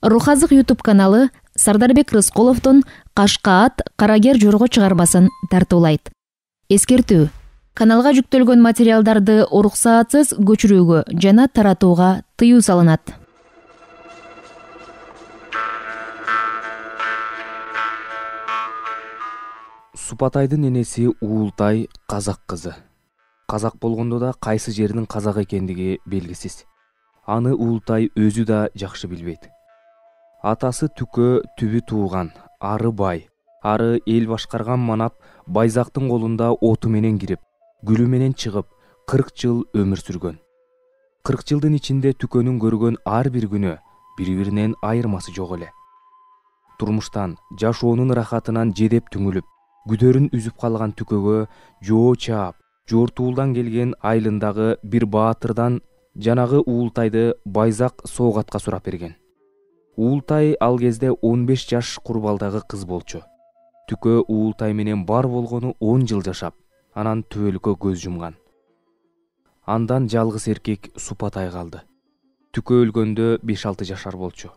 Рухазык YouTube каналы Сардарбек Рыскуловдун Кашка ат, Карагер жорго чыгармасын тартуулайт. Эскертүү: каналга жүктөлгөн материалдарды уруксаатсыз көчүрүүгө жана таратууга тыюу салынат. Супатайдын энеси Уултай казак кызы. Казак болгондо да кайсы жердин казак экендиги белгисиз. Аны Уултай өзү да жакшы билбейт. Атасы Түкө түбү тууган, ары бай, ары эл башкарган манап Байзактын колунда оту менен кирип, гүлү менен чыгып, 40 жыл өмүр сүргөн. 40 жылдын ичинде Түкөнүн көргөн ар бир күнү бири-биринен айырмасы жок эле. Турмуштан, жашоонун ырахатынан жедеп түңүлүп, күдөрүн үзүп калган Түкөгө жоо чаап, жортуулдан келген айылындагы бир баатырдан жанагы Уултайды Байзак соогатка сурап берген. Уултай ал кезде 15 жаш курбалдагы кыз болчу. Түкө Уултай менен бар болгону 10 жыл жашап, анан түбөлүккө көз жумган. Андан жалгыз эркек Супатай калды. Түкө өлгөндө 5-6 жашар болчу.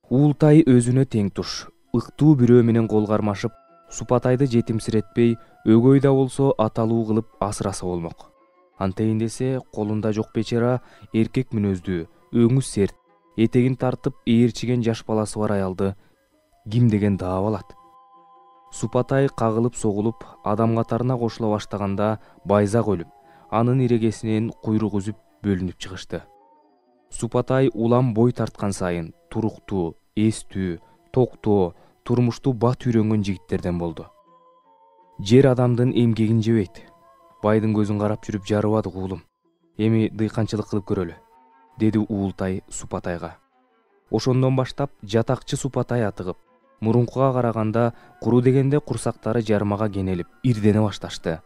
Уултай өзүнө тең туш, ыктуу бирөө менен кол кармашып, Супатайды жетимсиретпей, өгөй да болсо аталуу кылып асыраса болмок. Антейин десе, колунда жок бечара эркек мүнөздүү, өңү серт, этегин тартып ээрчиген жаш баласы бар аялды ким деген даап алат? Супатай кагылып согулуп, адам катарына кошула баштаганда Байзак өлүп, анын ирегесинен куйрук үзүп бөлүнүп чыгышты. Супатай улам бой тарткан сайын туруктуу, эстүү, токтоо, турмушту бат үйрөнгөн жигиттерден болду. Жер адамдын эмгегин жебейт. Байдын көзүн карап жүрүп жарыбадык уулум. Эми дыйканчылык кылып көрөлү, деди Уултай Супатайга. Ошондон баштап жатакчы Супатай атыгып, мурункуга караганда куру дегенде курсактары жармага кенелип, ирдене башташты.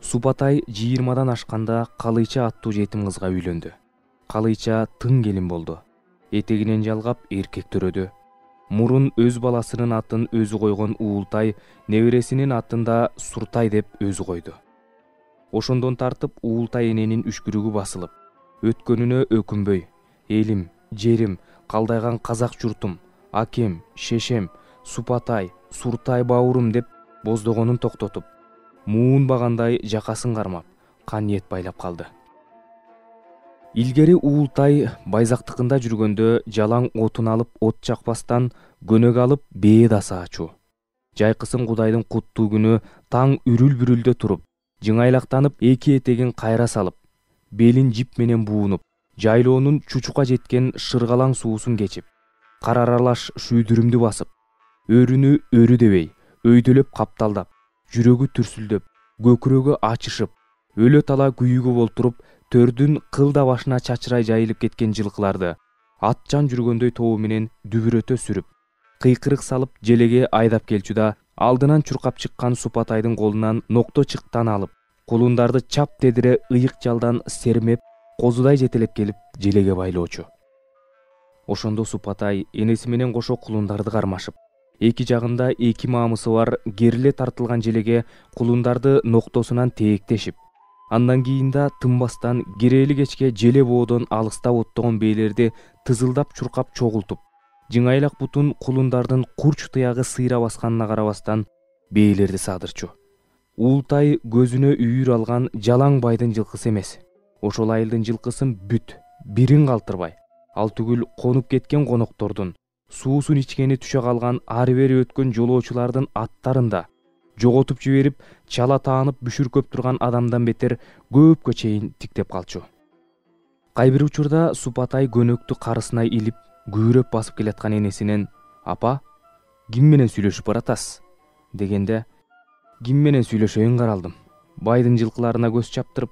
Супатай 20-дан ашканда Калыйча аттуу жетим кызга үйлөндү. Калыйча тың келин болду. Этегинен жалгап эркек төрөдү. Мурун өз баласынын атын өзү койгон Уултай небересинин атын да Суртай деп өзү койду. Ошондон тартып Уултай эненин үшкүрүгү басылып, өткөнүнө өкүнбөй, элим, жерим, калдайган казак журтум, акем, шешем, Супатай, Суртай баурум деп боздогонун токтотуп, муун багандай жакасын кармап, кан ниет байлап калды. Илгери Уултай Байзактыкында жүргөндө жалаң отун алып от жакпастан көнөк алып бээ да саачу. Жайкысын Кудайдын куттуу күнү таң үрүл-бүрүлдө туруп, жыңайлактанып эки этегин кайра салып, белин жип менен буунуп, жайлоонун чучука жеткен шыргалаң суусун кечип, кар аралаш шүйдүрүмдү басып, өрүнү өрү дебей, өйдөлөп капталдап, жүрөгү түрсүлдөп, көкүрөгү ачышып, өлө тала күйүүгө болтуруп, төрдүн кылда башына чачырай жайылып кеткен жылкыларды атчан жүргөндөй тобу менен дүбүрөтө сүрүп, кыйкырык салып желеге айдап келчү да, алдынан чуркап чыккан Супатайдын колунан нокто чыктан алып, кулундарды чап тедире ыйык жалдан сермеп, козудай жетелеп келип желеге байлоочу. Ошондо Супатай энеси менен кошо кулундарды кармашып, эки жагында эки маамысы бар кериле тартылган желеге кулундарды ноктосунан тээктешип, андан кийин да тынбастан киреели кечке желе боодон алыста оттогон бээлерди тызылдап чуркап чогултуп, жыңайлак бутун кулундардын курч тыягы сыйра басканына карабастан бээлерди саадырчу. Уултай көзүнө үйүр алган жалаң байдын жылкысы эмес, ошол айылдын жылкысын бүт, бирин калтырбай, ал түгүл конуп кеткен коноктордун, суусун ичкени түшө калган ары бери өткөн жолоочулардын аттарын да жоготуп жиберип, чала таанып бүшүркөп турган адамдан бетер көпкө чейин тиктеп калчу. Кайбир учурда Супатай көнөктү карысына илип, күүрөп басып келаткан энесинен «Апа, ким менен сүйлөшүп баратасыз?» дегенде, «Ким менен сүйлөшөйүн каралдым. Байдын жылкыларына көз чаптырып,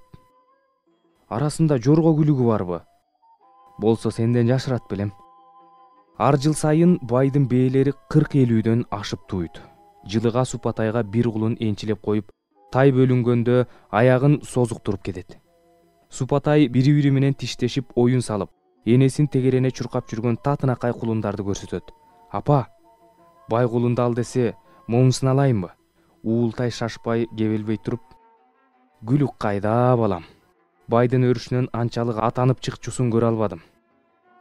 арасында жорго күлүгү барбы? Болсо сенден жашырат белем». Ар жыл сайын байдын бээлери 40-50дөн ашып туйт. Жылыга Супатайга бир кулун энчилеп коюп, тай бөлүнгөндө аягын созуктуруп кетет. Супатай бири-бири менен тиштешип, оюн салып, энесин тегерене чуркап жүргөн татынакай кулундарды көрсөтөт. «Апа, бай кулунду ал десе, момусун алайынбы?» Уултай шашпай, кебелбей туруп, «Күлүк кайда, балам? Байдын өрүшүнөн анчалык атанып чыкчусун көрө албадым.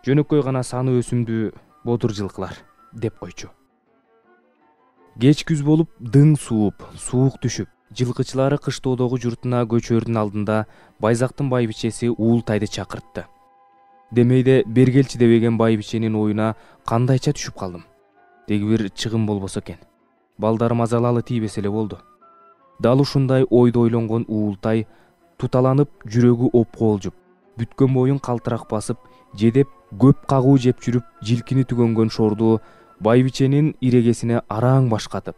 жөнөкөй гана саны өсүмдүү бодур жылкылар деп койчу. Кеч күз болуп дың сууп, суук түшүп, жылкычылары кыштоодогу журтуна көчөрдүн алдында Байзактын байбичеси Уултайды чакыртты. Демейде бергелчи дебеген байбиченин оюна кандайча түшүп калдым. Деги бир чыгым болбосо экен. Балдарым азалалы тийбесе эле болду. Дал ушундай ойду ойлонгон Уултай туталанып, жүрөгү опкоолжуп, бүткөн боюн калтырак басып, жедеп көп кагуу жеп жүрүп, жилкини түгөнгөн шорду байбиченин ирегесине араң башкатып,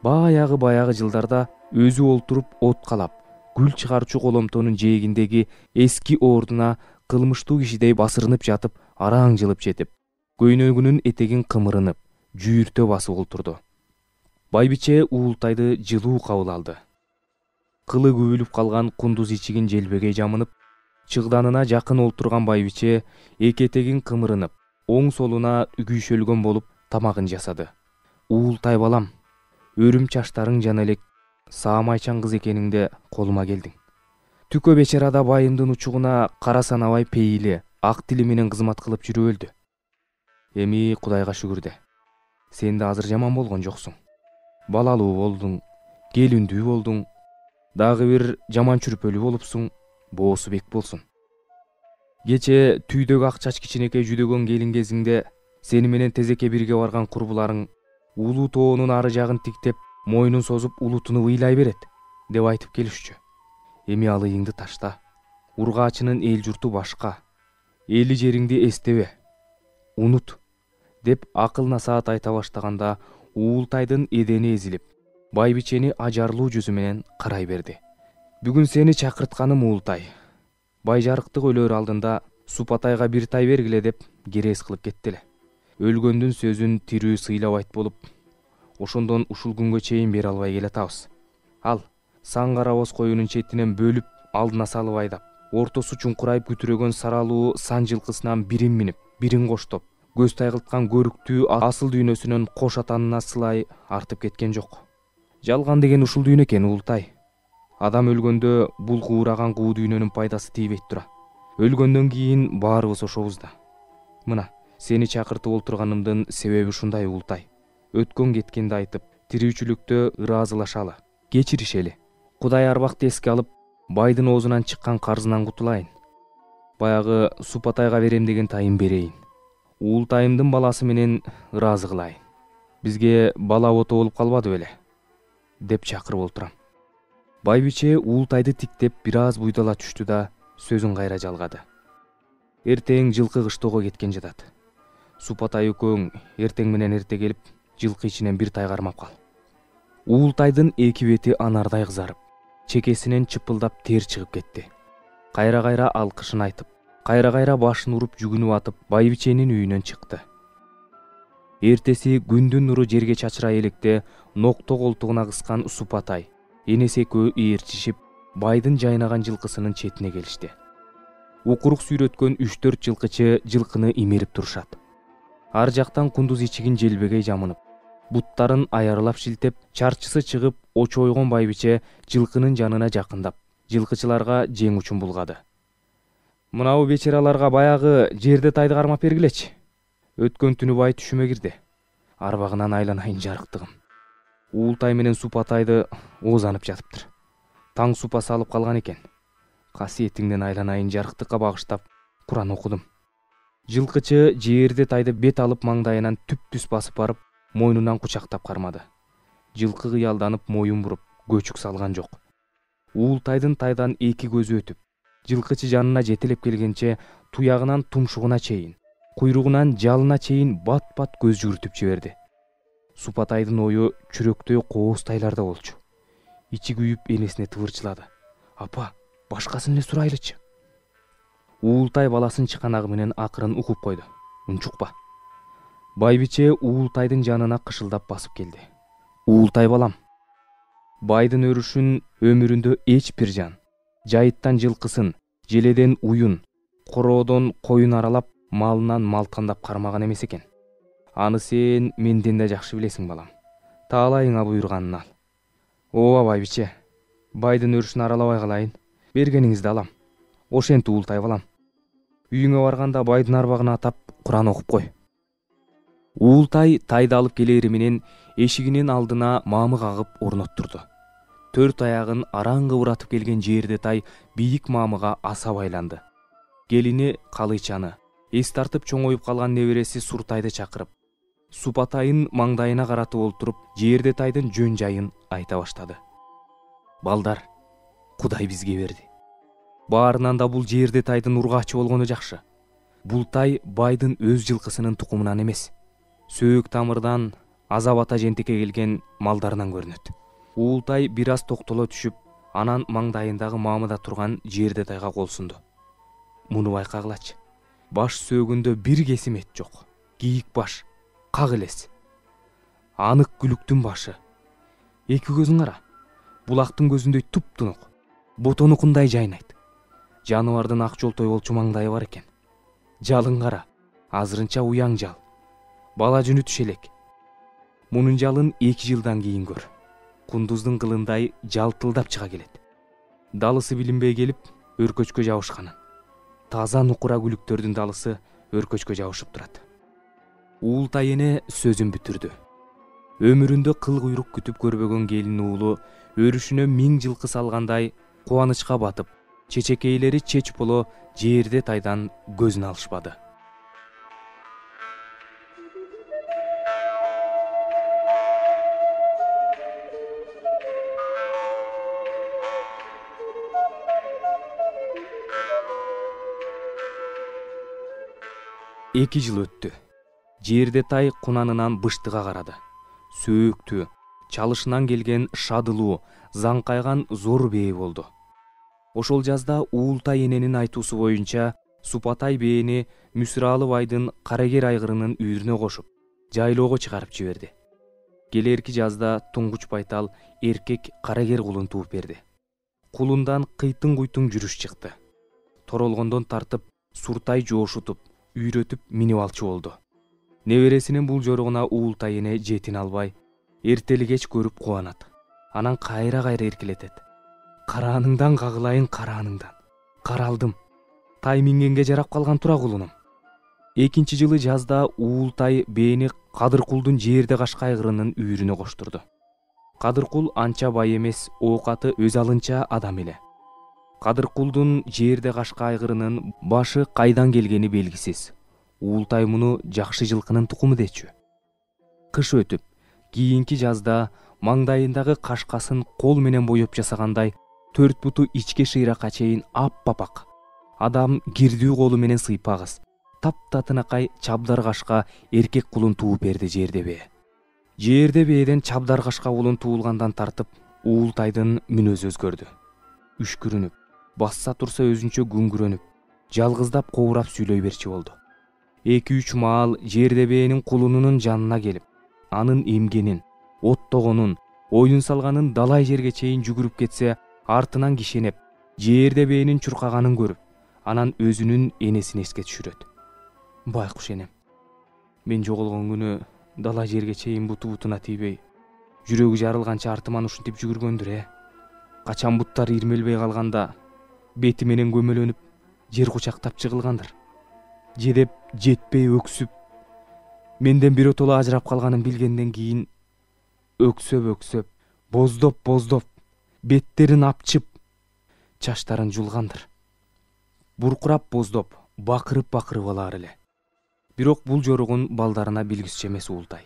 баягы жылдарда өзү олтуруп от калап, гүл чыгарчу коломтонун жээгиндеги эски ордуна кылмыштуу кишидей басырынып жатып, араң жылып жетип, көйнөгүнүн этегин кымырынып, жүүртө басып олтурду. Байбиче Уултайды жылуу кабыл алды. Кылы күбүлүп калган кундуз ичигин желбегей жамынып, чыгданына жакын олтурган байбиче эки этегин кымырынып, оң солуна күйшөлгөн болуп тамагын жасады. Уултай балам, өрүм чачтарың жана элек саамайчан кыз экениңде колума келдиң. Түкө бечарада байымдын учугуна кара санабай пейили, ак тили менен кызмат кылып жүрүп өлдү. Эми Кудайга шүгүр де. Сен да азыр жаман болгон жоксуң. Балалуу болдуң, келиндүү болдуң, дагы бир жаман чүрпөлүү болупсуң, боосу бек болсун. Кече түйдөгү ак чач кичинекей жүдөгөн келин кезиңде сени менен тезекке бирге барган курбуларың улуу тоонун ары жагын тиктеп, мойнун созуп улутуну ыйлай берет деп айтып келишчү. Эми ал ыйыңды ташта. Ургаачынын эл журту башка. Эли жериңди эстебе. Унут деп акыл насаат айта баштаганда Уултайдын эдени эзилип, байбичени ажарлуу жүзү менен карай берди. Бүгүн сени чакыртканым Уултай. Байжарыктык өлөр алдында Супатайга бир тай бергиле деп керес кылып кетти эле. Өлгөндүн сөзүн тирүү сыйлабайт болуп, ошондон ушул күнгө чейин бере албай келатабыз. Ал сан карабоз коюнун четинен бөлүп, алдына салып айдап, ортосу чуңкурайып күтүрөгөн саралуу сан жылкысынан бирин минип, бирин коштоп, көз тайгылткан көрүктүү асыл дүйнөсүнөн кош атанына сылай артып кеткен жок. Жалган деген ушул дүйнө экен Уултай. Адам өлгөндө бул куураган куу дүйнөнүн пайдасы тийбейт тура. Өлгөндөн кийин баарыбыз ошобуз да. Мына, сени чакыртып олтурганымдын себеби ушундай Уултай. Өткөн кеткенди айтып, тирүүчүлүктө ыраазылашалы, кечиришели. Кудай арбакты эске алып, байдын оозунан чыккан карзынан кутулайын. Баягы Супатайга берем деген тайын берейин. Уултайымдын баласы менен ыраазы кылайын. Бизге бала ото болуп калбады беле деп чакырып олтурам. Байбиче Уултайды тиктеп бир аз буйдала түштү да сөзүн кайра жалгады. Эртең жылкы кыштоого кеткен жатат. Супатай экөөң эртең менен эрте келип, жылкы ичинен бир тай кармап кал. Уултайдын эки бети анардай кызарып, чекесинен чыпылдап тер чыгып кетти. Кайра-кайра алкышын айтып, кайра-кайра башын уруп жүгүнүп атып, байбиченин үйүнөн чыкты. Эртеси күндүн нуру жерге чачырай электе нокто колтугуна кыскан Супатай, энеси экөө ээрчишип, байдын жайнаган жылкысынын четине келишти. Укурук сүйрөткөн 3-4 жылкычы жылкыны имерип турушат. Ар жактан кундуз ичигин желбегей жамынып, буттарын аярылап шилтеп, чарчысы чыгып, очойгон байбиче жылкынын жанына жакындап, жылкычыларга жең учун булгады. Мынабу бечараларга баягы жерде тайды кармап бергилечи. Өткөн түнү бай түшүмө кирди. Арбагынан айланайын жарыктыгым. Уултай менен Супатайды оозанып жатыптыр. Таң супа салып калган экен. Касиетиңден айланайын жарыктыкка багыштап Куран окудум. Жылкычы жерде тайды бет алып маңдайынан түп-түз басып барып, мойнунан кучактап кармады. Жылкы кыялданып моюн буруп, көчүк салган жок. Уултайдын тайдан эки көзү өтүп, жылкычы жанына жетелеп келгенче туягынан тумшугуна чейин, куйругунан жалына чейин бат-бат көз жүгүртүп жиберди. Супатайдын ою чүрөктөй кооз тайларда болчу. Ичи күйүп энесине тывырчылады. Апа, башкасын эле сурайлычы. Уултай баласын чыканагы менен акырын угуп койду. Унчукпа. Байбиче Уултайдын жанына кышылдап басып келди. Уултай балам, байдын өрүшүн өмүрүндө эч бир жан, жайыттан жылкысын, желеден уюн, короодон коюн аралап, малынан малткандап кармаган эмес экен. Аны сен менден да жакшы билесиң балам. Таалайыңа буйруганын ал. Ооба байбиче, байдын өрүшүн аралабай калайын. Бергениңизди алам. Ошентип Уултай балам. Үйүңө барганда байдын арбагына атап Куран окуп кой. Уултай тайды алып келери менен эшигинин алдына маамы кагып орноттурду. 4 аягын араң кыбыратып келген жерде тай бийик маамыга аса байланды. Келини Калыйчаны, эс тартып чоңоюп калган небереси Суртайды чакырып, Супатайын маңдайына каратып олтуруп, жерде тайдын жөн жайын айта баштады. Балдар, Кудай бизге берди. Баарынан да бул жерде тайдын ургаачы болгону жакшы. Бул тай байдын өз жылкысынын тукумунан эмес, сөөк тамырдан азап ата жентекке келген малдарынан көрүнөт. Уултай бир аз токтоло түшүп, анан маңдайындагы маамыда турган жерде тайга кол сунду. Муну байкагылачы. Баш сөөгүндө бир кесим эт жок. Кийик баш, как элес. Анык күлүктүн башы. Эки көзүн кара. Булактын көзүндөй туп-тунук. Ботонукундай жайнайт. Жаныбардын ак жолтой болчу маңдайы бар экен. Жалын кара, азырынча уяң жал. Бала жүнү түшелек. Мунун жалын 2 жылдан кийин көр. Кундуздун кылындай жалтылдап чыга келет. Далысы билинбей келип, өркөчкө жабышканын. Таза нукура күлүктөрдүн далысы өркөчкө жабышып турат. Уултай эне сөзүн бүтүрдү. Өмүрүндө кыл куйрук күтүп көрбөгөн келин уулу өрүшүнө 1000 жылкы салгандай кубанычка батып, чечекейлери чеч боло жерде тайдан көзүн алышпады. Эки жыл өттү. Жерде тай кунанынан быштыга карады. Сөөктү, чалышынан келген шадылуу, заңкайган зор бээ болду. Ошол жазда Уултай эненин айтуусу боюнча Супатай бээни Мүсүралы байдын Карагер айгырынын үйүрүнө кошуп, жайлоого чыгарып жиберди. Келерки жазда Туңгуч байтал эркек Карагер кулун тууп берди. Кулундан кыйтын-куйтун жүрүш чыкты. Торолгондон тартып, Суртай жоошутуп, үйрөтүп минип алчу болду. Небересинин бул жорогуна Уултай эне жетин албай, эртели кеч көрүп кубанат. Анан кайра-кайра эркелетет. Карааныңдан кагылайын, карааныңдан. Каралдым. Тай мингенге жарап калган тура кулунум. Экинчи жылы жазда Уултай бээни Кадыркулдун жерде кашка айгырынын үйүрүнө коштурду. Кадыркул анча бай эмес, оокаты өз алынча адам эле. Кадыркулдун жерде кашка айгырынын башы кайдан келгени белгисиз. Уултай муну жакшы жылкынын тукуму дечү. Кыш өтүп, кийинки жазда маңдайындагы кашкасын кол менен боеп жасагандай 4 буту ичке шыйракка чейин ап-апак. Адам кирдүү колу менен сыйпагыз. Таптатынакай чабдар кашка эркек кулун тууп берди жерде бээ. Жерде бээден чабдар кашка кулун туулгандан тартып, Уултайдын мүнөзү өзгөрдү. Үшкүрүнүп, басса турса өзүнчө күңгүрөнүп, жалгыздап кобурап сүйлөй берчи болду. 2-3 маал жерде бээнин кулунунун жанына келип, анын эмгенин, оттогонун, оюн салганын далай жерге чейин жүгүрүп кетсе, артынан кишенеп, жерде бээнин чуркаганын көрүп, анан өзүнүн энесин эске түшүрөт. Байкуш энем, мен жоголгон күнү далай жерге чейин буту-бутуна тийбей, жүрөгү жарылганча артыман ушинтип жүгүргөндүр. Качан буттар ирмелбей калганда, бети менен көмөлөнүп, жер кучактап чыгылгандыр. Жедеп жетпей өксүп, менден биротоло ажырап калганын билгенден кийин өксөп, боздоп, беттерин апчып, чачтарын жулгандыр. Буркурап боздоп, бакырып алар эле. Бирок бул жорогун балдарына билгизчү эмес Уултай.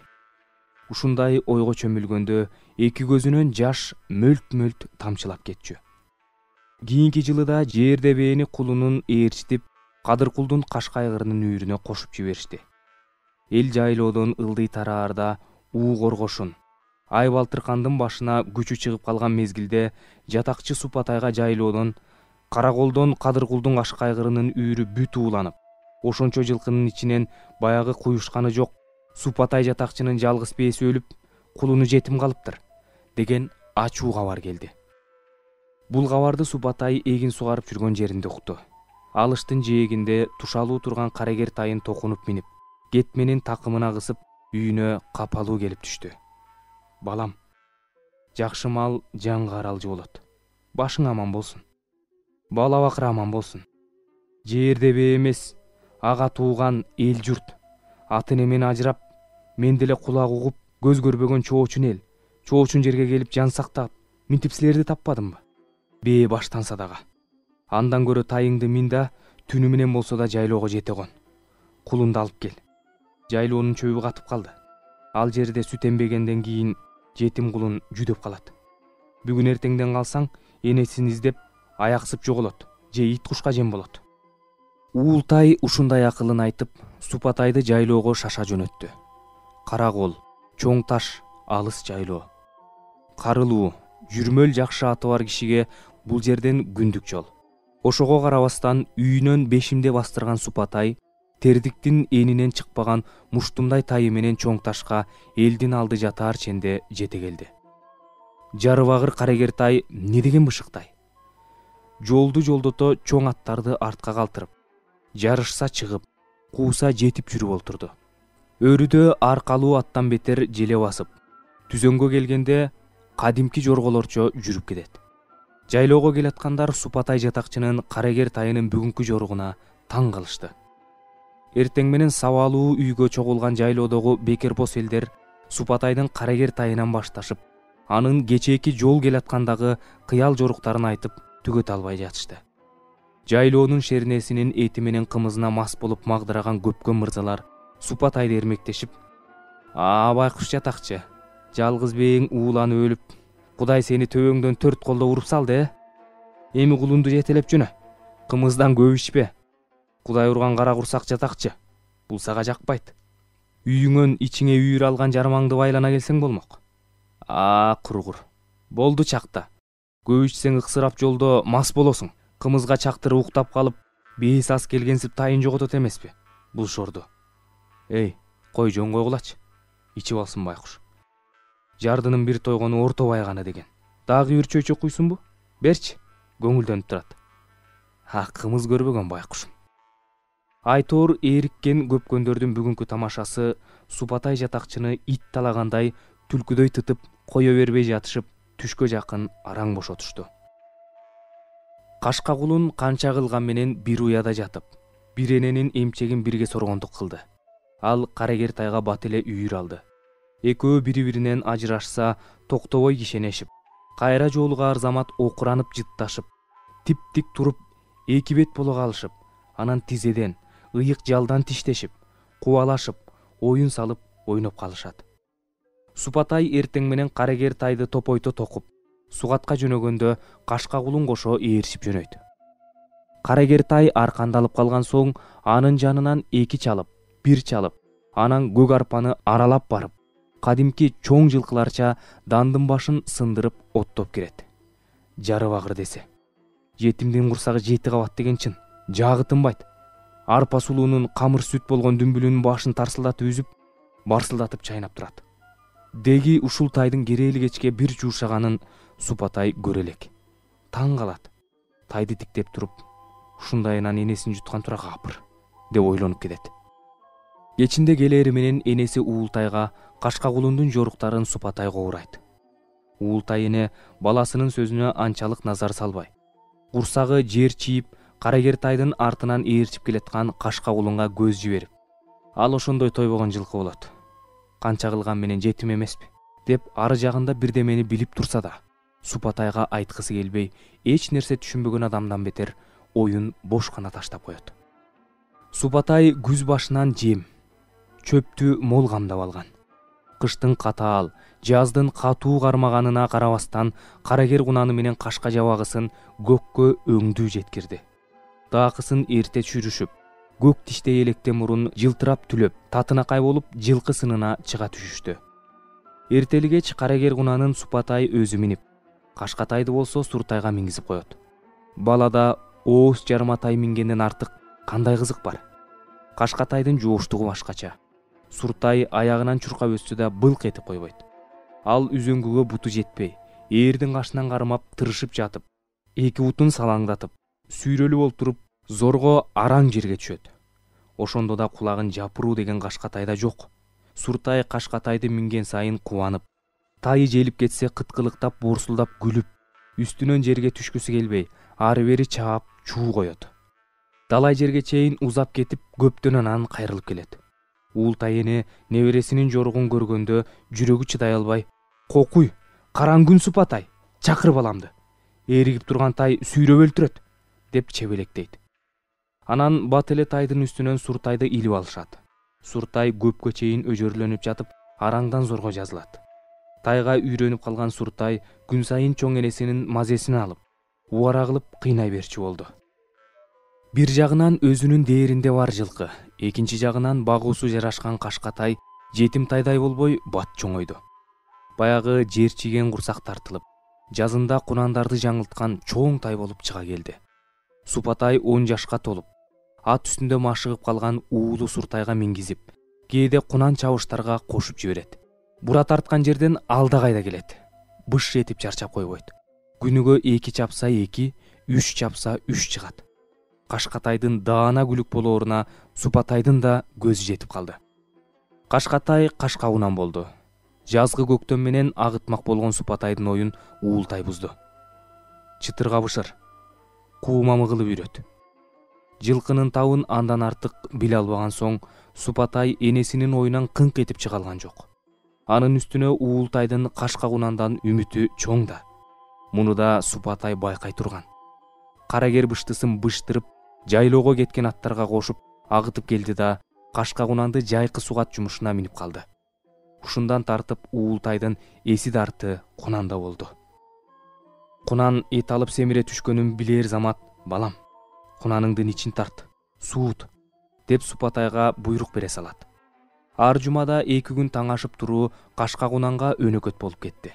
Ушундай ойго чөмүлгөндө 2 көзүнөн жаш мөлт-мөлт тамчылап кетчү. Кийинки жылы да жерде бээни кулунун ээрчитип, Кадыркулдун кашка айгырынын үйүрүнө кошуп жиберишти. Эл жайлоодон ылдый тараарда уу коргошун, ай балтыркандын башына күчү чыгып калган мезгилде жатакчы Супатайга жайлоодон Караколдон Кадыркулдун кашка айгырынын үйүрү бүт ууланып, ошончо жылкынын ичинен баягы куюшканы жок Супатай жатакчынын жалгыз бээси өлүп, кулуну жетим калыптыр деген ачуу кабар келди. Бул кабарды Супатай эгин сугарып жүргөн жеринде укту. Алыштын жээгинде тушалуу турган Карагер тайын токунуп минип, кетменин такымына кысып, үйүнө капалуу келип түштү. Балам, жакшы мал жанга аралжы болот. Башың аман болсун. Бала бакыр аман болсун. Жердебе эмес, ага тууган эл журт, аты немен ажырап, мен деле кулак угуп көз көрбөгөн чоочун эл, чоочун жерге келип жан сактап, минтип силерди таппадымбы? Бээ баштанса дагы. Андан көрө тайыңды мин да түнү менен болсо да жайлоого жете кон. Кулунду алып кел. Жайлоонун чөбү катып калды. Ал жерде сүт эмбегенден кийин жетим кулун жүдөп калат. Бүгүн эртеңден калсаң, энесин издеп аяксып жоголот же ит кушка жем болот. Уултай ушундай акылын айтып, Супатайды жайлоого шаша жөнөттү. Кара кол, чоң таш, алыс жайлоо. Карылуу, жүрмөл жакшы аты бар кишиге бул жерден күндүк жол. Ошого карабастан үйүнөн бешимде бастырган Супатай тердиктин энинен чыкпаган муштумдай тайы менен чоң ташка элдин алды жатаар ченде жете келди. Жарыбагыр карагер тай не деген бышыктай. Жолду жолдото чоң аттарды артка калтырып, жарышса чыгып, кууса жетип жүрүп олтурду. Өрүдө аркалуу аттан бетер желе басып, түзөнгө келгенде кадимки жорголорчо жүрүп кетет. Жайлоого келаткандар Супатай жатакчынын карагер тайынын бүгүнкү жоругуна таң калышты. Эртең менен сабалуу үйгө чогулган жайлоодогу бекербос элдер Супатайдын карагер тайынан башташып, анын кечээки жол келаткандагы кыял жоруктарын айтып түгөт албай жатышты. Жайлоонун шернесинин эти менен кымызына мас болуп магдыраган көпкөн мырзалар Супатайды эрмектешип: байкуш жатакчы, жалгыз бээң ууланып өлүп, Кудай сени төбөңдөн 4 колдо уруп салды, эми кулунду жетелеп жөнө, кымыздан көп ичпе. Кудай урган кара курсак жатакчы, бул сага жакпайт. Үйүңөн ичиңе үйүр алган жармаңды байлана келсең болмок. Кургур. Болду чакта. Көп ичсең ыксырап жолдо мас болосуң. Кымызга чактырып уктап калып, бээс ас келгенсип тайын жоготот эмеспи? Бул шорду. Кой жөн койгулачы. Ичип алсын байкуш. Жардынын бир тойгону орто байганы деген. Дагы бир чөйчөк куйсунбу? Берчи, көңүлдөнүп турат. Кымыз көрбөгөн байкушум. Айтор эриккен көпкөндөрдүн бүгүнкү тамашасы Супатай жатакчыны ит талагандай түлкүдөй тытып кое бербей жатышып, түшкө жакын араң бошотушту. Кашка кулун канча кылган менен бир уяда жатып, бир эненин эмчегин бирге соргондук кылды. Ал карагер тайга бат эле үйүр алды. Экөө бири-биринен ажырашса, токтобой кишенешип, кайра жолугар замат окуранып жытташып, тип-тик туруп, эки бет боло калышып, анан тизеден, ыйык жалдан тиштешип, кубалашып, оюн салып, ойноп калышат. Супатай эртең менен карагер тайды топойто токуп, сугатка жөнөгөндө кашка кулун кошо ээришип жөнөйт. Карагер тай аркандалып калган соң, анын жанынан 2 чалып, 1 чалып, анан көк арпаны аралап барып, кадимки чоң жылкыларча дандын башын сындырып оттоп кирет. Жарыбагыр десе. Жетимдин курсагы 7 кабат деген чын. Жагы тынбайт. Арпа сулуунун камыр сүт болгон дүмбүлүнүн башын тарсылдатып үзүп, барсылдатып чайнап турат. Деги ушул тайдын керели кечке бир жуушаганын Супатай көрө элек. Таң калат. Тайды тиктеп туруп, ушундайынан энесин жуткан тура капыр, деп ойлонуп кетет. Кечинде келери менен энеси Уултайга кашка кулундун жоруктарын Супатай коурайт. Уултай эне баласынын сөзүнө анчалык назар салбай, курсагы жер чийип, карагер тайдын артынан ээрчип келаткан кашка кулунга көз жиберип: ал ошондой тойбогон жылкы болот. Канча кылган менен жетим эмеспи? Деп ары жагында бирдемени билип турса да, Супатайга айткысы келбей, эч нерсе түшүнбөгөн адамдан бетер оюн бош гана таштап коет. Супатай күз башынан жем, чөптү мол камдап алган. Кыштын катаал, жаздын катуу кармаганына карабастан, карагер кунаны менен кашка жабагысын көккө өңдүү жеткирди. Таакысын эрте чүрүшүп, көк тиштей электе мурун жылтырап түлөп, татынакай болуп жылкы сынына чыга түшүштү. Эртелигеч карагер кунанын Супатай өзү минип, Кашкатайды болсо Суртайга мингизип коет. Балада ооз жарматай мингенден артык кандай кызык бар? Кашкатайдын жооштугу башкача. Суртай аягынан чуркап өссө да былк этип койбойт. Ал үзөңгүгө буту жетпей, ээрдин кашынан кармап тырышып жатып, эки бутун салаңдатып, сүйрөлүп олтуруп, зорго араң жерге түшөт. Ошондо да кулагын жапыруу деген Кашкатайда жок. Суртай Кашкатайды минген сайын кубанып, тайы желип кетсе кыткылыктап, борсулдап күлүп, үстүнөн жерге түшкүсү келбей, ары бери чаап чуу коет. далай жерге чейин узап кетип көптөн анан кайрылып келет. Уултай эне небересинин жоругун көргөндө жүрөгү чыдай албай: "Кокуй, караң күн Супатай, чакыр баламды. Эригип турган тай сүйрөп өлтүрөт" деп чебелектейт. Анан бат эле тайдын үстүнөн Суртайды илип алышат. Суртай көпкө чейин өжөрлөнүп жатып, араңдан зорго жазылат. Тайга үйрөнүп калган Суртай күн сайын чоң энесинин мазесин алып, убара кылып кыйнай берчү болду. Бир жагынан өзүнүн дээринде бар жылкы, экинчи жагынан багуусу жарашкан Кашкатай жетим тайдай болбой бат чоңойду. Баягы жер чиген курсак тартылып, жазында кунандарды жаңылткан чоң тай болуп чыга келди. Супатай 10 жашка толуп, ат үстүндө машыгып калган уулу Суртайга мингизип, кээде кунан чабыштарга кошуп жиберет. Бура тарткан жерден алда кайда келет. Быш этип чарчап койбойт. Күнүгө 2 чапса 2, 3 чапса 3 чыгат. Кашкатайдын даана күлүк болооруна Супатайдын да көзү жетип калды. Кашкатай кашкагунан болду. Жазгы көктөм менен агытмак болгон Супатайдын оюн Уултай бузду. Чытыргабышыр, куумамы кылып үйрөт. Жылкынын табын андан артык биле албаган соң Супатай энесинин оюнан кыңк этип чыга алган жок. Анын үстүнө Уултайдын кашкагунандан үмүтү чоң да. Муну да Супатай байкай турган. Карагер быштысын быштырып, жайлоого кеткен аттарга кошуп агытып келди да кашкагунанды жайкы сугат жумушуна минип калды. Ушундан тартып Уултайдын эси дарты Кунанда болду. Кунан эт алып семире түшкөнүн билээр замат: "Балам, кунаныңдын ичин тарт, суут" деп Супатайга буйрук бере салат. Ар жумада 2 күн таң ашып туруу кашкагунанга өнөкөт болуп кетти.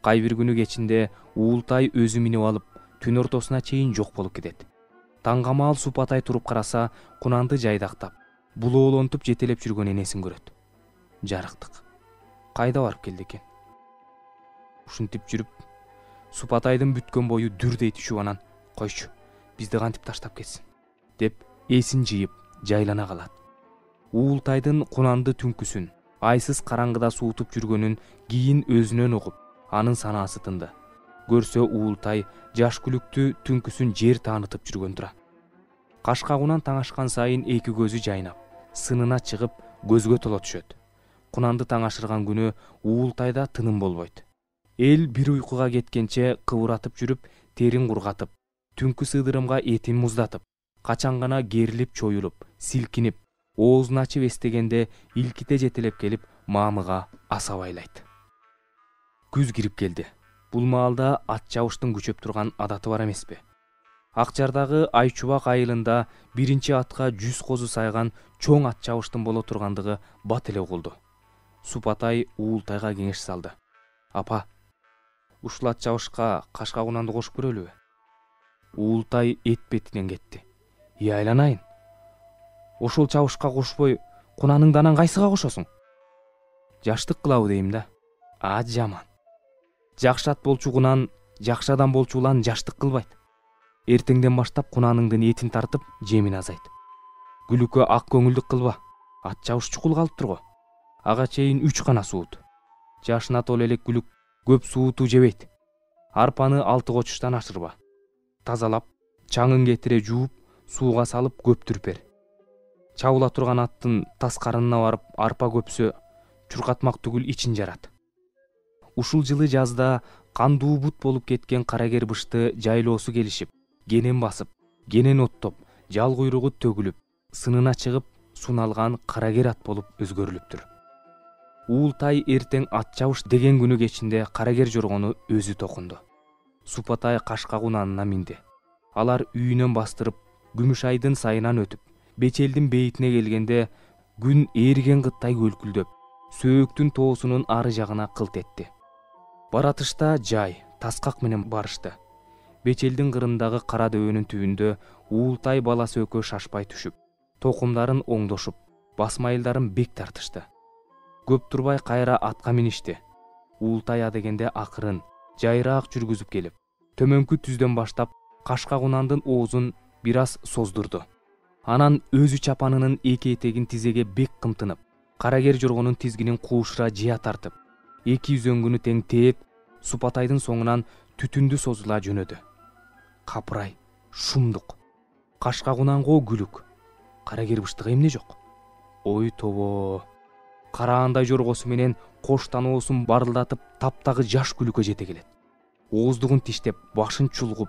Кай бир күнү кечинде Уултай өзү минип алып, түн ортосуна чейин жок болуп кетет. Таңга маал Супатай туруп караса, кунанды жайдактап, булоолонтуп жетелеп жүргөн энесин көрөт. Жарыктык. Кайда барып келди экен? Ушинтип жүрүп, Супатайдын бүткөн бою дүрдей түшүп анан: "Койчу, бизди кантип таштап кетсин" деп эсин жыйып жайлана калат. Уултайдын кунанды түнкүсүн айсыз караңгыда суутуп жүргөнүн кийин өзүнөн угуп, анын санаасы тынды. Көрсө Уултай жаш күлүктү түнкүсүн жер таанытып жүргөн тура. Кашкагунан таң ашкан сайын 2 көзү жайнап, сынына чыгып, көзгө толо түшөт. Кунанды таң ашырган күнү Уултайда тыным болбойт. Эл бир уйкуга кеткенче кыбыратып жүрүп, терин кургатып, түнкү сыдырымга этин муздатып, качан гана керилип чоюлуп, силкинип, оозун ачып эстегенде илките жетелеп келип маамыга аса байлайт. Күз кирип келди. Бул маалда ат чабыштын күчөп турган адаты бар эмеспи? Акчардагы Айчубак айылында биринчи атка 100 козу сайган чоң ат чабыштын боло тургандыгы бат эле угулду. Супатай Уултайга кеңеш салды: "Апа, ушул ат чабышка кашкагунанды кошуп көрөлүбү?" Уултай эт бетинен кетти: "Айланайын. Ошол чабышка кошпой, кунаныңды анан кайсыга кошосуң?" "Жаштык кылабы дейм да." Жаман. Жакшы ат болчу кунан, жакшы адам болчу улан жаштык кылбайт. Эртеңден баштап кунаныңдын этин тартып, жемин азайт. Күлүккө ак көңүлдүк кылба. Ат чабыш чукул калыптыр го. Ага чейин 3 гана суут. Жашына толо элек күлүк көп сууту жебейт. Арпаны 6 кочуштан ашырба. Тазалап, чаңын кетире жууп, сууга салып көптүрүп бер. Чабыла турган аттын тас карынына барып, арпа көпсө, чуркатмак түгүл ичин жарат. Ушул жылы жазда кандуу бут болуп кеткен карагер бышты жайлоосу келишип, кенен басып, кенен оттоп, жал куйругу төгүлүп, сынына чыгып, суналган карагер ат болуп өзгөрүлүптүр. Уултай эртең ат чабыш деген күнү кечинде карагер жоргону өзү токунду. Супатай кашкагунанына минди. Алар үйүнөн бастырып, Күмүш айдын сайынан өтүп, Бечелдин бейитине келгенде күн ээриген кыттай көлкүлдөп, сөөктүн тоосунун ары жагына кылт этти. Баратышта жай, таскак менен барышты. Бечелдин кырындагы кара дөбөнүн түбүндө Уултай баласы экөө шашпай түшүп, токумдарын оңдошуп, басмайылдарын бек тартышты. Көп турбай кайра атка миништи. Уултай адегенде акырын, жайраак жүргүзүп келип, төмөнкү түздөн баштап кашкагунандын оозун бир аз создурду. Анан өзү чапанынын 2 этегин тизеге бек кымтынып, карагер жоргонун тизгинин куушура жыя тартып, 2 үзөңгүнү тең тээп, Супатайдын соңунан түтүндү созула жөнөдү. Капырай, шумдук. кашкагунанго күлүк, карагер быштыга эмне жок? Ой тобо, караандай жоргосу менен кош таноосун барылдатып таптагы жаш күлүккө жете келет. Ооздугун тиштеп, башын чулгуп,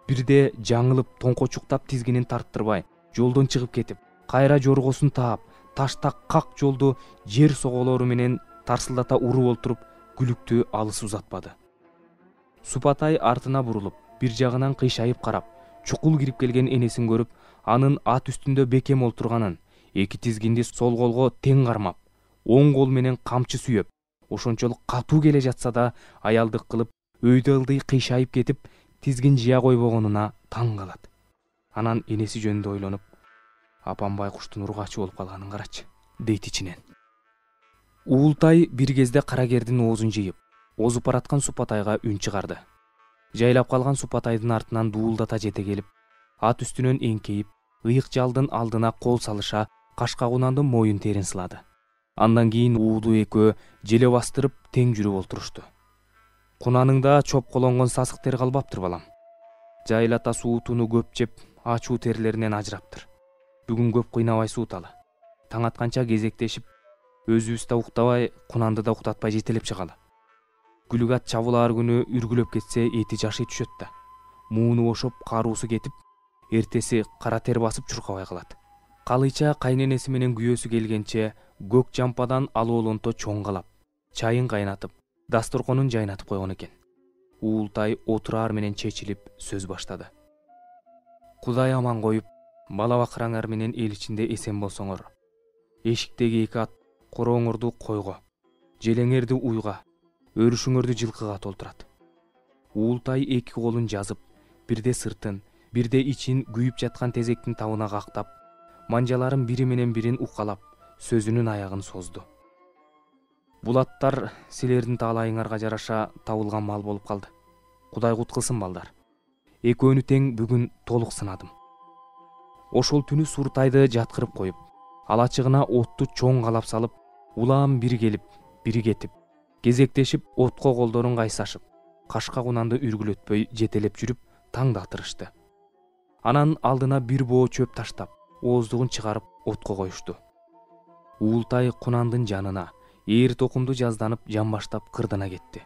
бирде жаңылып тоңкочуктап тизгинин тарттырбай жолдон чыгып кетип, кайра жоргосун таап, ташта как жолду жер соголору менен тарсылдата уруп олтуруп, күлүктү алыс узатпады. Супатай артына бурулуп, бир жагынан кыйшайып карап, чукул кирип келген энесин көрүп, анын ат үстүндө бекем олтурганын, эки тизгинди сол колго тең кармап, оң кол менен камчы сүйөп, ошончолук катуу келе жатса да, аялдык кылып, өйдө ылдый кыйшайып кетип, тизгин жыя койбогонуна таң калат. Анан энеси жөнүндө ойлонуп, апам байкуштун ургачы болуп калганын карачы, дейт ичинен. Уултай бир кезде карагердин оозун жыйып, озуп бараткан Супатайга үн чыгарды. Жайлап калган Супатайдын артынан дуулдата жете келип, ат үстүнөн эңкейип, ыйык жалдын алдына кол салыша, кашкагунандын моюн терин сылады. Андан кийин уулу экөө желе бастырып тең жүрүп олтурушту. Кунаныңда чоп колонгон сасык тер калбаптыр балам. Жайлата суутуну көп жеп, ачуу терлеринен ажыраптыр. Бүгүн көп кыйнабай сууталы. Таң атканча кезектешип, өзүбүз да уктабай, кунанды да уктатпай жетелеп чыгалы. Күлүк ат чабулаар күнү үргүлөп кетсе, эти жашый түшөт да. Мууну бошоп, каруусу кетип, эртеси кара тер басып чуркабай калат. Калыйча кайненеси менен күйөөсү келгенче көк жампадан алоолонто чоңгалап, чайын кайнатып, дасторконун жайнатып койгон экен. Уултай отураар менен чечилип сөз баштады. Кудай аман коюп, бала бакыраңар менен эл ичинде эсен болсоңор, эшиктеги эки ат корооңорду койго, желеңерди уйга, өрүшүңөрдү жылкыга толтурат. Уултай эки колун жазып, бирде сыртын, бирде ичин күйүп жаткан тезектин табына кактап, манжаларын бири менен бирин укалап, сөзүнүн аягын созду. Бул аттар силердин таалайыңарга жараша табылган мал болуп калды. Кудай куткылсын балдар. Экөөнү тең бүгүн толук сынадым. Ошол түнү Суртайды жаткырып коюп, алачыгына отту чоң калап салып, улам бири келип, бири кетип, кезектешип отко колдорун кайсашып, кашкагунанды үргүлөтпөй жетелеп жүрүп, таңда атырышты. Анан алдына бир боо чөп таштап, ооздугун чыгарып отко коюшту. Уултай кунандын жанына, ээр токумду жазданып, жамбаштап кырдына кетти.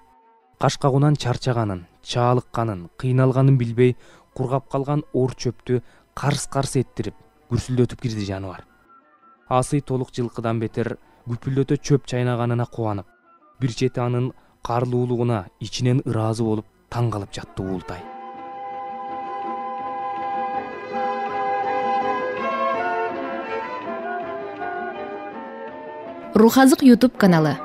Кашкагунан чарчаганын, чаалыкканын, кыйналганын билбей, кургап калган ор чөптү карс-карс эттирип, күрсүлдөтүп кирди жаныбар. Асый толук жылкыдан бетер күпүлдөтө чөп чайнаганына кубанып, бир чети анын карлуулугуна ичинен ыраазы болуп, таң калып жатты Уултай. Рухазык YouTube каналы.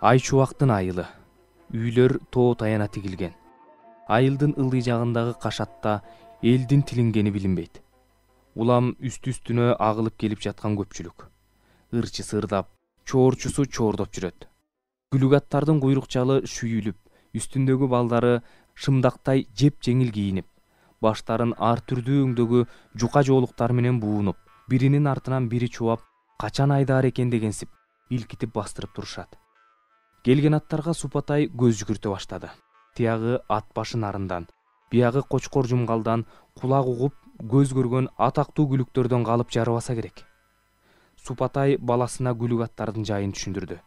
Ай чубактын айылы. Үйлөр тоо таяна тигилген. Айылдын ылдый жагындагы кашатта элдин тилингени билинбейт. Улам үстү-үстүнө агылып келип жаткан көпчүлүк. Ырчысы ырдап, чоорчусу чоордоп жүрөт. Күлүк аттардын куйрукчалы шүйүлүп, үстүндөгү балдары шымдактай жеп жеңил кийинип, баштарын ар түрдүү өңдөгү жука жоолуктар менен буунуп, биринин артынан бири чубап, качан айдаар экен дегенсип, илкитип бастырып турушат. Келген аттарга Супатай көз жүгүртө баштады. Тиягы ат башы нарындан, биягы кочкор жумгалдан кулак угуп, көз көргөн атактуу күлүктөрдөн калып жарыбаса керек. Супатай баласына күлүк аттардын жайын түшүндүрдү.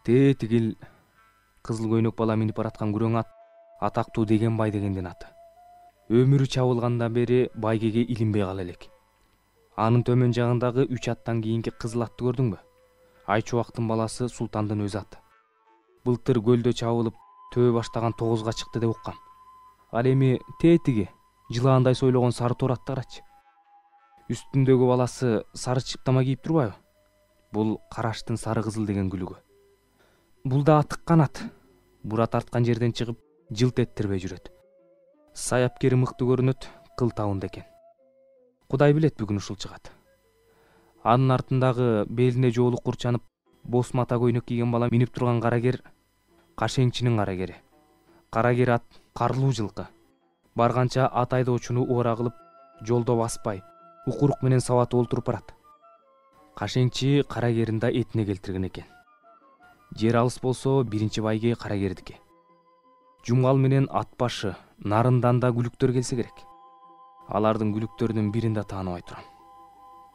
Тигил кызыл көйнөк бала минип бараткан күрөң ат атактуу деген бай дегендин аты. Өмүрү чабылгандан бери байгеге илинбей кала элек. Анын төмөн жагындагы 3 аттан кийинки кызыл атты көрдүңбү? Айчубактын баласы Султандын өз аты. Былтыр көлдө чабылып, төбө баштаган 9га чыкты деп уккам. Ал эми тетиги жылаандай сойлогон сары тор атты карачы. Үстүндөгү баласы сары чыптама кийип турбайбы? Бул караштын сары кызыл деген күлүгү. Бул да атыккан ат. Бура тарткан жерден чыгып, жылт эттирбей жүрөт. Саяпкери мыкты көрүнөт, кыл табында экен. Кудай билет бүгүн ушул чыгат. Анын артындагы белине жоолук курчанып, бос мата көйнөк кийген бала минип турган карагер Кашеңчинин карагери. Карагер ат карлуу жылкы. Барганча ат айдоочуну убара кылып, жолдо баспай, укурук менен сабатып олтуруп барат. Кашеңчи карагерин да этине келтирген экен. Жер алыс болсо биринчи байге карагердики. Жумгал менен ат башы нарындан да күлүктөр келсе керек. Алардын күлүктөрүнүн бирин да тааныбай турам.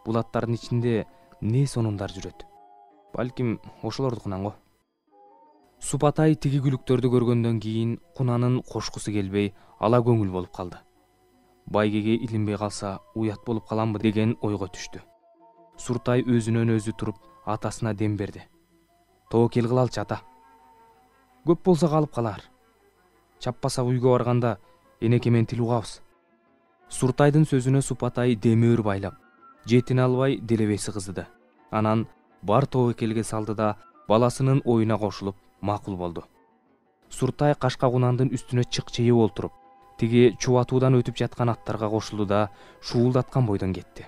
Бул аттардын ичинде не сонундар жүрөт? Балким ошолордукунан го. Супатай тиги күлүктөрдү көргөндөн кийин кунанын кошкусу келбей, ала көңүл болуп калды. Байгеге илинбей калса уят болуп каламбы деген ойго түштү. Суртай өзүнөн өзү туруп атасына дем берди. Тобокел кылалчы ата. Көп болсо калып калар. Чаппаса үйгө барганда энеке менен тил угабыз. Суртайдын сөзүнө Супатай демөөр байлап, жетине албай делебеси кыздыды. Анан бар тобокелге салды да баласынын оюна кошулуп макул болду. Суртай кашка кунандын үстүнө чыкчыйып олтуруп, тиги чубатуудан өтүп жаткан аттарга кошулду да шуулдаткан бойдон кетти.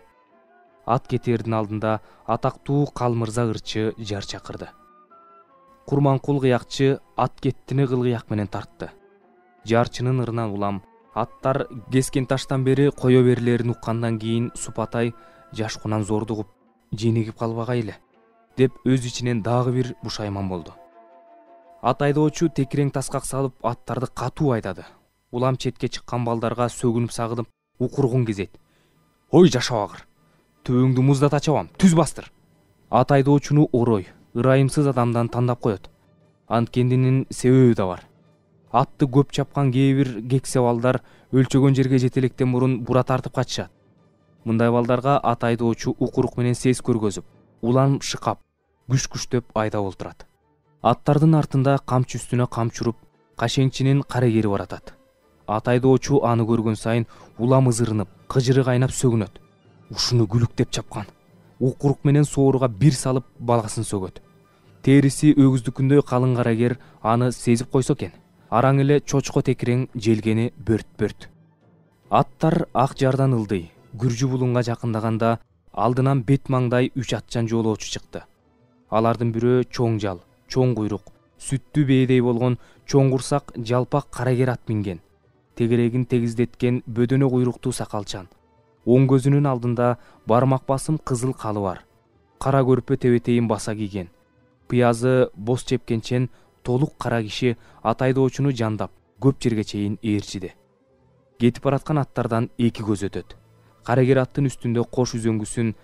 Ат кетээрдин алдында атактуу Калмырза ырчы жар чакырды. Курманкул кыякчы ат кеттини кылгыяк менен тартты. Жарчынын ырынан улам аттар кескен таштан бери кое берилерин уккандан кийин Супатай жаш кунан зордугуп, женигип калбагай эле деп өз ичинен дагы бир бушайман болду. Ат айдоочу текирең таскак салып аттарды катуу айдады. Улам четке чыккан балдарга сөгүнүп сагынып укургун кезет. Ой жашабагыр. Төбөңдү муздата чабам, түз бастыр. Ат айдоочуну орой, ырайымсыз адамдан тандап коет. Анткендинин себеби да бар. Атты көп чапкан кээ бир кексе балдар өлчөгөн жерге жетелектен мурун бура тартып качышат. Мындай балдарга ат айдоочу укурук менен сес көргөзүп, улам шыкап, күш-күштөп айдап олтурат. Аттардын артында камчы үстүнө камчы уруп, кашеңчинин карагери баратат. Ат айдоочу аны көргөн сайын улам ызырынып, кыжыры кайнап сөгүнөт. Ушуну күлүктеп чапкан. Укурук менен сооруга бир салып балгасын сөгөт. Териси өгүздүкүндөй калың карагер аны сезип койсо экен. Араң эле чочко текирең желгени бөрт-бөрт. Аттар ак жардан ылдый, Күржү булунга жакындаганда алдынан бет маңдай 3 атчан жолоочу чыкты. Алардын бирөө чоң жал, чоң куйрук, сүттүү бээдей болгон чоң курсак жалпак карагер ат минген. Тегерегин тегиздеткен бөдөнө куйруктуу сакалчан. Оң көзүнүн алдында бармак басым кызыл калы бар. Кара көрпө тебетейин баса кийген. Пыязы боз чепкенчен толук кара киши ат айдоочуну жандап, көп жерге чейин ээрчиди. Кетип бараткан аттардан 2 көз өтөт. Карагер аттын үстүндө кош үзөңгүсүн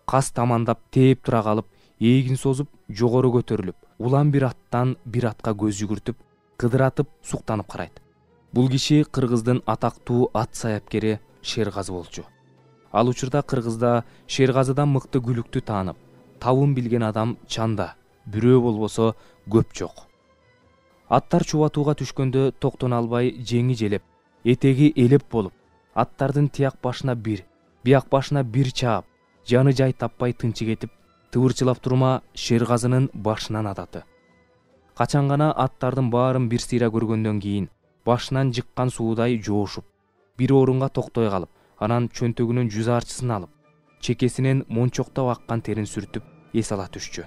кас тамандап тээп тура калып, эгин созуп, жогору көтөрүлүп, улам бир аттан бир атка көз жүгүртүп, кыдыратып, суктанып карайт. Бул киши Кыргыздын атактуу ат саяпкери Шергазы болчу. Ал учурда Кыргызда Шергазыдан мыкты күлүктү таанып, табын билген адам чанда, бирөө болбосо көп жок. Аттар чубатууга түшкөндө токтоно албай жеңи желеп, этеги элеп болуп, аттардын тияк башына бир, бияк башына бир чаап, жаны жай таппай тынчы кетип, тыбырчылап турма Шергазынын башынан ататы. Качан гана аттардын баарын бир сыйра көргөндөн кийин башынан жыккан суудай жоошуп, бир орунга токтой калып, анан чөнтөгүнүн жүз арчысын алып, чекесинен мончоктоп аккан терин сүртүп эс ала түшчү.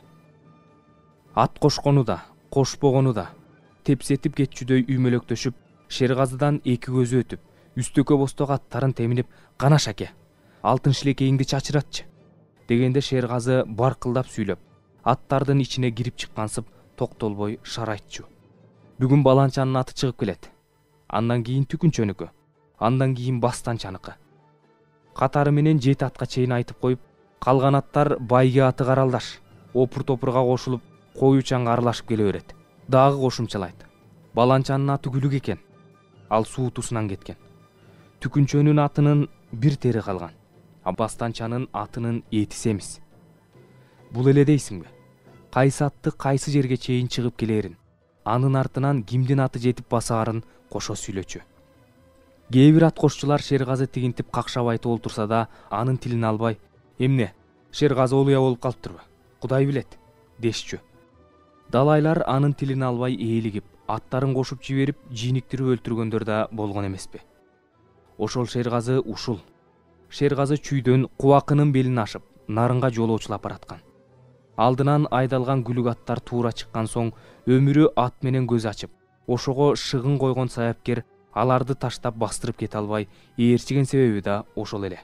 Ат кошкону да, кошпогону да, тепсетип кетчүдөй үймөлөктөшүп, Шергазыдан 2 көзү өтүп, үстөкө босток аттарын теминип, "Кана шаке, алтын шилекейиңди чачыратчы" дегенде Шергазы баркылдап сүйлөп, аттардын ичине кирип чыккансып токтолбой шарайтчу. Бүгүн баланчанын аты чыгып келет. Андан кийин түкүнчөнүкү, андан кийин бастанчаныкы. Катары менен 7 атка чейин айтып коюп, калган аттар байге аты каралдаш, опур-топурга кошулуп, коюучанга аралашып келе берет. Дагы кошумчалайт. Баланчанын аты Күлүк экен. Ал суутусунан кеткен. Түкүнчөнүн атынын бир тери калган. А бастанчанын атынын эти семиз. Бул эле дейсиңби? Кайсы атты кайсы жерге чейин чыгып келерин, анын артынан кимдин аты жетип басаарын кошо сүйлөчү. Кээ бир ат кошчулар Шергазы тигинтип какшап айтып олтурса да, анын тилин албай, "Эмне, Шергазы олуя болуп калыптырбы? Кудай билет" дешчү. Далайлар анын тилин албай ээлигип, аттарын кошуп жиберип, жийниктирип өлтүргөндөр да болгон эмеспи. Ошол Шергазы ушул. Шергазы чүйдөн кубакынын белин ашып, нарынга жолоочулап бараткан. Алдынан айдалган күлүк аттар туура чыккан соң, өмүрү ат менен көз ачып, ошого шыгын койгон саяпкер аларды таштап бастырып кете албай ээрчиген себеби да ошол эле.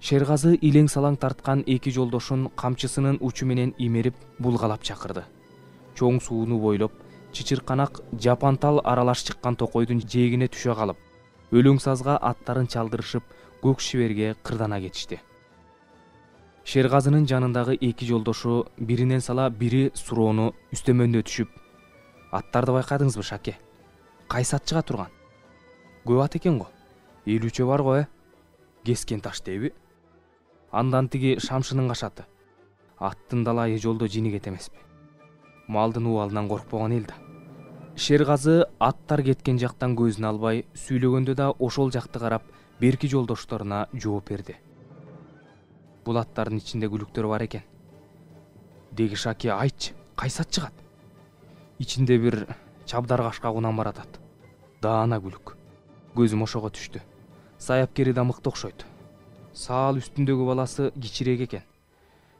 Шергазы илең салаң тарткан эки жолдошун камчысынын учу менен имерип булгалап чакырды. Чоң сууну бойлоп, чычырканак жапантал аралаш чыккан токойдун жээгине түшө калып, өлөң сазга аттарын чалдырышып, көк шиберге кырдана кетишти. Шергазынын жанындагы эки жолдошу биринен сала бири суроону үстөмөндө түшүп: "Аттарды байкадыңызбы, Шаке? Кайсы ат чыга турган?" "Көп ат экен го. 50чө бар го, Кескен таш дейби?" Андан тиги Шамшынын кашаты. Аттын далайы жолдо жинигет эмеспи? Малдын убалынан коркпогон эл да. Шергазы аттар кеткен жактан көзүн албай, сүйлөгөндө да ошол жакты карап, берки жолдошторуна жооп берди: "Бул аттардын ичинде күлүктөр бар экен. Деги Шаке, айтчы, кайсы ат чыгат?" "Ичинде бир чабдар кашка кунан баратат. Даана күлүк." Көзүм ошого түштү. Саяпкери да мыкты окшойт. Саал үстүндөгү баласы кичирээк экен.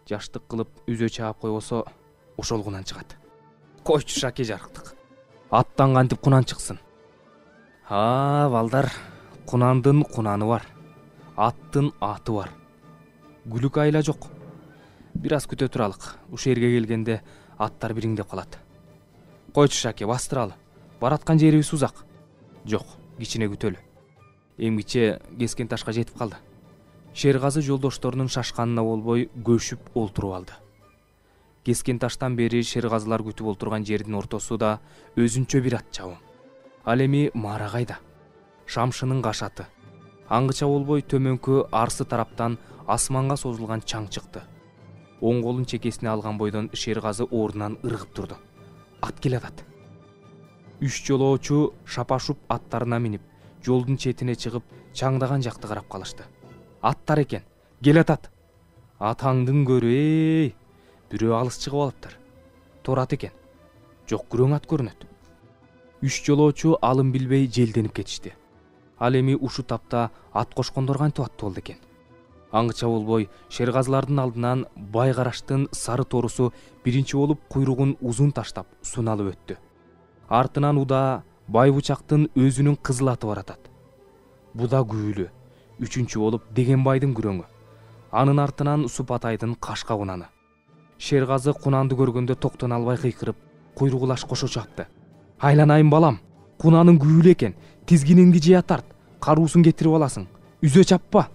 Жаштык кылып үзө чаап койбосо, ошол кунан чыгат. Койчу Шаке, жарыктык. Аттан кантип кунан чыксын? Балдар, кунандын кунаны бар, аттын аты бар. Күлүк айла жок. Бир аз күтө туралык. Ушул жерге келгенде аттар бириңдеп калат. Койчу Шаке, бастыралы. Бараткан жерибиз узак. Жок, кичине күтөлү. Эмгиче Кескен ташка жетип калды. Шергазы жолдошторунун шашканына болбой көшүп олтуруп алды. Кескен таштан бери Шергазылар күтүп олтурган жердин ортосу да өзүнчө бир ат чабым. Ал эми Марагайда, Шамшынын кашаты. Аңгыча болбой төмөнкү арсы тараптан асманга созулган чаң чыкты. Оң колун чекесине алган бойдон Шергазы ордунан ыргып турду. Ат келатат. 3 жолоочу шапашып аттарына минип, жолдун четине чыгып, чаңдаган жакты карап калышты. Аттар экен, келатат. Атаңдын көрү, бирөө алыс чыгып алыптыр. Торат экен. Жок, күрөң ат көрүнөт. 3 жолоочу алым билбей желденип кетишти. Ал эми ушу тапта ат кошкондор кантип аттуу болду экен? Аңгыча болбой Шергазылардын алдынан Байгараштын сары торусу биринчи болуп куйругун узун таштап суналып өттү. Артынан Уда Байбучактын өзүнүн кызыл аты баратат. Буда Күйлү, 3-чү болуп Дегенбайдын күрөңү. Анын артынан Супатайдын кашка кунаны. Шергазы кунанды көргөндө токтоно албай кыйкырып, куйругулаш кошо чапты. "Айланайын балам, кунаның Күйлү экен, тизгиниңди жыя тарт, каруусун кетирип аласың, үзө чаппа."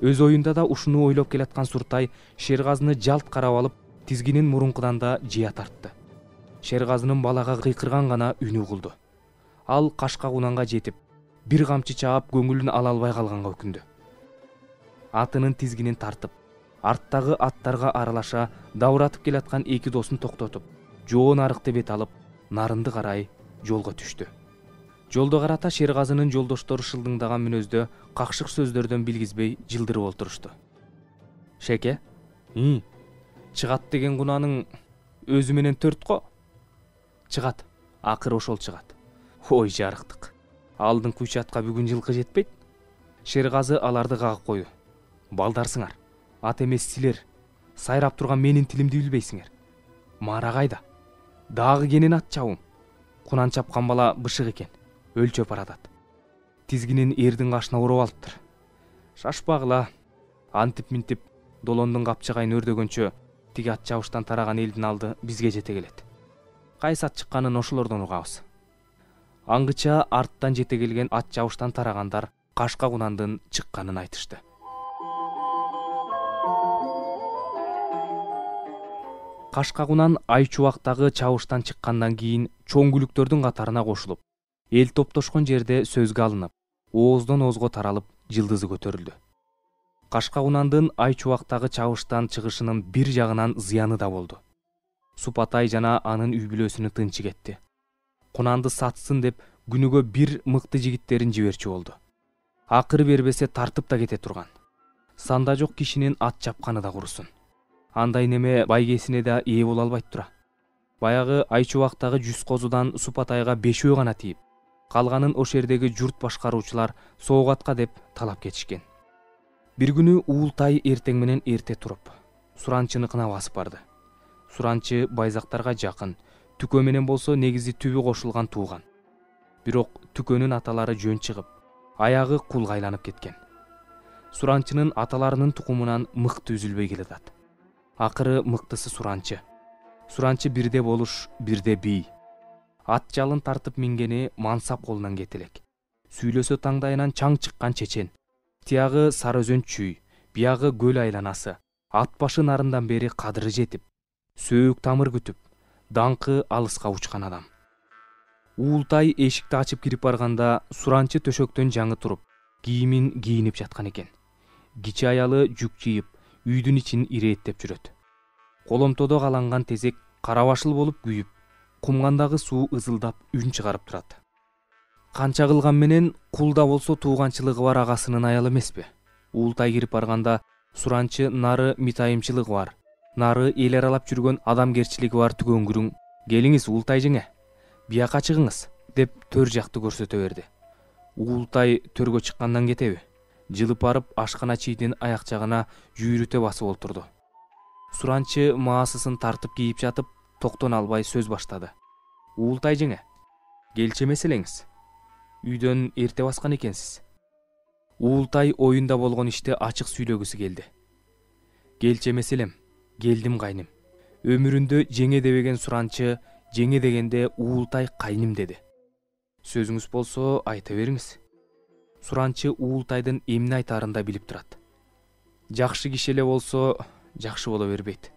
Өз оюнда да ушуну ойлоп келаткан Суртай Шергазыны жалт карап алып, тизгинин мурункудан да жыя тартты. Шергазынын балага кыйкырган гана үнү угулду. Ал кашка кунанга жетип, бир камчы чаап көңүлүн ала албай калганга өкүндү. Атынын тизгинин тартып, арттагы аттарга аралаша дабыратып келаткан эки досун токтотуп, жоон арыкты бет алып, нарынды карай жолго түштү. Жолдо карата Шергазынын жолдоштору шылдыңдаган мүнөздө какшык сөздөрдөн билгизбей жылдырып олтурушту. "Шеке, чыгат деген кунаның өзү менен 4 го?" "Чыгат, акыры ошол чыгат." "Ой, жарыктык. Алдыңкы 3 атка бүгүн жылкы жетпейт?" Шергазы аларды кагып койду. "Балдарсыңар, ат эмес силер. Сайрап турган менин тилимди билбейсиңер. Марагайда. Дагы кенен ат чабым. Кунан чапкан бала бышык экен, өлчөп баратат. Тизгинин эрдин кашына уруп алыптыр. Шашпагыла. Антип-минтип долондун капчыгайын өрдөгөнчө тиги ат чабыштан тараган элдин алды бизге жете келет. Кайсы ат чыкканын ошолордон угабыз." Аңгыча арттан жете келген ат чабыштан тарагандар кашка кунандын чыкканын айтышты. Кашка кунан Айчубактагы чабыштан чыккандан кийин чоң күлүктөрдүн катарына кошулуп, эл топтошкон жерде сөзгө алынып, ооздон оозго таралып, жылдызы көтөрүлдү. Кашка кунандын Айчубактагы чабыштан чыгышынын бир жагынан зыяны да болду. Супатай жана анын үй бүлөсүнүн тынчы кетти. Кунанды сатсын деп күнүгө бир мыкты жигиттерин жиберчү болду. Акыры бербесе тартып да кете турган. Санда жок кишинин ат чапканы да курусун. Андай неме байгесине да ээ боло албайт тура. Баягы Айчубактагы 100 козудан Супатайга 5 гана тийип, калганын ошол жердеги журт башкаруучулар соогатка деп талап кетишкен. Бир күнү Уултай эртең менен эрте туруп, Суранчыныкына басып барды. Суранчы байзактарга жакын, Түкө менен болсо негизи түбү кошулган тууган. Бирок Түкөнүн аталары жөн чыгып, аягы кулга айланып кеткен. Суранчынын аталарынын тукумунан мыкты үзүлбөй келатат. Акыры мыктысы суранчы. Суранчы бирде болуш, бирде бий. Ат жалын тартып мингени мансап колунан кетелек. Сүйлөсө таңдайынан чаң чыккан чечен. Тиягы Сары Өзөн чүй, биягы көл айланасы. Ат башы нарындан бери кадыры жетип, сөөк тамыр күтүп, даңкы алыска учкан адам. Уултай эшикти ачып кирип барганда суранчы төшөктөн жаңы туруп, кийимин кийинип жаткан экен. Кичи аялы жүк жыйып, үйдүн ичин ирээттеп жүрөт. Коломтодо каланган тезек карабашыл болуп күйүп, кумгандагы суу ызылдап үн чыгарып турат. Канча кылган менен кул да болсо тууганчылыгы бар агасынын аялы эмеспи? Уултай кирип барганда суранчы нары митайымчылыгы бар, нары эл аралап жүргөн адамгерчилиги бар түгөңгүрүң «Келиңиз Уултай жеңе, бияка чыгыңыз» деп төр жакты көрсөтө берди. Уултай төргө чыккандан кетеби? Жылып барып ашкана чийдин аяк жагына жүйрүтө басып олтурду. Суранчы маасысын тартып кийип жатып, токтон албай сөз баштады. «Уултай жеңе, келчи эмес элеңиз? Үйдөн эрте баскан экенсиз». Уултай оюнда болгон ишти ачык сүйлөгүсү келди. «Келчи эмес элем, келдим кайным». Өмүрүндө жеңе дебеген суранчы жеңе дегенде Уултай кайным деди. «Сөзүңүз болсо айта бериңиз». Суранчы Уултайдын эмне айтаарын да билип турат. Жакшы киши эле болсо жакшы боло бербейт.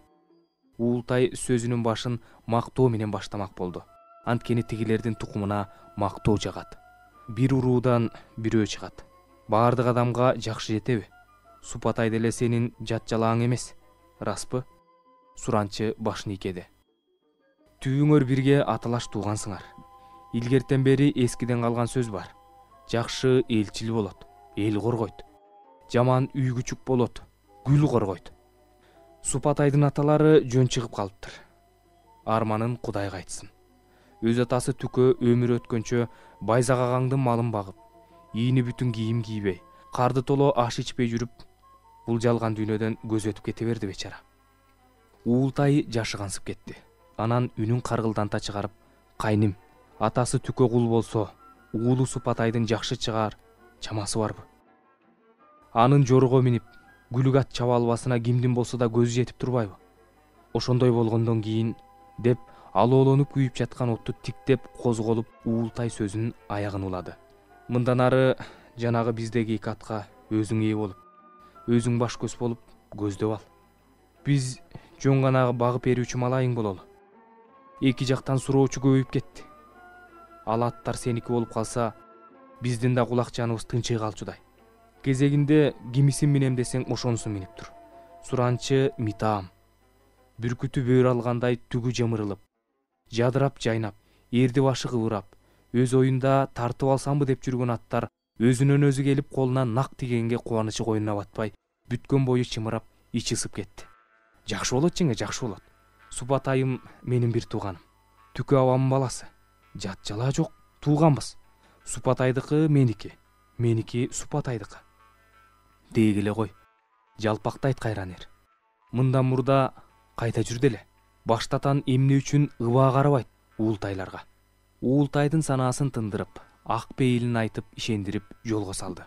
Уултай сөзүнүн башын мактоо менен баштамак болду. Анткени тигилердин тукумуна мактоо жагат. Бир уруудан бирөө чыгат. Баардык адамга жакшы жетеби? Супатай деле сенин жат жалааң эмес, распы? Суранчы башын ийкеди. Түбүңөр бирге аталаш туугансыңар. Илгертен бери эскиден калган сөз бар. Жакшы элчил болот, эл коргойт. Жаман үй күчүк болот, гүл коргойт. Супатайдын аталары жөн чыгып калыптыр. Арманын Кудайга айтсын. Өз атасы Түкө өмүрү өткөнчө Байзак малын багып, ийини бүтүн кийим кийбей, карды толо аш ичпей жүрүп, бул жалган дүйнөдөн көз өтүп кете берди бечара. Уултай жашыгансып кетти. Анан үнүн каргылданта чыгарып, «Кайным, атасы Түкө кул болсо, уулу Супатайдын жакшы чыгаар чамасы барбы? Анын жорго минип, күлүк ат чаба албасына кимдин болсо да көзү жетип турбайбы? Ошондой болгондон кийин» деп алоолонуп күйүп жаткан отту тиктеп козголуп Уултай сөзүнүн аягын улады. «Мындан ары жанагы биздеги 2 атка өзүң ээ болуп, өзүң баш көз болуп көздөп ал. Биз жөн гана багып берүүчү малайың бололу. Эки жактан суроочу көбөйүп кетти. Ал аттар сеники болуп калса, биздин да кулак жаныбыз тынчый калчудай. Кезегинде кимисин минем десең ошонусун минип тур». Суранчы митаам. Бүркүтү бөөр алгандай түгү жымырылып, жадырап жайнап, эрди башы кыбырап, өз оюнда тартып алсамбы деп жүргөн аттар өзүнөн өзү келип колуна нак тигенге кубанычы койнуна батпай, бүткөн бою чымырап, ичи ысып кетти. «Жакшы болот жеңе, жакшы болот. Супатайым менин бир тууганым. Түкө абамдын баласы. Жат жалаа жок, тууганбыз. Супатайдыкы меники, меники Супатайдыкы. Дегиле кой. Жалпактайт кайранер. Мындан мурда кайта жүр деле. Баштатан эмне үчүн ыбаа карабайт Уултайларга». Уултайдын санаасын тындырып, ак пейилин айтып ишендирип жолго салды.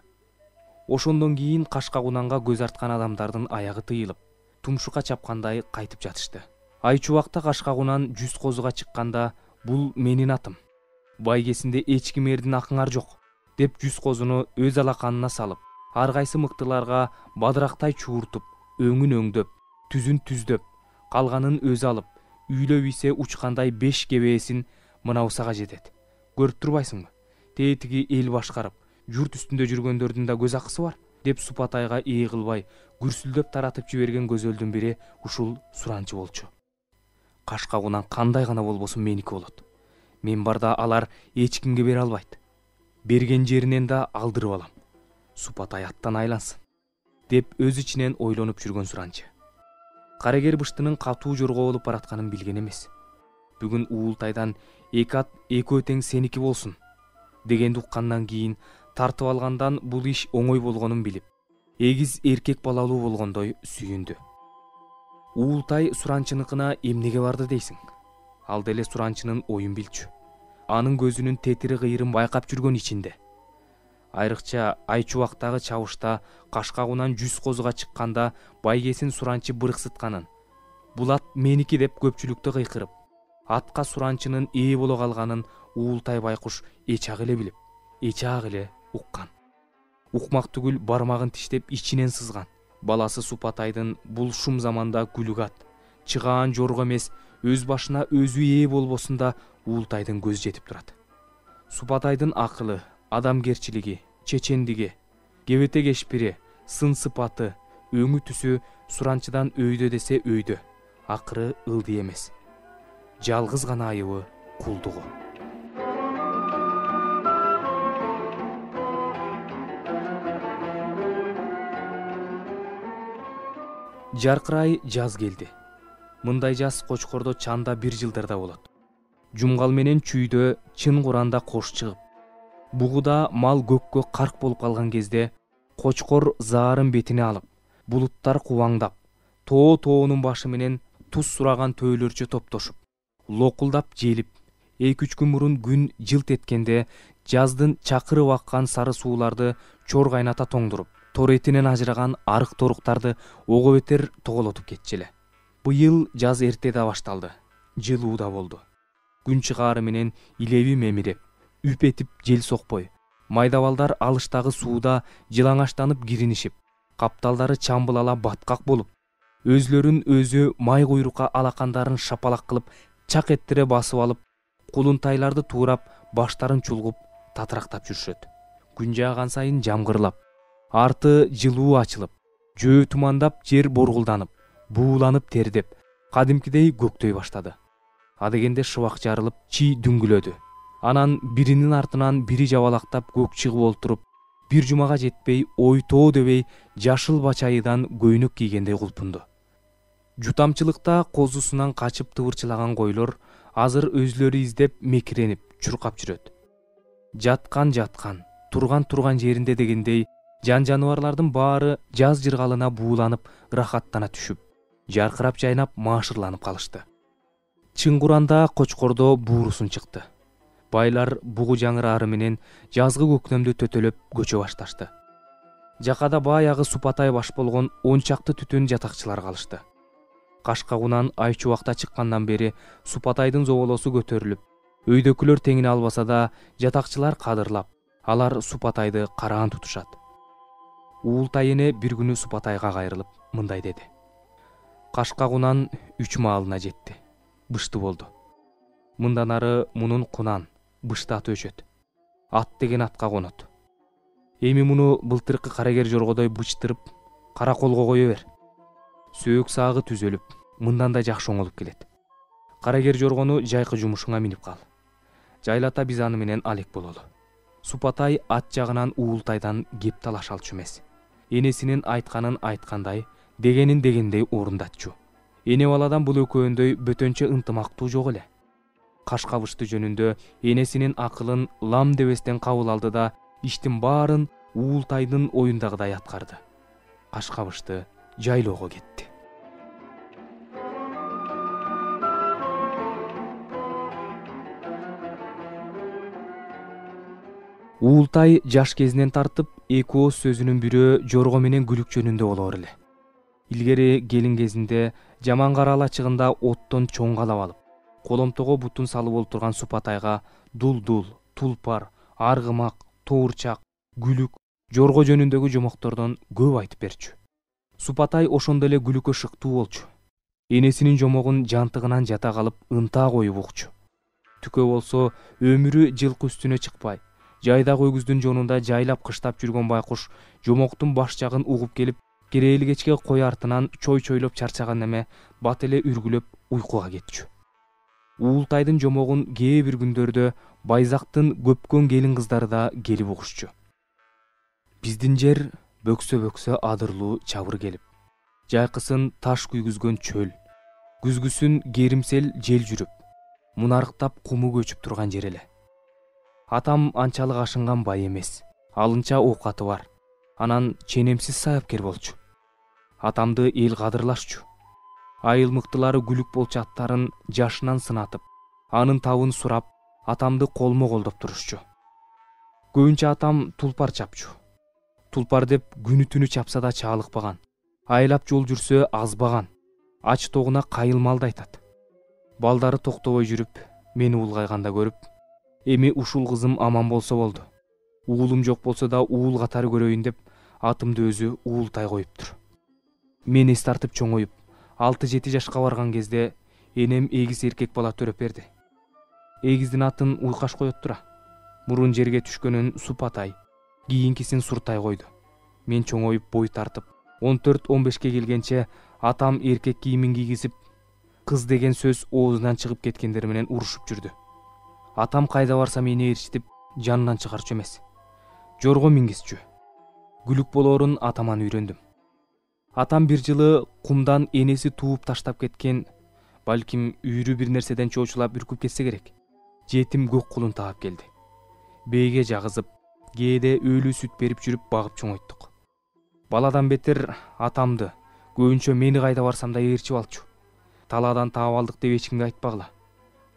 Ошондон кийин Кашка Кунанга көз арткан адамдардын аягы тыйылып, тумшукка чапкандай кайтып жатышты. Айчубакта Кашка Кунан 100 козуга чыкканда «Бул менин атым. Байгесинде эч кимердин акыңар жок» деп 100 козуну өз алаканына салып, ар кайсы мыктыларга бадырактай чууртуп, өңүн өңдөп, түзүн түздөп, калганын өзү алып, үйлөп ийсе учкандай 5 кебээсин мынаусага жетет. Көрүп турбайсыңбы? Тетиги эл башкарып, журт үстүндө жүргөндөрдүн да көз акысы бар деп Супатайга ээ кылбай, гүрсүлдөп таратып жиберген көзөлдүн бири ушул суранчы болчу. Кашка Кунан кандай гана болбосун меники болот. Мен барда алар эч кимге бере албайт. Берген жеринен да алдырып алам. Супатай аттан айлансын деп өз ичинен ойлонуп жүргөн суранчы. Карагер быштынын катуу жорго болуп баратканын билген эмес. Бүгүн Уултайдан 2 ат 2 тең сеники болсун дегенди уккандан кийин тартып алгандан бул иш оңой болгонун билип, эгиз эркек балалуу болгондой сүйүндү. Уултай суранчыныкына эмнеге барды дейсиң? Ал деле суранчынын оюн билчү. Анын көзүнүн тетири кыйырын байкап жүргөн ичинде. Айрыкча Айчубактагы чабышта Кашкагунан 100 козуга чыкканда байгесин суранчы бырыксытканын, бул ат меники деп көпчүлүктө кыйкырып, атка суранчынын ээ боло калганын Уултай байкуш эчак эле билип, эчак эле уккан. Укмак түгүл бармагын тиштеп ичинен сызган. Баласы Супатайдын бул шум заманда күлүк ат, чыгаан жорго эмес, өз башына өзү ээ болбосун да Уултайдын көзү жетип турат. Супатайдын акылы, адамгерчилиги, чечендиги, кебете кешпири, сын сыпаты, өңү түсү суранчыдан өйдө десе өйдө, акыры ылдый эмес. Жалгыз гана айыбы кулдугу. Жаркырай жаз келди. Мындай жаз Кочкордо чанда 1 жылдарда болот. Жумгал менен чүйдө чын куранда кош чыгып, бугуда мал көккө карк болуп калган кезде Кочкор заарын бетине алып, булуттар кубаңдап, тоонун башы менен туз сураган төөлөрчө топтошуп, локулдап желип, 2-3 күн мурун күн жылт эткенде жаздын чакырып аккан сары сууларды чор кайната тоңдуруп, тор этинен ажыраган арык торуктарды ого бетер тоголотуп кетчү эле. Быйыл жаз эртеде башталды. Жылуу да болду. Күн чыгаары менен илеби мемиреп, үп этип жел сокпой, майда балдар алыштагы сууда жылаңачтанып киринишип, капталдары чамбылала баткак болуп, өзлөрүн өзү май куйрукка алакандарын шапалак кылып, чак эттире басып алып, кулунтайларды туурап, баштарын чулгуп, татырактап жүрүшөт. Күн жааган сайын жамгырлап, арты жылуу ачылып, жөө тумандап, жер боргулданып, бууланып тердеп, кадимкидей көктөй баштады. Адегенде шыбак жарылып, чий дүңгүлөдү. Анан биринин артынан бири жабалактап көк чыгып олтуруп, бир жумага жетпей, ойтоо дебей, жашыл бачайыдан көйнөк кийгендей кулпунду. Жутамчылыкта козусунан качып тыбырчылаган койлор азыр өзлөрү издеп мекиренип, чуркап жүрөт. Жаткан, турган жеринде дегендей, жан-жаныбарлардын баары жаз жыргалына бууланып, ырахаттана түшүп, жаркырап жайнап, маашырланып калышты. Чын куранда Кочкордо буурусун чыкты. Байлар бугу жаңырары менен жазгы көктөмдү төтөлөп көчө башташты. Жакада баягы Супатай баш болгон 10 чакты түтүн жатакчылар калышты. Кашкагунан Айчубакта чыккандан бери Супатайдын зоболосу көтөрүлүп, өйдөкүлөр теңине албаса да, жатакчылар кадырлап, алар Супатайды караан тутушат. Уултай эне бир күнү Супатайга кайрылып мындай деди: Кашкагунан 3 маалына жетти. Бышты болду. Мындан ары мунун кунан, бышты аты өчөт. Ат деген атка конот. Эми муну былтыркы карагер жоргодой бычтырып, кара колго кое бер. Сөөк сагы түзөлүп, мындан да жакшы оңолуп келет. Карагер жоргону жайкы жумушуңа минип кал. Жайлата биз аны менен алек бололу. Супатай ат жагынан Уултайдан кеп талашалчу эмес. Энесинин айтканын айткандай, дегенин дегендей орундатчу. Эне баладан бул экөөөндөй бөтөнчө ынтымактуу жок эле. Кашкабышты жөнүндө энесинин акылын лам дебестен кабыл алды да, иштин баарын Уултайдын оюндагыдай аткарды. Кашкабышты жайлоого кетти. Уултай жаш кезинен тартып, эки ооз сөзүнүн бирөө жорго менен күлүк жөнүндө болоор эле. Илгери келин кезинде жаман караала чыгында оттон чоң калап алып, коломтого бутун салып олтурган Супатайга дулдул, тулпар, аргымак, тоорчак, күлүк, жорго жөнүндөгү жомоктордон көп айтып берчү. Супатай ошондо эле күлүккө шыктуу болчу. Энесинин жомогун жантыгынан жата калып, ынта коюп укчу. Түкө болсо өмүрү жылкы үстүнө чыкпай, жайдагы өгүздүн жонунда жайлап кыштап жүргөн байкуш жомоктун баш жагын угуп келип, керээли кечке кой артынан чой-чойлоп чарчаган эме бат эле үргүлөп уйкуга кетчү. Уултайдын жомогун кээ бир күндөрдө Байзактын көпкөн келин кыздары да келип угушчу. Биздин жер бөксө адырлуу чабыр келип, жайкысын таш күйгүзгөн чөл, күзгүсүн керимсел жел жүрүп, мунарыктап куму көчүп турган жер эле. Атам анчалык ашынган бай эмес, алынча оокаты бар. Анан ченемсиз саяпкер болчу. Атамды эл кадырлашчу. Айыл мыктылары күлүк болчу аттарын жашынан сынатып, анын табын сурап, атамды колмо колдоп турушчу. Көбүнчө атам тулпар чапчу. Тулпар деп күнү түнү чапса да чаалыкпаган, айлап жол жүрсө азбаган, ач тогуна кайылмалды айтат. Балдары токтобой жүрүп, мени улгайганда көрүп, эми ушул кызым аман болсо болду. Уулум жок болсо да уул катары көрөйүн деп атымды өзү Уултай коюптур. Мен эс тартып чоңоюп, 6-7 жашка барган кезде энем эгиз эркек бала төрөп берди. Эгиздин атын Уйкаш коет тура. Мурун жерге түшкөнүн Супатай, кийинкисин Суртай койду. Мен чоңоюп бой тартып, 14-15 келгенче атам эркек кийимин кийгизип, кыз деген сөз оозунан чыгып кеткендер менен урушуп жүрдү. Атам кайда барса мени ээрчитип, жанынан чыгарчу эмес. Жорго мингизчү. Күлүк болоорун атаман үйрөндүм. Атам бир жылы кумдан энеси тууп таштап кеткен, балким үйрү бир нерседен чоочулап үркүп кетсе керек, жетим көк кулун таап келди. Бээге жагызып, кээде өлүү сүт берип жүрүп багып чоңойттук. Баладан бетер атамды, көбүнчө мени кайда барсам да ээрчип алчу. Талаадан таап алдык деп эч кимге айтпагыла.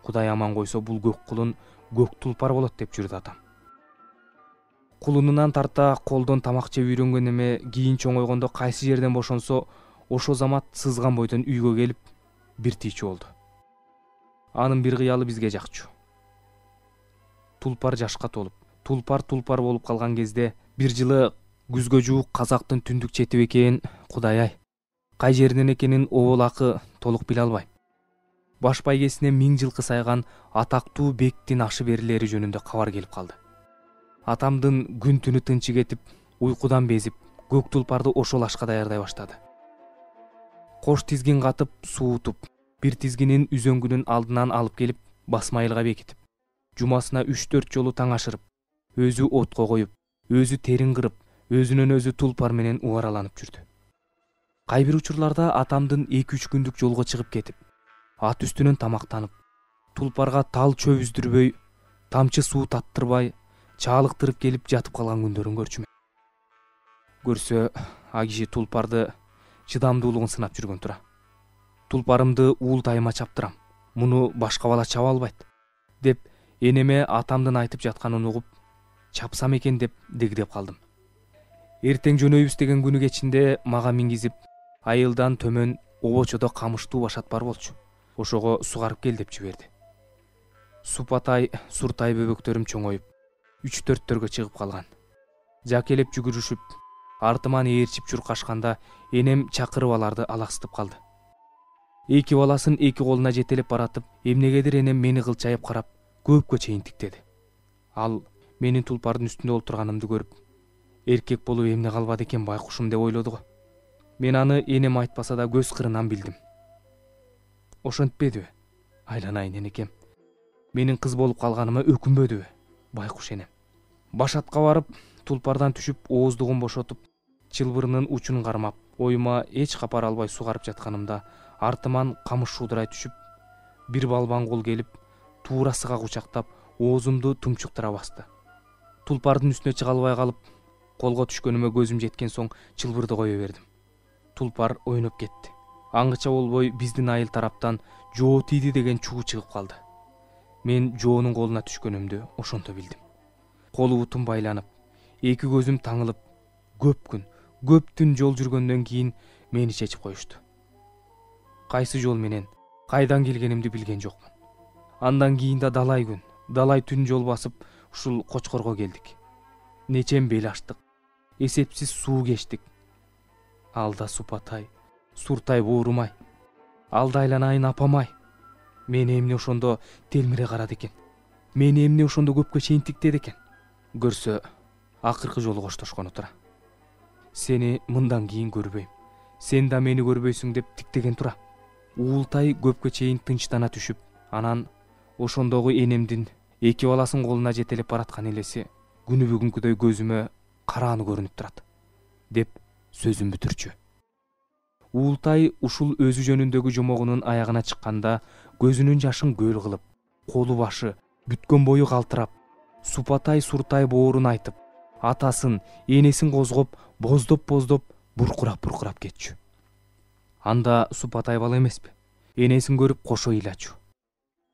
Кудай аман койсо бул көк кулун көк тулпар болот деп жүрдү атам. Кулунунан тарта колдон тамак жеп үйрөнгөн эме кийин чоңойгондо кайсы жерден бошонсо, ошо замат сызган бойдон үйгө келип бир тийчү болду. Анын бир кыялы бизге жакчу. Тулпар жашка толуп, тулпар болуп калган кезде бир жылы күзгө жуук казактын түндүк чети бекен, Кудай-ай, кай жеринен экенин оболакы толук биле албайм. Баш байгесине 1000 жылкы сайган атактуу бектин ашы берилери жөнүндө кабар келип калды. Атамдын күн түнү тынчы кетип, уйкудан безип, көк тулпарды ошол ашка даярдай баштады. Кош тизгин катып, суутуп, бир тизгинин үзөңгүнүн алдынан алып келип, басмайылга бекитип, жумасына 3-4 жолу таң ашырып, өзү отко коюп, өзү терин кырып, өзүнөн өзү тулпар менен убараланып жүрдү. Кай бир учурларда атамдын 2-3 күндүк жолго чыгып кетип, ат үстүнөн тамактанып, тулпарга тал чөп үздүрбөй, тамчы суу таттырбай, чаалыктырып келип жатып калган күндөрүн көрчүмүн. Көрсө, а киши тулпарды чыдамдуулугун сынап жүргөн тура. Тулпарымды Уултайыма чаптырам, муну башка бала чаба албайт, деп энеме атамдын айтып жатканын угуп, чапсам экен деп дегдеп калдым. Эртең жөнөйбүз деген күнү кечинде мага мингизип, айылдан төмөн обочодо камыштуу башат бар болчу. Ошого сугарып кел деп жиберди. Супатай, Суртай бөбөктөрүм чоңоюп, 3-4-төргө чыгып калган. Жакелеп жүгүрүшүп, артыман ээрчип чуркашканда энем чакырып аларды алаксытып калды. Эки баласын эки колуна жетелеп баратып, эмнегедир энем мени кылчайып карап, көпкө чейин тиктеди. Ал менин тулпардын үстүндө олтурганымды көрүп, эркек болуп эмне калбады экен байкушум деп ойлоду го. Мен аны энем айтпаса да көз кырынан билдим. Ошентпедиби? Айланайын энекем. Менин кыз болуп калганыма өкүнбөдүбү? Байкуш энем. Башатка барып, тулпардан түшүп, ооздугун бошотуп, чылбырынын учун кармап, оюма эч капар албай сугарып жатканымда, артыман камыш шуудурай түшүп, бир балбан кол келип, туурасыга кучактап, оозумду тумчуктура басты. Тулпардын үстүнө чыга албай калып, колго түшкөнүмө көзүм жеткен соң чылбырды кое бердим. Тулпар ойноп кетти. Аңгыча болбой биздин айыл тараптан жоо тийди деген чуу чыгып калды. Мен жоонун колуна түшкөнүмдү ошондо билдим. Колу бутум байланып, эки көзүм таңылып, көп түн жол жүргөндөн кийин мени чечип коюшту. Кайсы жол менен, кайдан келгенимди билген жокмун. Андан кийин да далай күн, далай түн жол басып, ушул Кочкорго келдик. Нечен бел аштык, эсепсиз суу кечтик. Алда Супатай, Суртай боорумай, алда айланайын апамай. Мени эмне ошондо телмире карады экен? Мени эмне ошондо көпкө чейин тиктеди экен? Көрсө, акыркы жолу коштошкону тура. Сени мындан кийин көрбөйм, сен да мени көрбөйсүң деп тиктеген тура. Уултай көпкө чейин тынчтана түшүп, анан ошондогу энемдин эки баласын колуна жетелеп бараткан элеси күнү бүгүнкүдөй көзүмө карааны көрүнүп турат, деп сөзүн бүтүрчү. Уултай ушул өзү жөнүндөгү жомогунун аягына чыкканда көзүнүн жашын көл кылып, колу башы бүткөн бою калтырап, Супатай Суртай боорун айтып, атасын, энесин козгоп, боздоп буркурап кетчү. Анда Супатай бала эмеспи? Энесин көрүп кошо ыйлачу.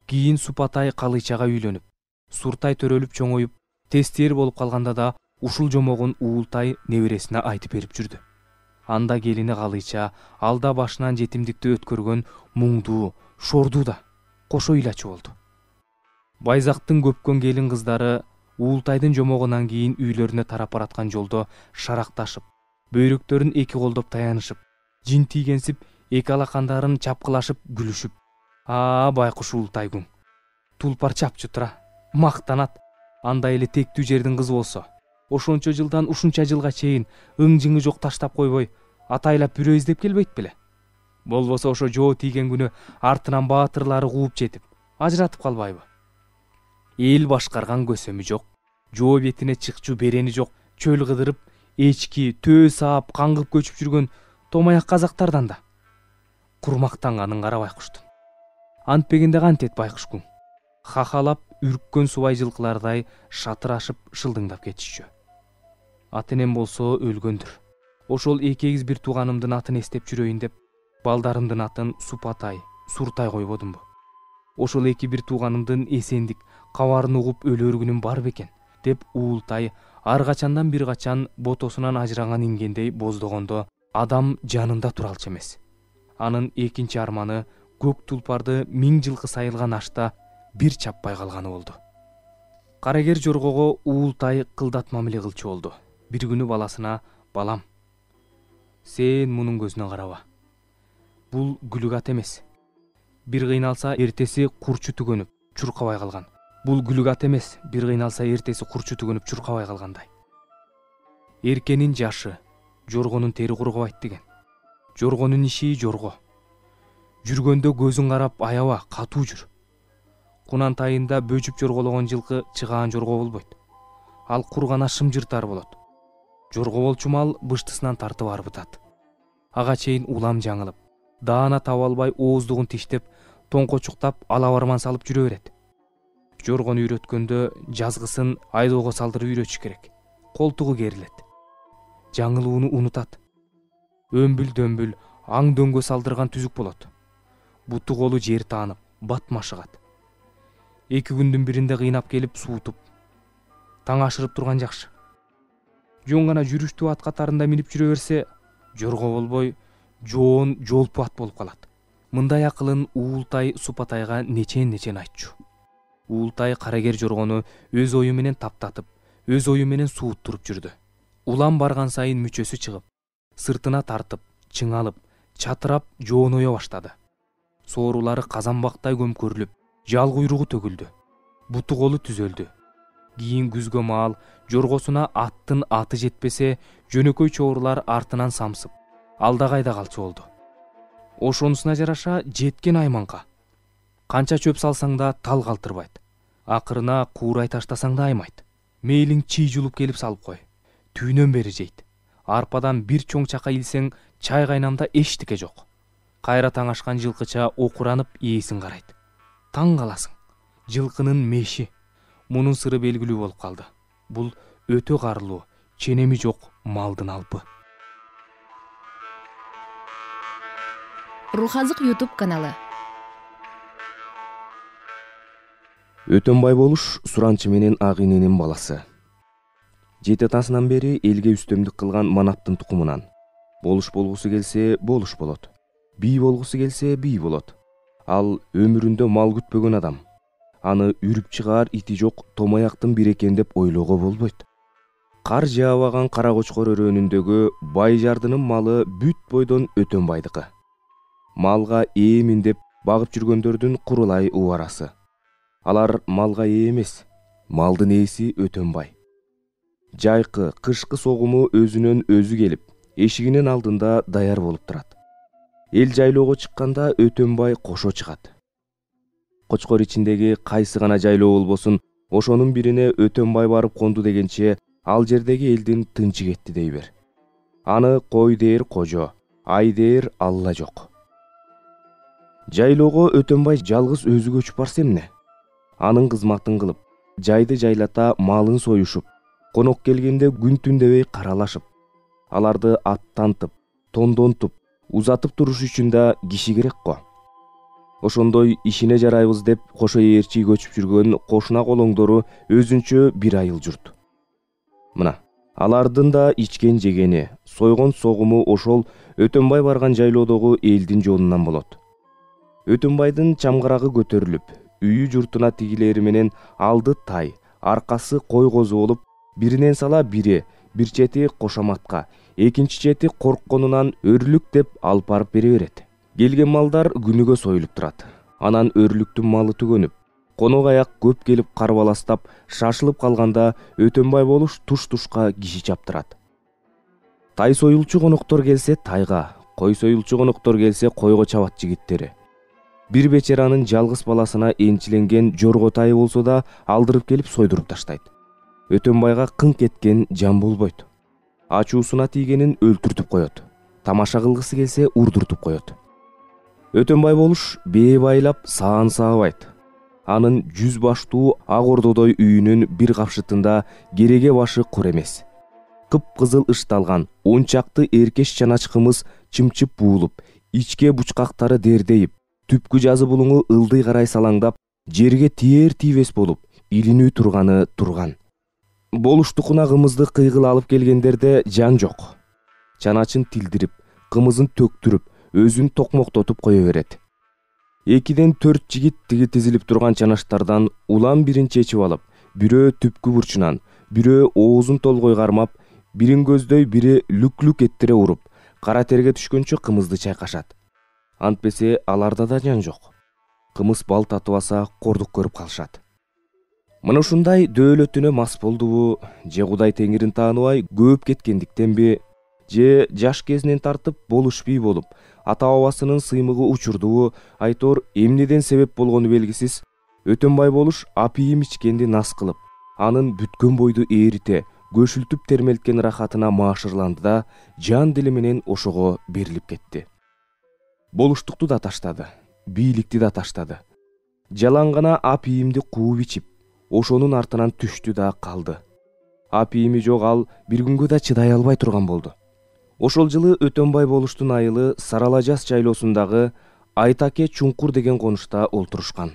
Кийин Супатай калычага үйлөнүп, Суртай төрөлүп чоңоюп, тестер болуп калганда да ушул жомогун Уултай небересине айтып берип жүрдү. Анда келини Калыйча алда башынан жетимдикти өткөргөн муңдуу, шордуу да кошо ыйлачы болду. Байзактын көпкөн келин кыздары Уултайдын жомогунан кийин үйлөрүнө тарап бараткан жолдо шаракташып, бөйрөктөрүн эки колдоп таянышып, жин тийгенсип, эки алакандарын чапкылашып күлүшүп: байкуш Уултайгуң, тулпар чапчы тура, мактанат. Андай эле тектүү жердин кызы болсо, ошончо жылдан ушунча жылга чейин ың-жыңы жок таштап койбой, атайлап бирөө издеп келбейт беле? Болбосо ошо жоо тийген күнү артынан баатырлары кууп жетип, ажыратып калбайбы? Эл башкарган көсөмү жок, жоо бетине чыкчу берени жок, чөл кыдырып, эчки, төө саап, каңгып көчүп жүргөн томаяк казактардан да курмактанганын кара байкуштун. Антпегенде кантет байкушкуң? Хахалап үрккөн субай жылкылардай шатырашып шылдыңдап кетишчү. Ата энем болсо өлгөндүр. Ошол эки эгиз бир тууганымдын атын эстеп жүрөйүн деп, балдарымдын атын Супатай, Суртай койбодумбу? Ошол эки бир тууганымдын эсендик, кабарын угуп өлөр күнүм бар бекен деп Уултай ар качандан бир качан ботосунан ажыраган ингендей боздогондо адам жанында туралчу эмес. Анын экинчи арманы көк тулпарды 1000 жылкы сайылган ашта бир чаппай калганы болду. Карагер жоргого Уултай кылдатма эле кылчу болду. Бир күнү баласына: "Балам, сен мунун көзүнө караба. Бул күлүк ат эмес. Бир кыйналса эртеси курчу түгөнүп, чуркабай калган. Бул күлүк ат эмес. Бир кыйналса эртеси курчу түгөнүп, чуркабай калгандай. Эркенин жашы, жоргонун тери кургабайт деген. Жоргонун иши жорго. Жүргөндө көзүң карап аяба, катуу жүр. Кунантайында бөжүп жоргологон жылкы чыгаан жорго болбойт. Ал кур гана шымжыртар болот. Жорго болчу мал быштысынан тартып арбытат. Ага чейин улам жаңылып, даана таба албай ооздугун тиштеп, тоңкочуктап, алабарман салып жүрө берет. Жоргону үйрөткөндө жазгысын айдоого салдырып үйрөтүш керек. Колтугу керилет. Жаңылууну унутат. Өмбүл-дөмбүл, аң-дөңгө салдырган түзүк болот. Буту колу жер таанып, батмашыгат. 2 күндүн биринде кыйнап келип суутуп, таң ашырып турган жакшы. Жон гана жүрүштүү ат катарында минип жүрө берсе, жорго болбой, жоон жолпу ат болуп калат. Мындай акылын Уултай Супатайга нечен айтчу. Уултай карагер жоргону өз ою менен таптатып, өз ою менен сууттуруп жүрдү. Улам барган сайын мүчөсү чыгып, сыртына тартып, чыңалып, чатырап жоонойо баштады. Соорулары казанбактай көмкөрүлүп, жал куйругу төгүлдү. Буту колу түзөлдү. Кийин күзгө маал жоргосуна аттын аты жетпесе, жөнөкөй чоорулар артынан самсып, алда кайда калчу болду. Ошонусуна жараша жеткен айманга. Канча чөп салсаң да тал калтырбайт. Акырына куурай таштасаң да аймайт. Мейлиң чий жулуп келип салып кой. Түйнөн бери жейт. Арпадан бир чоң чака илсең, чай кайнамда эчтике жок. Кайра таң ашкан жылкыча окуранып ээсин карайт. Таң каласың. Жылкынын меши. Мунун сыры белгилүү болуп калды. Бул өтө карлуу, ченеми жок малдын алпы. Рухазык YouTube каналы. Өтөнбай болуш суранчы менен ак иненин баласы. Жети атасынан бери элге үстөмдүк кылган манаптын тукумунан. Болуш болгусу келсе болуш болот. Бий болгусу келсе бий болот. Ал өмүрүндө мал күтпөгөн адам. Аны үрүп чыгаар ити жок томаяктын бир экен деп ойлоого болбойт. Кар жаабаган кара кочкор өрөөнүндөгү бай жардынын малы бүт бойдон Өтөнбайдыкы. Малга ээмин деп багып жүргөндөрдүн курулай убарасы. Алар малга ээ эмес, малдын ээси Өтөнбай. Жайкы, кышкы согуму өзүнөн өзү келип, эшигинин алдында даяр болуп турат. Эл жайлоого чыкканда Өтөнбай кошо чыгат. Кочкор ичиндеги кайсы гана жайлоо болбосун, ошонун бирине Өтөнбай барып конду дегенче, ал жердеги элдин тынчы кетти дей бер. Аны кой дээр кожо, ай дээр Алла жок. Жайлоого Өтөнбай жалгыз өзү көчүп барса эмне? Анын кызматын кылып, жайды жайлата малын союшуп, конок келгенде күн түн дебей каралашып, аларды аттантып, тондонтуп, узатып туруш үчүн да киши керек го. ошондой ишине жарайбыз деп кошо ээрчи көчүп жүргөн кошуна колоңдору өзүнчө бир айыл журт. Мына алардын да ичкен жегени, сойгон согуму ошол Өтөнбай барган жайлоодогу элдин жонунан болот. Өтөнбайдын чамгарагы көтөрүлүп, үйү журтуна тигилери менен алды тай, аркасы кой козу болуп, биринен сала бири, бир чети кошоматка, экинчи чети коркконунан өрлүк деп алып барып бере берет. Келген малдар күнүгө союлуп турат. Анан өрлүктүн малы түгөнүп, конок аяк көп келип карбаластап, шашылып калганда Өтөнбай болуш туш-тушка киши чаптырат. Тай союлчу коноктор келсе тайга, кой союлчу коноктор келсе койго чабат жигиттери. Бир бечаранын жалгыз баласына энчиленген жорго тайы болсо да алдырып келип сойдуруп таштайт. Өтөнбайга кыңк эткен жан болбойт. Ачуусуна тийгенин өлтүртүп коет. Тамаша кылгысы келсе урдуртуп коет. Өтөнбай болуш бээ байлап саан саабайт. Анын 100 баштуу ак ордодой үйүнүн бир капшытында кереге башы кур эмес. Кып-кызыл ышталган 10 чакты эркеш чанач кымыз чымчып буулуп, ичке бучкактары дердейип, түпкү жазы булуңу ылдый карай салаңдап, жерге тиер тийбес болуп, илинүү турганы турган. Болуштукуна кымызды кыйгыл алып келгендерде жан жок. Чаначын тилдирип, кымызын төктүрүп, өзүн токмоктотуп кое берет. 2ден 4 жигит тиги тизилип турган чанаштардан улам бирин чечип алып, бирөө түпкү бурчунан, бирөө оозун толгой кармап, бирин көздөй, бири люк-люк эттире уруп, кара терге түшкөнчө кымызды чайкашат. Антпесе аларда да жан жок. Кымыз бал татыбаса кордук көрүп калышат. Мына ушундай дөөлөтүнө мас болдубу, же Кудай теңирин тааныбай көп кеткендиктенби, же жаш кезинен тартып болуш бий болуп, ата-бабасынын сыймыгы учурдубу, айтор эмнеден себеп болгону белгисиз, Өтөнбай болуш апийим ичкенди нас кылып, анын бүткөн бойду ээрите, көшүлтүп термелткен рахатына маашырланды да, жан дили менен ошого берилип кетти. Болуштукту да таштады, бийликти да таштады. Жалаң гана апийимди кууп ичип, ошонун артынан түштү да калды. Апийими жок ал бир күнгө да чыдай албай турган болду. Ошол жылы Өтөнбай болуштун айылы Сарала жаз жайлоосундагы Айтаке чуңкур деген конушта олтурушкан.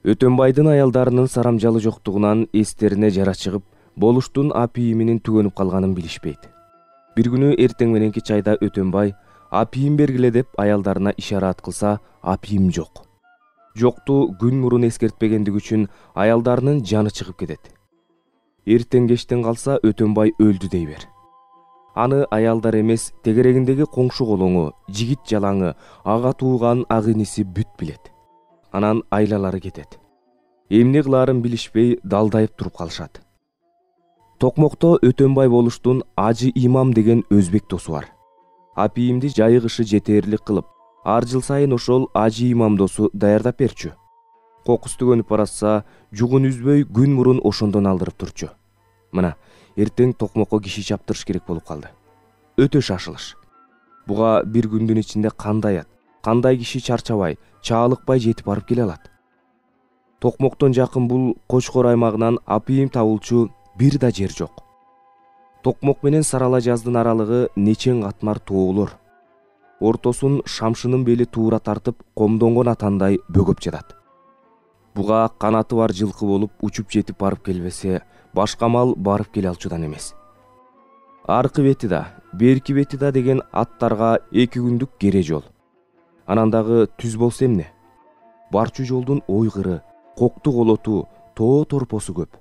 Өтөнбайдын аялдарынын сарамжалы жоктугунан эстерине жара чыгып, болуштун апийиминин түгөнүп калганын билишпейт. Бир күнү эртең мененки чайда Өтөнбай апийим бергиле деп аялдарына ишарат кылса, апийим жок. Жокту күн мурун эскертпегендиги үчүн аялдарынын жаны чыгып кетет. Эртең кештен калса Өтөнбай өлдү дей бер. Аны аялдар эмес, тегерегиндеги коңшу колоңу, жигит жалаңы, ага тууган ак иниси бүт билет. Анан айлалары кетет. Эмне кылаарын билишпей далдайып туруп калышат. Токмокто Өтөнбай болуштун Ажы Имам деген өзбек досу бар. Апийимди жайы кышы жетээрлик кылып, ар жыл сайын ошол Ажы Имам досу даярдап берчү. Кокус түгөнүп баратса, жугун үзбөй күн мурун ошондон алдырып турчу. Мына, эртең токмокко киши чаптырыш керек болуп калды. Өтө шашылыш. Буга бир күндүн ичинде кандай ат, кандай киши чарчабай, чаалыкпай жетип барып келе алат. Токмоктон жакын бул Кочкор аймагынан апийим табылчу бир да жер жок. Токмок менен Сарала жаздын аралыгы нечең катмар тоолор. Ортосун шамшынын бели туура тартып, комдонгон атандай бөгөп жатат. Буга канаты бар жылкы болуп учуп жетип барып келбесе, башка мал барып келе алчудан эмес. Аркы бети да, берки бети да деген аттарга 2 күндүк кере жол. Анан дагы түз болсо эмне? Барчу жолдун ойгыры, кокту колоту, тоо торпосу көп.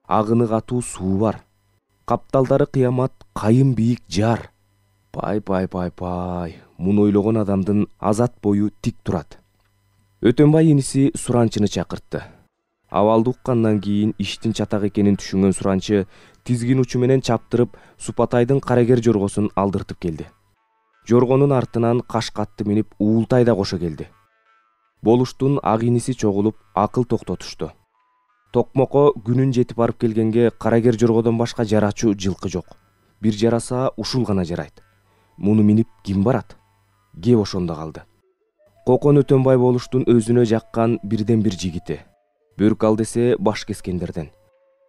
Агыны катуу суу бар. Капталдары кыямат, кайын бийик жар. Пай, муну ойлогон адамдын азат бою тик турат. Өтөнбай иниси Суранчыны чакыртты. Абалды уккандан кийин иштин чатак экенин түшүнгөн Суранчы тизгин учу менен чаптырып Супатайдын карагер жоргосун алдыртып келди. Жоргонун артынан Кашкатты минип Уултай да кошо келди. Болуштун ак иниси чогулуп акыл токтотушту. Токмокко күнүн жетип барып келгенге карагер жоргодон башка жарачу жылкы жок. Бир жараса ушул гана жарайт. Муну минип ким барат? Кеп ошондо калды. Кокон Өтөнбай болуштун өзүнө жаккан бирден бир жигити. Бөрк ал десе баш кескендерден.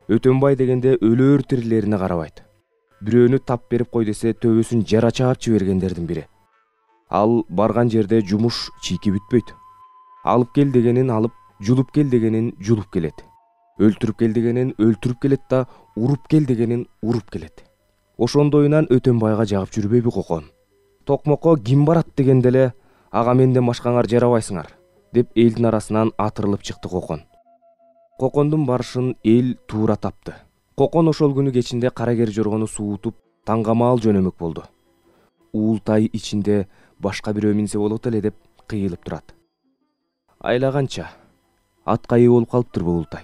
Өтөнбай дегенде өлөр тирилерине карабайт. Бирөөнү тап берип кой десе төбөсүн жара чаап жибергендердин бири. Ал барган жерде жумуш чийки бүтпөйт. алып кел дегенин алып, жулуп кел дегенин жулуп келет. Өлтүрүп кел дегенин өлтүрүп келет да, уруп кел дегенин уруп келет. Ошондойунан Өтөнбайга жагып жүрбөйбү Кокон? Токмокко ким барат дегенде эле, ага менден башкаңар жарабайсыңар, деп элдин арасынан атырылып чыкты Кокон. Кокондун барышын эл туура тапты. Кокон ошол күнү кечинде Карагер жоргону суутуп, Таңгамаал жөнөмөк болду. Уултай ичинде башка бирөө минсе болот эле деп кыйылып турат. Айлаганча атка ээ болуп калыптырбы Уултай.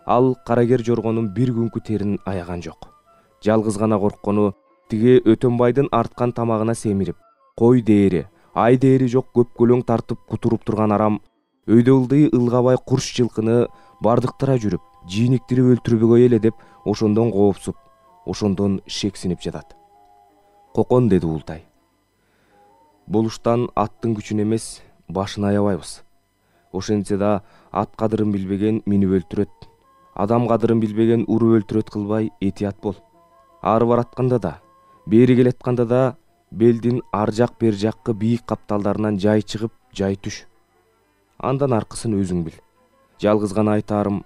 Ал Карагер жоргонун бир күнкү терин аяган жок. Жалгыз гана корккону тиги Өтөнбайдын арткан тамагына семирип, кой дээри, ай дээри жок көпкөлөң тартып кутуруп турган арам өйдө ылдый ылгабай курч жылкыны бардыктыра жүрүп, жийниктирип өлтүрбөгөй эле деп ошондон коопсуп, ошондон шексинип жатат. Кокон, деди Уултай. Болуштан аттын күчүн эмес, башын аябайбыз. Ошентсе да ат кадырын билбеген минип өлтүрөт, адам кадырын билбеген уруп өлтүрөт кылбай этият бол. Ары баратканда да, бери келатканда да белдин ар жак бер жаккы бийик капталдарынан жай чыгып, жай түш. Андан аркысын өзүң бил. Жалгыз гана айтаарым,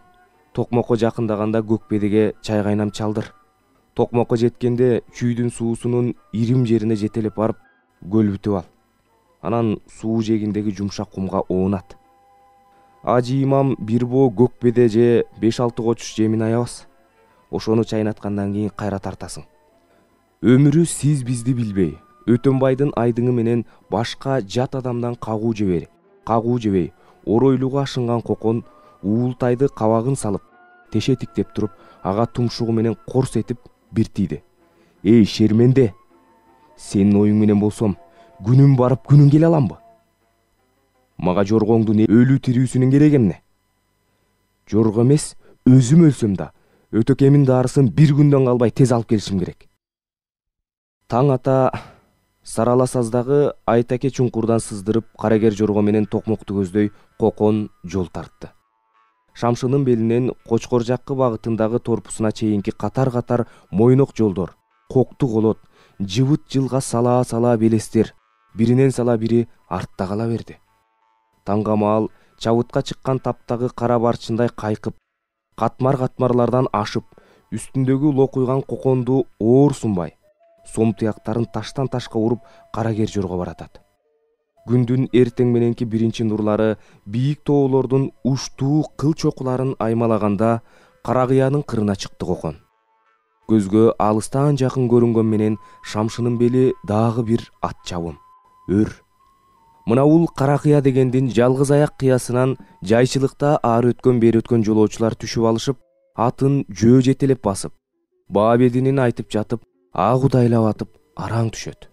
Токмокко жакындаганда Көкбедеге чай кайнам чалдыр. Токмокко жеткенде чүйдүн суусунун ирим жерине жетелеп барып, көлбүтүп ал. Анан суу жегиндеги жумшак кумга оонат. Ажы имам бир боо Көкбеде же 5-6 кочуш жемин аябас. Ошону чайнаткандан кийин кайра тартасың. Өмүрү сиз бизди билбей, Өтөнбайдын айдыңы менен башка жат адамдан кагуу жебей, оройлууга ашынган Кокон Уултайды кабагын салып, тешетиктеп туруп, ага тумшугу менен корс этип бир тийди. Эй, шерменде, сенин оюң менен болсом, күнүм барып күнүң келе аламбы? Мага жоргоңдун өлүү тирүүсүнүн кереги эмне? Жорго эмес, өзүм өлсөм да, өтөкемин даарысын бир күндөн калбай тез алып келишим керек. Таң ата Сарала саздагы Айтаке чуңкурдан сыздырып, Карагер жорго менен Токмокту көздөй Кокон жол тартты. Шамшынын белинен Кочкор жаккы багытындагы торпусуна чейинки катар-катар мойнок жолдор, кокту колот, жыбыт жылга сала белестер, биринен сала бири артта кала берди. Таңгамаал чабытка чыккан таптагы кара барчындай кайкып, катмар-катмарлардан ашып, үстүндөгү локуйган Коконду оор сунбай, сом тыяктарын таштан ташка уруп Карагер жорго баратат. Күндүн эртең мененки биринчи нурлары бийик тоолордун уштуу кыл чокуларын аймалаганда Каракыянын кырына чыкты Кокон. Көзгө алыстан жакын көрүнгөн менен Шамшынын бели дагы бир ат чабым, өр. Мына бул Каракыя дегендин жалгыз аяк кыясынан жайчылыкта ары өткөн бери өткөн жолоочулар түшүп алышып, атын жөө жетелеп басып, баа бединин айтып жатып, агудайлап атып араң түшөт.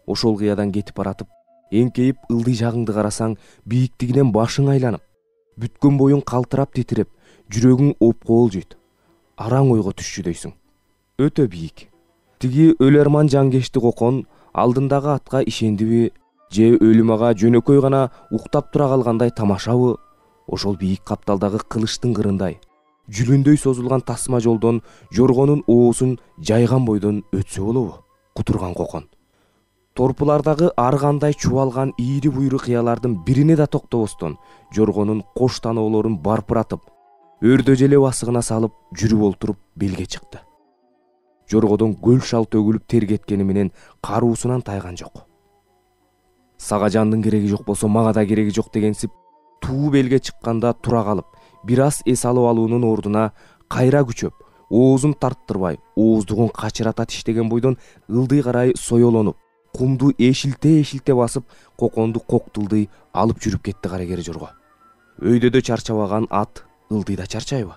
Ошол кыядан кетип баратып, эңкейип ылдый жагыңды карасаң, бийиктигинен башың айланып, бүткөн боюң калтырап титиреп, жүрөгүң опкоолжойт. Араң ойго түшчүдөйсүң. Өтө бийик. Тиги өлөрман жангешти Кокон алдындагы атка ишендиби, же өлүм ага жөнөкөй гана уктап тура калгандай тамашабы? Ошол бийик капталдагы кылычтын кырындай, жүлүндөй созулган тасма жолдон жоргонун оозун жайган бойдон өтсө болобу? Кутурган Кокон. Торпулардагы ар кандай чубалган ийри буйру кыялардын бирине да токтобостон жоргонун кош таноолорун барпыратып, өрдө желе басыгына салып жүрүп олтуруп белге чыкты. Жоргодон көл шал төгүлүп тер кеткени менен каруусунан тайган жок. Сага жандын кереги жок болсо мага да кереги жок дегенсип, туу белге чыкканда тура калып, бир аз эс алып алуунун ордуна кайра күчөп, оозун тарттырбай, ооздугун качырата тиштеген бойдон ылдый карай соёлонуп, кумду эшилте басып, Коконду коктулдый алып жүрүп кетти Карагер жорго. Өйдөдө чарчабаган ат ылдыйда чарчайбы?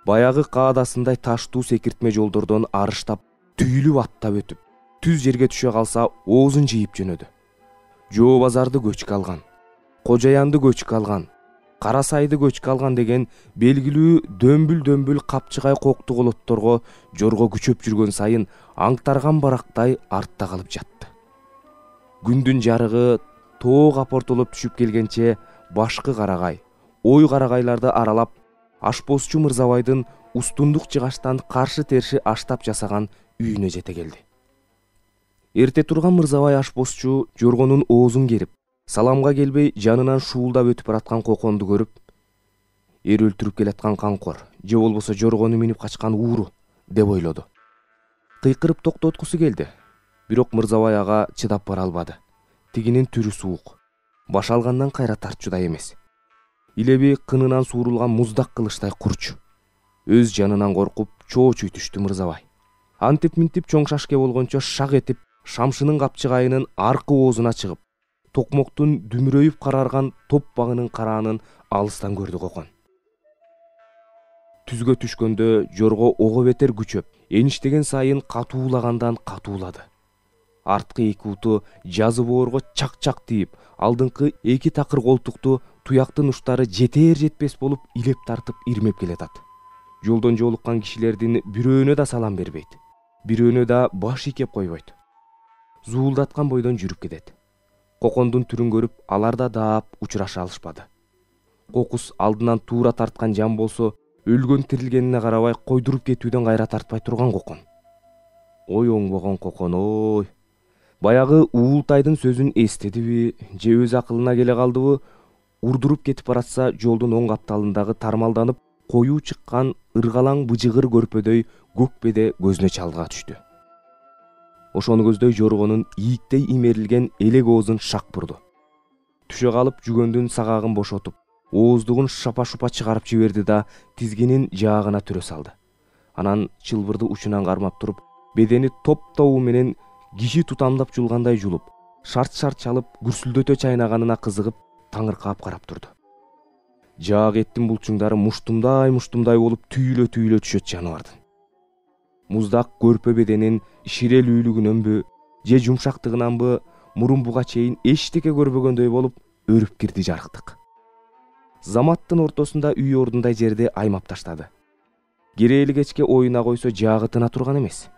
Баягы каадасындай таштуу секиртме жолдордон арыштап, түйүлүп аттап өтүп, түз жерге түшө калса оозун жыйып жөнөдү. Жоо базарды көчкө алган, Кожаянды көчкө алган, Кара Сайды көчкө алган деген белгилүү дөмбүл капчыгай кокту колотторго жорго күчөп жүргөн сайын аңтарган барактай артта калып жатты. Күндүн жарыгы тоог апортолоп түшүп келгенче башкы карагай, ой карагайларды аралап, ашпозчу Мырзабайдын устундук жыгачтан каршы терши аштап жасаган үйүнө жете келди. Эрте турган Мырзабай ашпозчу жоргонун оозун керип, саламга келбей жанынан шуулдап өтүп бараткан Коконду көрүп, эр өлтүрүп келаткан камкор же болбосо жоргону минип качкан ууру деп ойлоду. Кыйкырып токтоткусу келди, бирок Мырзабай ага чыдап бара албады. Тигинин түрү суук, баш алгандан кайра тартчудай эмес. Илеби кынынан суурулган муздак кылычтай курч. Өз жанынан коркуп чоочуй түштү Мырзабай. Антип-минтип чоң шашке болгончо шак этип шамшынын капчыгайынын аркы оозуна чыгып, токмоктун дүмүрөйүп карарган топ багынын караанын алыстан көрдү Кокон. Түзгө түшкөндө жорго ого бетер күчөп, эништеген сайын катуулагандан катуулады. Арткы эки уту жазы боорго чак-чак тийип, алдыңкы эки такыр колтукту туяктын уштары жетер жетпес болуп илеп тартып ирмеп келатат. Жолдон жолуккан кишилердин бирөөнө да салам бербейт, бирөөнө да баш ийкеп койбойт. Зуулдаткан бойдон жүрүп кетет. Кокондун түрүн көрүп, алар да даап учураша алышпады. Кокус алдынан туура тарткан жан болсо, өлгөн тирилгенине карабай койдуруп кетүүдөн кайра тартпай турган Кокон. Ой оңбогон Кокон, ой. Баягы Уултайдын сөзүн эстедиби, же өз акылына келе калдыбы, урдуруп кетип баратса жолдун оң капталындагы тармалданып коюу чыккан ыргалаң быжыгыр көрпөдөй көкпеде көзүнө чалга түштү. Ошону көздөй жоргонун ийиктей имерилген элек оозун шак бурду. Түшө калып жүгөндүн сагагын бошотуп, ооздугун шапа-шупа чыгарып жиберди да тизгинин жаагына түрө салды. Анан чылбырды учунан кармап туруп, бедени топ-тобу менен киши тутамдап жулгандай жулуп, шарт-шарт чалып, гүрсүлдөтө чайнаганына кызыгып, таңыркап карап турду. Жаак эттин булчуңдары муштумдай болуп түйүлө түшөт жаныбардын. Муздак көрпө беденин ширелүүлүгүнөнбү, же жумшактыгынанбы, мурун буга чейин эчтеке көрбөгөндөй болуп өрүп кирди жарыктык. Заматтын ортосунда үй ордундай жерди аймап таштады. Керээли кечке оюна койсо жаагы тына турган эмес.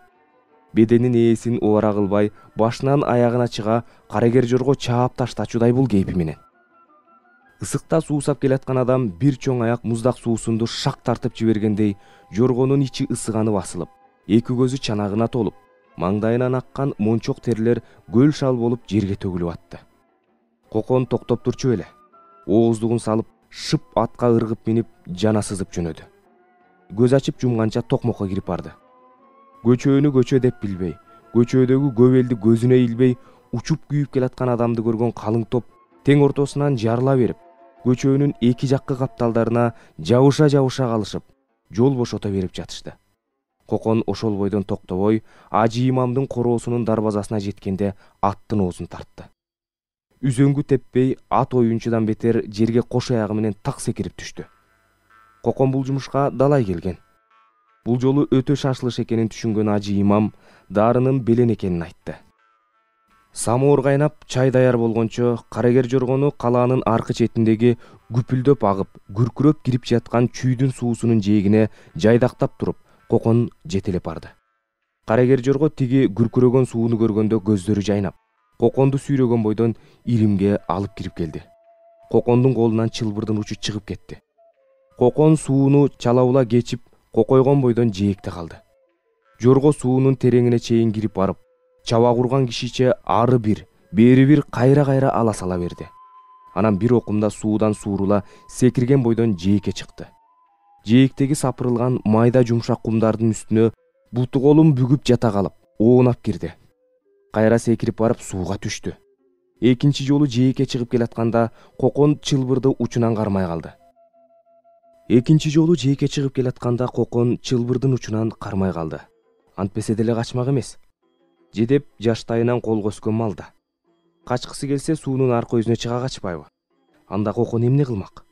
Беденин ээсин убара кылбай, башынан аягына чыга карагер жорго чаап таштачудай бул кейпи менен. Ысыкта суусап келаткан адам бир чоң аяк муздак суусунду шак тартып жибергендей, жоргонун ичи ысыганып асылып, эки көзү чанагына толуп, маңдайынан аккан мончок терлер көл шал болуп жерге төгүлүп атты. Кокон токтоп турчу эле. Ооздугун салып, шып атка ыргып минип, жана сызып жөнөдү. Көз ачып жумганча токмокко кирип барды. Көчөнү көчө деп билбей, көчөдөгү көп элди көзүнө илбей, учуп күйүп келаткан адамды көргөн калың топ тең ортосунан жарыла берип, көчөнүн эки жаккы капталдарына жабыша калышып, жол бошото берип жатышты. Кокон ошол бойдон токтобой, Ажы имамдын короосунун дарбазасына жеткенде аттын оозун тартты. Үзөңгү теппей, ат оюнчудан бетер жерге кош аягы менен так секирип түштү. Кокон бул жумушка далай келген. Бул жолу өтө шашылыш экенин түшүнгөн Ажы имам дарынын белен экенин айтты. Самоор кайнап, чай даяр болгончо, карагер жоргону калаанын аркы четиндеги күпүлдөп агып, күркүрөп кирип жаткан чүйдүн суусунун жээгине жайдактап туруп, Кокон жетелеп барды. Карагер жорго тиги күркүрөгөн сууну көргөндө көздөрү жайнап, Коконду сүйрөгөн бойдон иримге алып кирип келди. Кокондун колунан чылбырдын учу чыгып кетти. Кокон сууну чалаула кечип, кокойгон бойдон жээкте калды. Жорго суунун тереңине чейин кирип барып, чаба курган кишиче ары бир, бери бир кайра ала сала берди. Анан бир окумда суудан suurула секирген бойдон жээкке чыкты. Жээктеги сапырылган майда жумшак кумдардын үстүнө буту колун бүгүп жата калып, оонап кирди. Кайра секирип барып сууга түштү. Экинчи жолу жээкке чыгып келатканда Кокон чылбырды учунан кармай калды. Кокон чылбырдын учунан кармай калды. Антпесе деле качмак эмес. Жедеп жаштайынан колго өскөн малда. Качкысы келсе суунун аркы өзүнө чыга качпайбы? Анда Кокон эмне кылмак?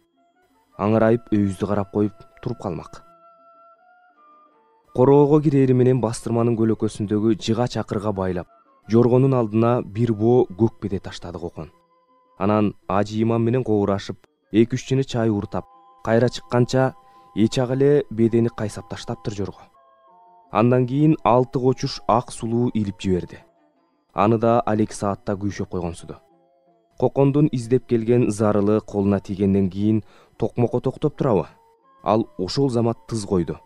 Аңырайып өйүздү карап коюп туруп калмак. Короого кирери менен бастырманын көлөкөсүндөгү жыга чакырга байлап, жоргонун алдына бир боо көкпеде таштады Кокон. Анан Ажы имам менен коурашып, 2-3 чыны чай уртап, кайра чыкканча эч ак эле бедени кайсап таштаптыр жорго. Андан кийин 6 кочуш ак сулуу илип жиберди. Аны да алек саатта күйшөп койгонсуду. Кокондун издеп келген зарылы колуна тийгенден кийин токмокко токтоп турабы? Ал ошол замат тыз койду.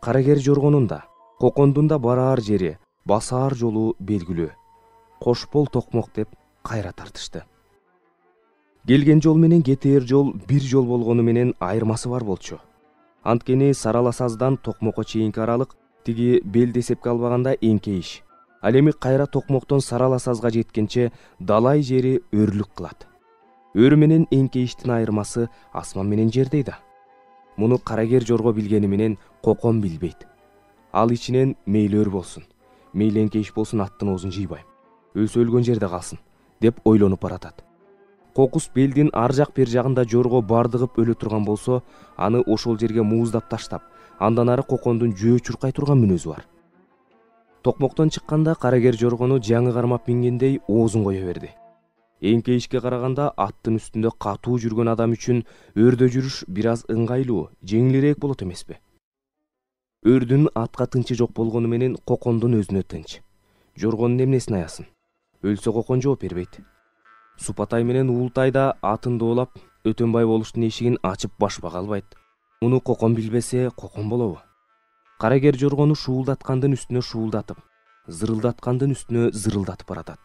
Карагер жоргонун да, Кокондун да бараар жери, басаар жолу белгилүү. Кош бол токмок деп кайра тартышты. Келген жол менен кетээр жол бир жол болгону менен айырмасы бар болчу. Анткени Сарала саздан Токмокко чейинки аралык тиги белди эсепке албаганда эңкейиш. Ал эми кайра Токмоктон Сарала сазга жеткенче далай жери өрлүк кылат. Өр менен эңкейиштин айырмасы асман менен жердей да. Муну карагер жорго билгени менен Кокон билбейт. Ал ичинен мейли өр болсун, мейли эңкейиш болсун, аттын оозун жыйбайм, өлсө өлгөн жерде калсын деп ойлонуп баратат. Кокус белдин ар жак бер жагында жорго бардыгып өлө турган болсо, аны ошол жерге мууздап таштап, андан ары Кокондун жөө чуркай турган мүнөзү бар. Токмоктон чыкканда карагер жоргону жаңы кармап мингендей оозун кое берди. Эңкейишке караганда аттын үстүндө катуу жүргөн адам үчүн өрдө жүрүш бир аз ыңгайлуу, жеңилирээк болот эмеспи? Өрдүн атка тынчы жок болгону менен Кокондун өзүнө тынч. Жоргонун эмнесин аясын? Өлсө Кокон жооп бербейт. Супатай менен Уултай да атын доолап, Өтөнбай болуштун эшигин ачып башпак албайт. Муну Кокон билбесе Кокон болобу? Карагер жоргону шуулдаткандын үстүнө шуулдатып, зырылдаткандын үстүнө зырылдатып баратат.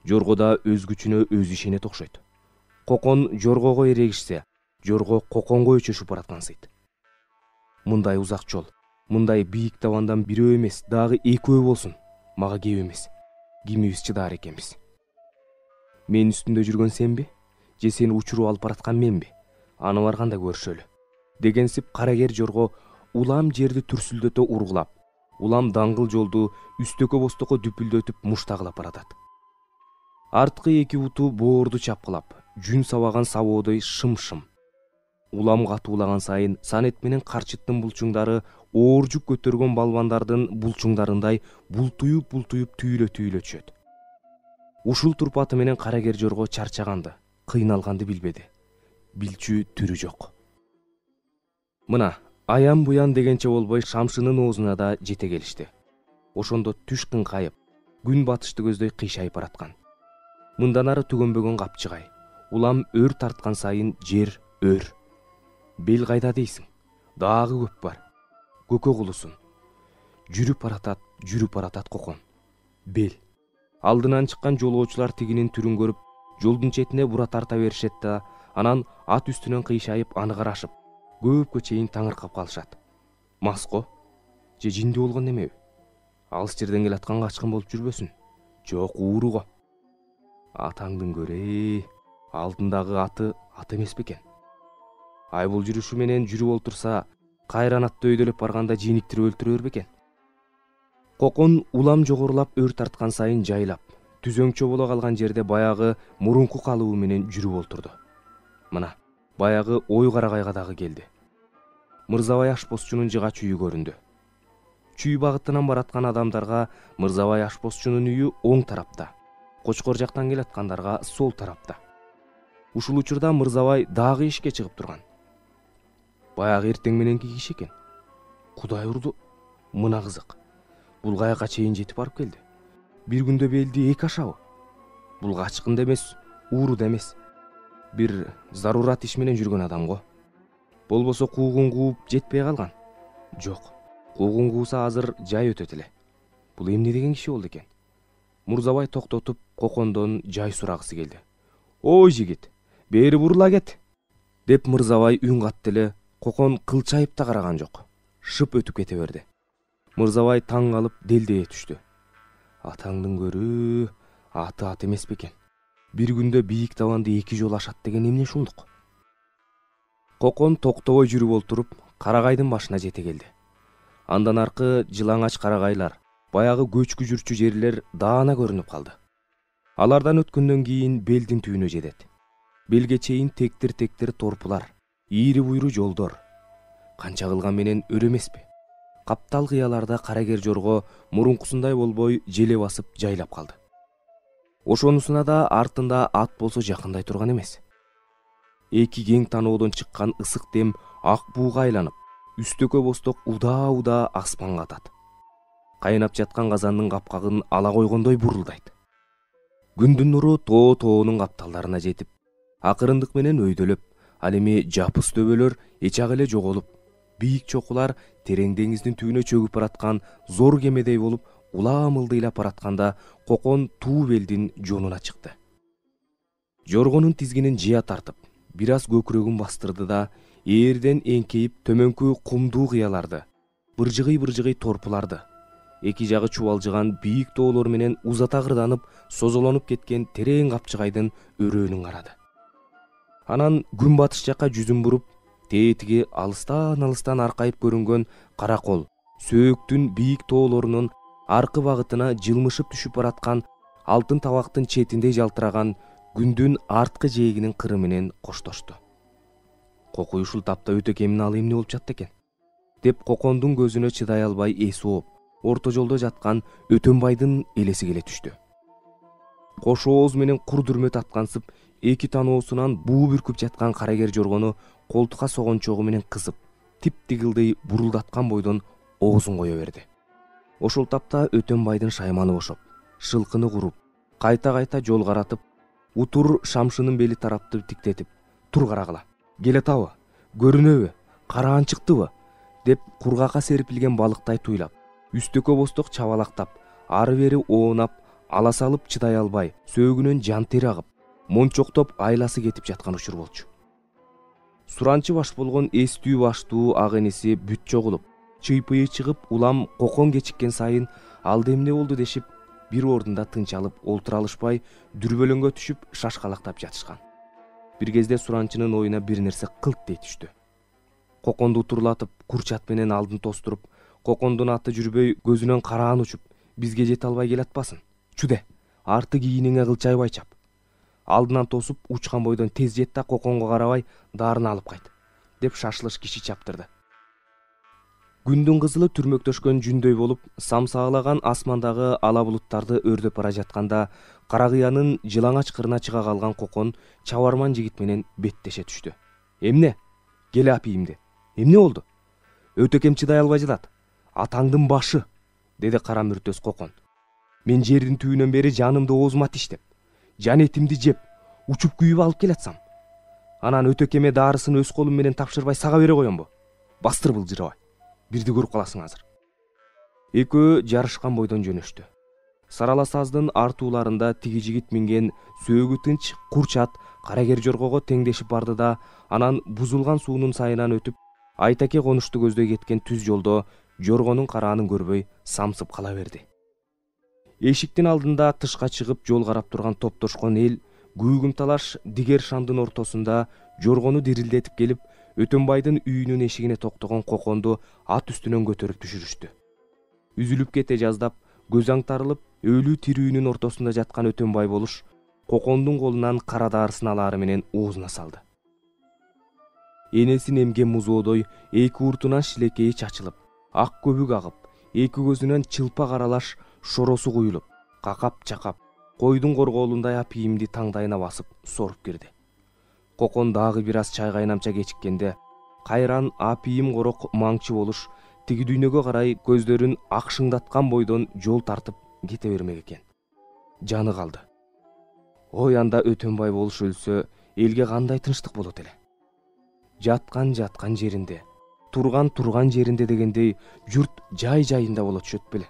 Жорго да өз күчүнө өзү ишенет окшойт. Кокон жоргого эрегишсе, жорго Коконго өчөшүп бараткансыйт. Мындай узак жол, мындай бийик табандан бирөө эмес, дагы экөө болсун, мага кеп эмес. Кимибиз чыдаар экенбиз? Мен үстүндө жүргөн сенби? Же сени учуруп алып бараткан менби? Аны барганда көрүшөлү. Дегенсип карагер жорго улам жерди түрсүлдөтө ургулап, улам даңгыл жолду үстөкө бостокко дүпүлдөтүп муштагылап баратат. Арткы эки буту боорду чапкылап, жүн сабаган сабоодой шым-шым. Улам катуулаган сайын Санет менен Карчыттын булчуңдары оор жүк көтөргөн балбандардын булчуңдарындай бултуюп түйүлө түшөт. Ушул турпаты менен карагер жорго чарчаганды, кыйналганды билбеди. Билчү түрү жок. Мына, аян буян дегенче болбой шамшынын оозуна да жете келишти. Ошондо түш кыңкайып, күн батышты көздөй кыйшайып бараткан. Мындан ары түгөнбөгөн капчыгай. Улам өр тарткан сайын жер өр. Бел кайда дейсиң? Дагы көп бар. Көкө кулусун. Жүрүп баратат Кокон. Бел. Алдынан чыккан жолоочулар тигинин түрүн көрүп, жолдун четине бура тарта беришет да, анан ат үстүнөн кыйшайып аны карашып, көпкө чейин таңыркап калышат. Маско? Же жинди болгон немеби? Алыс жерден келаткан качкын болуп жүрбөсүн? Жок, ууруго. Атаңдын көрөй, алдындагы аты ат эмес бекен? Ай бул жүрүшү менен жүрүп олтурса, кайран атты өйдөлөп барганда жийниктирип өлтүрөр бекен? Кокон улам жогорулап өр тарткан сайын жайлап, түзөңчө боло калган жерде баягы мурунку калыбы менен жүрүп олтурду. Мына, баягы ой карагайга дагы келди. Мырзабай ашпозчунун жыгач үйү көрүндү. Чүй багытынан бараткан адамдарга Мырзабай ашпозчунун үйү оң тарапта, Кочкор жактан келаткандарга сол тарапта. Ушул учурда Мырзабай дагы ишке чыгып турган. Баягы эртең мененки киши экен. Кудай урду, мына кызык. Бул каяка чейин жетип барып келди. Бир күндө белди эки ашабы? Бул качкын да эмес, ууру да эмес. Бир зарурат иш менен жүргөн адам го. Болбосо куугун кууп жетпей калган. Жок, куугун кууса азыр жай өтөт эле. Бул эмне деген киши болду экен? Мурзабай токтотуп Кокондон жай сурагысы келди. Ой жигит, бери бурула кет, деп Мырзабай үн катты эле. Кокон кылчайып да караган жок. Шып өтүп кете берди. Мырзабай таң калып делдее түштү. Атаңдын көрү, аты ат эмес бекен? Бир күндө бийик табанды эки жол ашат деген эмне ушундук? Кокон токтобой жүрүп олтуруп, Карагайдын башына жете келди. Андан аркы жылаңач карагайлар, баягы көчкү жүрчү жерлер даана көрүнүп калды. Алардан өткөндөн кийин белдин түбүнө жетет. Белге чейин тектир торпулар, ийри буйру жолдор. Канча кылган менен өр эмеспи? Каптал кыяларда карагер жорго мурункусундай болбой желе басып жайлап калды. Ошонусуна да артында ат болсо жакындай турган эмес. Эки кең таноодон чыккан ысык дем ак бууга айланып, үстөкө босток удаа аспанга атат. Кайнап жаткан казандын капкагын ала койгондой бурулдайт. Күндүн нуру тоонун капталдарына жетип, акырындык менен өйдөлөп, ал эми жапыс төбөлөр эчак эле жоголуп, бийик чокулар терең деңиздин түбүнө чөгүп бараткан зор кемедей болуп улам ылдыйлап баратканда Кокон туу белдин жонуна чыкты. Жоргонун тизгинин жыя тартып, бир аз көкүрөгүн бастырды да ээрден эңкейип төмөнкү кумдуу кыяларды, быржыгый торпуларды, эки жагы чубалжыган бийик тоолор менен узата кырданып, созолонуп кеткен терең капчыгайдын өрөөнүн карады. Анан күнбатыш жакка жүзүн буруп, тетиги алыстан аркайып көрүнгөн Каракол, Сөөктүн бийик тоолорунун аркы багытына жылмышып түшүп бараткан алтын табактын четиндей жалтыраган күндүн арткы жээгинин кыры менен коштошту. Кокой ушул тапта өтө кемин ал эмне болуп жатты экен деп Кокондун көзүнө чыдай албай эси ооп, орто жолдо жаткан Өтөнбайдын элеси келе түштү. Кош ооз менен кур дүрмөт аткансып, эки таноосунан буу бүркүп жаткан карагер жоргону колтукка согончогу менен кысып, тип-тигилдей бурулдаткан бойдон оозун кое берди. Ошол тапта Өтөнбайдын шайманы бошоп, шылкыны куруп, кайта жол каратып, утур шамшынын бели тарапты тиктетип, тур карагыла, келатабы, көрүнөбү, караан чыктыбы деп кургакка серпилген балыктай туйлап, үстөкө босток чабалактап, ары бери оонап, ала салып чыдай албай, сөөгүнөн жан тери агып, мончоктоп айласы кетип жаткан учур болчу. Суранчы баш болгон эстүү баштуу ак эниси бүт чогулуп, чыйпыйы чыгып, улам Кокон кечиккен сайын алда эмне болду дешип, бир ордунда тынчалып олтура алышпай, дүрбөлөңгө түшүп шашкалактап жатышкан. Бир кезде Суранчынын оюна бир нерсе кылт дей түштү. Коконду утурлатып, курчат менен алдын тостуруп, Кокондун аты жүрбөй, көзүнөн караан учуп, бизге жете албай келатпасын. Чүде, арты кийиниңе кылчайбай чап. Алдынан тосуп, учкан бойдон тез жет да Коконго карабай даарына алып кайт, деп шашылыш киши чаптырды. Күндүн кызылы түрмөктөшкөн жүндөй болуп, самсаалаган асмандагы ала булуттарды өрдөп бара жатканда, Каракыянын жылаңач кырына чыга калган Кокон чабарман жигит менен беттеше түштү. Эмне? Келе апийимди. Эмне болду? Өтөкем чыдай албай жатат. Атаңдын башы, деди кара мүртөс Кокон. Мен жердин түбүнөн бери жанымды оозума тиштеп, жан этимди жеп, учуп күйүп алып келатсам, анан өтөкеме даарысын өз колум менен тапшырбай сага бере коёмбу? Бастыр былжырабай. Бирди көрүп каласың азыр. Экөө жарышкан бойдон жөнөштү. Сарала саздын артууларында тиги жигит минген сөөгү тынч курчат карагер жоргого теңдешип барды да, анан бузулган суунун сайынан өтүп, Айтаке конушту көздөй кеткен түз жолдо жоргонун караанын көрбөй самсып кала берди. Эшиктин алдында тышка чыгып жол карап турган топтошкон эл күйгүм талаш дигер шамдын ортосунда жоргону дирилдетип келип, Өтөнбайдын үйүнүн эшигине токтогон Коконду ат үстүнөн көтөрүп түшүрүштү. Үзүлүп кете жаздап, көз аңтарылып, өлүү тирүүнүн ортосунда жаткан Өтөнбай болуш Кокондун колунан кара даарысын алаары менен оозуна салды. Энесин эмген музоодой эки уртунан шилекейи чачылып, ак көбүк агып, эки көзүнөн чылпак аралаш шоросу куюлуп, какап-чакап, койдун корголундай апийимди таңдайына басып соруп кирди. Кокон дагы бир аз чай кайнамча кечиккенде, кайран апийим корок маңчы болуш тиги дүйнөгө карай көздөрүн акшыңдаткан бойдон жол тартып кете бермек экен. Жаны калды. Ой, анда Өтөнбай болуш өлсө, элге кандай тынчтык болот эле. Жаткан жеринде, турган жеринде дегендей, журт жай-жайында болот чөт беле.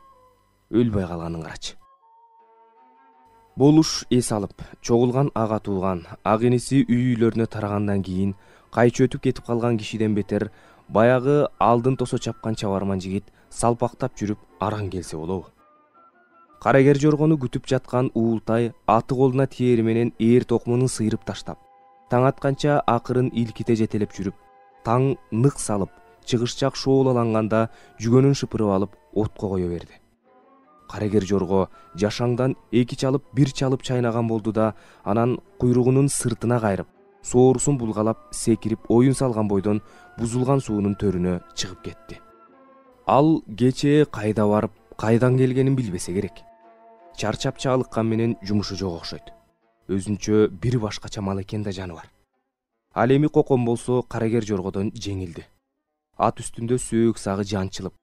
Өлбөй калганын карачы. Болуш эс алып, чогулган ага тууган, ак иниси үй-үйлөрүнө тарагандан кийин, кайчы өтүп кетип калган кишиден бетер, баягы алдын тосо чапкан чабарман жигит салпактап жүрүп араң келсе болобу. Карагер жоргону күтүп жаткан Уултай аты колуна тиери менен ээр токмунун сыйрып таштап, таң атканча акырын илките жетелеп жүрүп, таң нык салып, чыгышчак шоолаланганда жүгөнүн шыпырып алып отко кое берди. Карагер жорго жашаңдан эки чалып, бир чалып чайнаган болду да, анан куйругунун сыртына кайрып, соорусун булгалап, секирип оюн салган бойдон бузулган суунун төрүнө чыгып кетти. Ал кечээ кайда барып, кайдан келгенин билбесе керек. Чарчап чалыккан менен жумушу жок окшойт. Өзүнчө бир башкача мал экен да жаны бар. Ал эми Кокон болсо карагер жоргодон жеңилди. Ат үстүндө сөөк сагы жанчылып,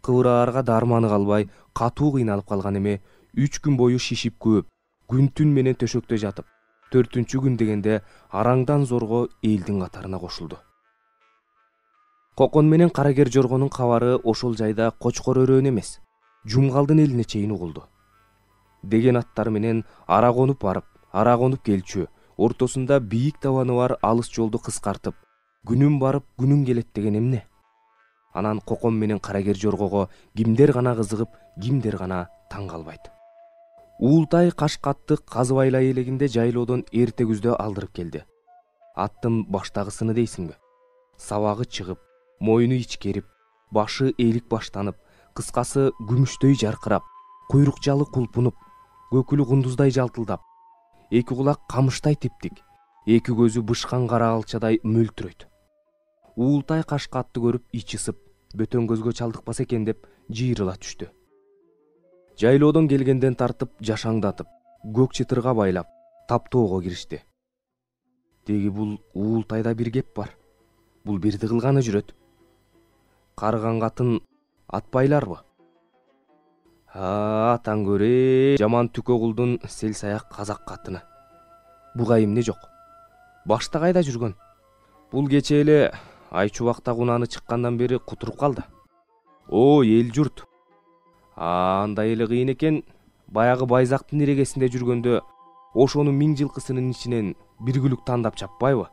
кыбыраарга дарманы калбай, катуу кыйналып калган эме 3 күн бою шишип көөп, күн-түн менен төшөктө жатып, 4-күн дегенде араңдан зорго элдин катарына кошулду. Кокон менен карагер жоргонун кабары ошол жайда Кочкор өрөөн эмес, Жумгалдын элине чейин угулду. Деген аттар менен ара конуп барып, ара конуп келчү, ортосунда бийик табаны бар алыс жолду кыскартып, күнүм барып күнүм келет деген эмне? Анан коком менен карагер жоргого кимдер гана кызыгып, кимдер гана таң калбайт. Уултай Кашкатты казыбайлай элегинде жайлоодон эрте күздө алдырып келди. Аттын баштагысыны дейсиңби? Сабагы чыгып, мойну ичкерип, башы элик баштанып, кыскасы күмүштөй жаркырап, куйрук жалы кулпунуп, көкүлү кундуздай жалтылдап, эки кулак камыштай типтик, эки көзү бышкан кара алчадай мөлтүрөйт. Уултай Кашкатты көрүп ичи ысып, бөтөн көзгө чалдыкпаса экен деп жыйрыла түштү. Жайлоодон келгенден тартып жашаңдатып, көк чытырга байлап, таптоого киришти. Деги бул Уултайда бир кеп бар. Бул бирди кылганы жүрөт. Карыган катын атпайларбы? Атаң көрө, жаман түкө кулдун сел саяк казак катыны. Буга эмне жок? Башта кайда жүргөн? Бул кече эле Айчубакта кунаны чыккандан бери кутуруп калды. О, эл журт. Андай эле кыйын экен, баягы Байзактын ирегесинде жүргөндө ошону 1000 жылкысынын ичинен бир күлүк тандап чаппайбы?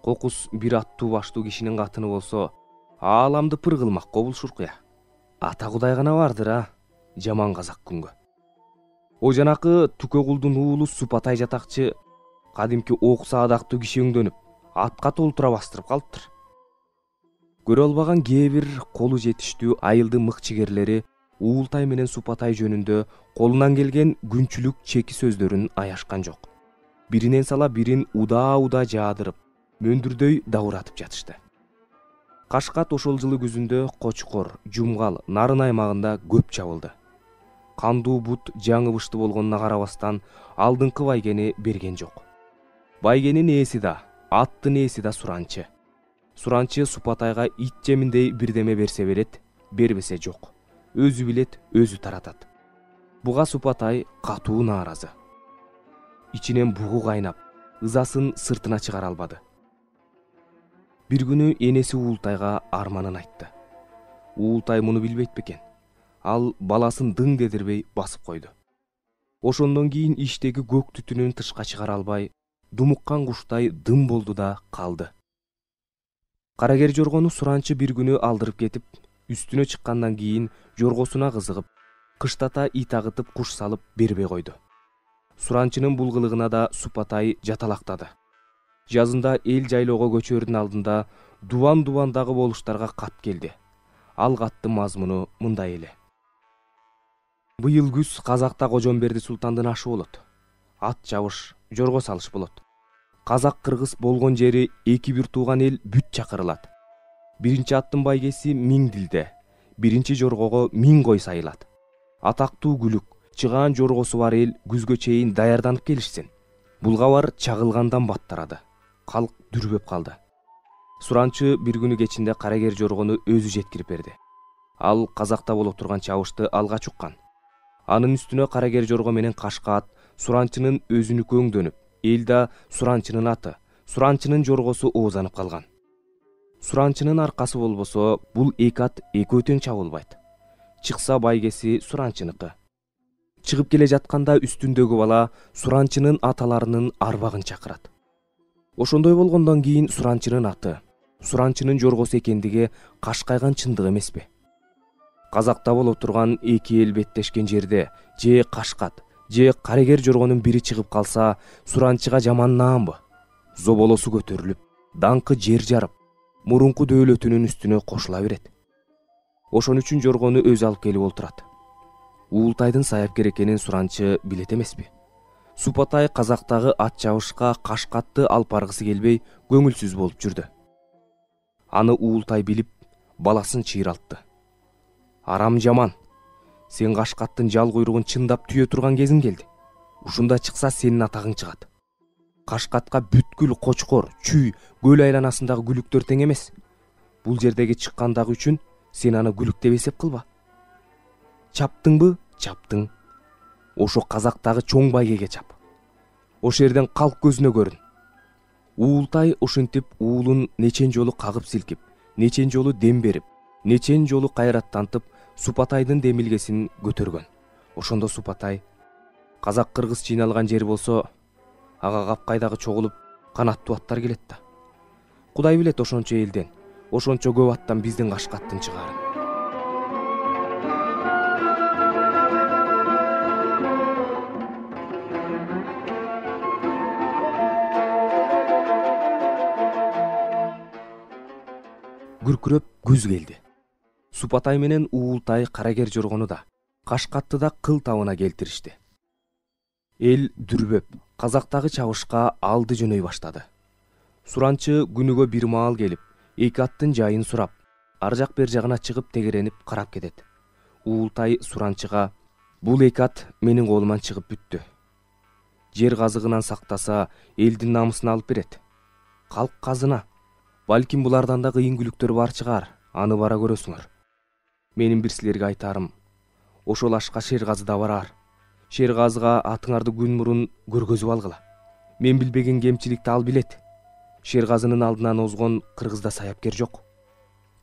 Кокус бир аттуу баштуу кишинин катыны болсо, ааламды пыр кылмак кобулшур куя. Ата Кудай гана бардыр, жаман казак күнгө. О жанакы Түкө кулдун уулу Супатай жатакчы кадимки ок саадактуу киши өңдөнүп, атка толтура бастырып калыптыр. Көрө албаган кээ бир колу жетиштүү айылды мыкчыгерлери Уултай менен Супатай жөнүндө колунан келген күнчүлүк чеки сөздөрүн аяшкан жок. Биринен сала бирин удаа жаадырып, мөндүрдөй дауратып жатышты. Кашкат ошол жылы күзүндө Кочкор, Жумгал, Нарын аймагында көп чабылды. Кандуу бут жаңы бышты болгонуна карабастан алдыңкы байгени берген жок. Байгенин ээси да, аттын ээси да Суранчы. Суранчы Супатайга ит жеминдей бирдеме берсе берет, бербесе жок. Өзү билет, өзү таратат. Буга Супатай катуу нааразы. Ичинен бугу кайнап, ызасын сыртына чыгара албады. Бир күнү энеси Уултайга арманын айтты. Уултай муну билбейт бекен. Ал баласын дың дедирбей басып койду. Ошондон кийин иштеги көк түтүнүн тышка чыгара албай, думуккан куштай дым болду да калды. Карагер жоргону Суранчы бир күнү алдырып кетип, үстүнө чыккандан кийин жоргосуна кызыгып, кыштата ит агытып куш салып бербей койду. Суранчынын бул кылыгына да Супатай жаталактады. Жазында эл жайлоого көчөрдүн алдында дубан-дубандагы болуштарга кат келди. Ал каттын мазмуну мындай эле. Быйыл күз Казакта Кожомберди султандын ашы болот. Ат жабыш, жорго салыш болот. Казак-кыргыз болгон жери эки бир тууган эл бүт чакырылат. Биринчи аттын байгеси 1000 дилде, биринчи жоргого 1000 кой сайылат. Атактуу күлүк, чыгаан жоргосу бар эл күзгө чейин даярданып келишсин. Бул кабар чагылгандан баттарады. Калк дүрбөп калды. Суранчы бир күнү кечинде карагер жоргону өзү жеткирип берди. Ал Казакта боло турган чабышты алгач уккан. Анын үстүнө карагер жорго менен Кашкат Суранчынын өзүнүкү өңдөнүп, эл да Суранчынын аты, Суранчынын жоргосу оозанып калган. Суранчынын аркасы болбосо, бул эки ат экөө тең чабылбайт. Чыкса байгеси Суранчыныкы. Чыгып келе жатканда үстүндөгү бала Суранчынын аталарынын арбагын чакырат. Ошондой болгондон кийин Суранчынын аты, Суранчынын жоргосу экендиги кашкайган чындык эмеспи? Казакта боло турган эки эл беттешкен жерде же Кашкат, же карагер жоргонун бири чыгып калса, Суранчыга жаман наамбы? Зоболосу көтөрүлүп, даңкы жер жарып, мурунку дөөлөтүнүн үстүнө кошула берет. Ошон үчүн жоргону өзү алып келип олтурат. Уултайдын саяпкер экенин Суранчы билет эмеспи? Супатай Казактагы ат жабышка Кашкатты алып баргысы келбей, көңүлсүз болуп жүрдү. Аны Уултай билип, баласын чыйралтты. Арам жаман, сен Кашкаттын жал куйругун чындап түйө турган кезиң келди. Ушунда чыкса сенин атагың чыгат. Кашкатка бүткүл Кочкор, Чүй, көл айланасындагы күлүктөр тең эмес. Бул жердеги чыккандагы үчүн сен аны күлүк деп эсеп кылба. Чаптыңбы? Чаптың. Ошо Казактагы чоң байгеге чап. Ошо жерден калк көзүнө көрүн. Уултай ошентип уулун нечен жолу кагып силкип, нечен жолу дем берип, нечен жолу кайраттантып Супатайдын демилгесин көтөргөн. Ошондо Супатай: Казак-кыргыз чыйналган жер болсо, ага капкайдагы чогулуп канаттуу аттар келет да. Кудай билет ошончо элден, ошончо көп аттан биздин Кашкаттын чыгаарын. Күркүрөп күз келди. Супатай менен Уултай Карагер Жоргону да, Кашкатты да кыл табына келтиришти. Эл дүрбөп, казактагы чабышка алды жөнөй баштады. Суранчы күнүгө бир маал келип, эки аттын жайын сурап, ар жак бер жагына чыгып тегеренип карап кетет. Уултай Суранчыга: "Бул эки ат менин колуман чыгып бүттү. Жер казыгынан сактаса, элдин намысын алып берет. Калк казына. Балким булардан да кыйын күлүктөр бар чыгар, аны бара көрөсүңөр. Менин бир силерге айтарым, ошол ашка Шергазы да барар. Шергазыга атыңарды күн мурун көргөзүп алгыла. Мен билбеген кемчиликти ал билет. Шергазынын алдынан озгон кыргызда саяпкер жок."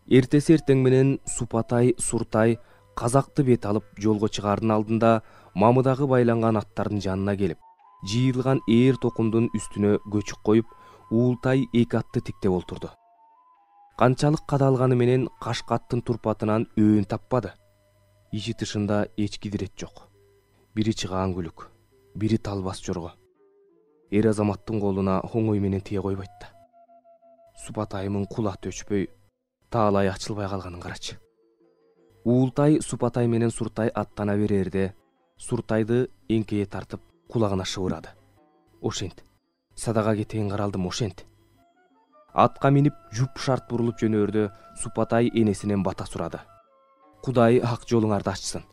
Эртеси эртең менен Супатай, Суртай казакты бет алып жолго чыгаардын алдында мамыдагы байланган аттардын жанына келип, жыйылган ээр токумдун үстүнө көчүк коюп, Уултай эки атты тиктеп олтурду. Канчалык кадалганы менен Кашкаттын турпатынан өөн таппады. Ичи тышында эч кидирет жок. Бири чыгаан күлүк, бири талбас жорго. Эр азаматтын колуна оңой менен тие койбойт да. Супатайымын кулаты өчпөй, таалай ачылбай калганын карачы. Уултай Супатай менен Суртай аттана берерде, Суртайды эңкейе тартып кулагына шыбырады: "Ошент. Садага кетейин каралдым, ошент." Атка минип жуп шарт бурулуп жөнөөрдө Супатай энесинен бата сурады: "Кудай ак жолуңарды ачсын.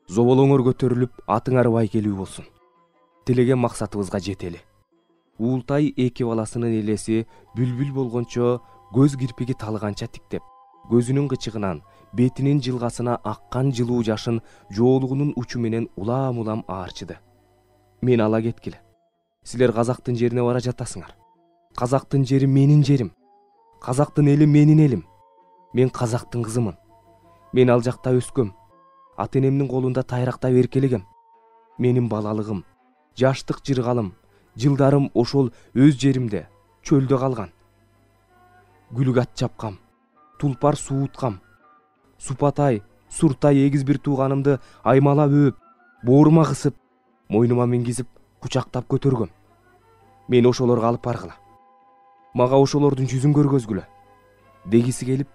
Зоболоңор көтөрүлүп, атыңар байкелүү болсун. Тилеген максатыбызга жетели." Уултай эки баласынын элеси бүлбүл болгончо көз кирпиги талганча тиктеп, көзүнүн кычыгынан, бетинин жылгасына аккан жылуу жашын жоолугунун учу менен улам-улам аарчыды. "Мен ала кеткиле. Силер казактын жерине бара жатасыңар. Казактын жери менин жерим. Казактын эли менин элим. Мен казактын кызымын. Мен ал жакта өскөм. Ата энемдин колунда тайрактап эркелегем. Менин балалыгым, жаштык жыргалым, жылдарым ошол өз жеримде, чөлдө калган. Гүлүк ат чапкам, тулпар сууткам. Супатай, Суртай эгиз бир тууганымды аймалап өөп, боорума кысып, мойнума мингизип, кучактап көтөргөм. Мен ошолорго алып баргыла. Мага ошолордун жүзүн көргөзгүлө." Дегиси келип,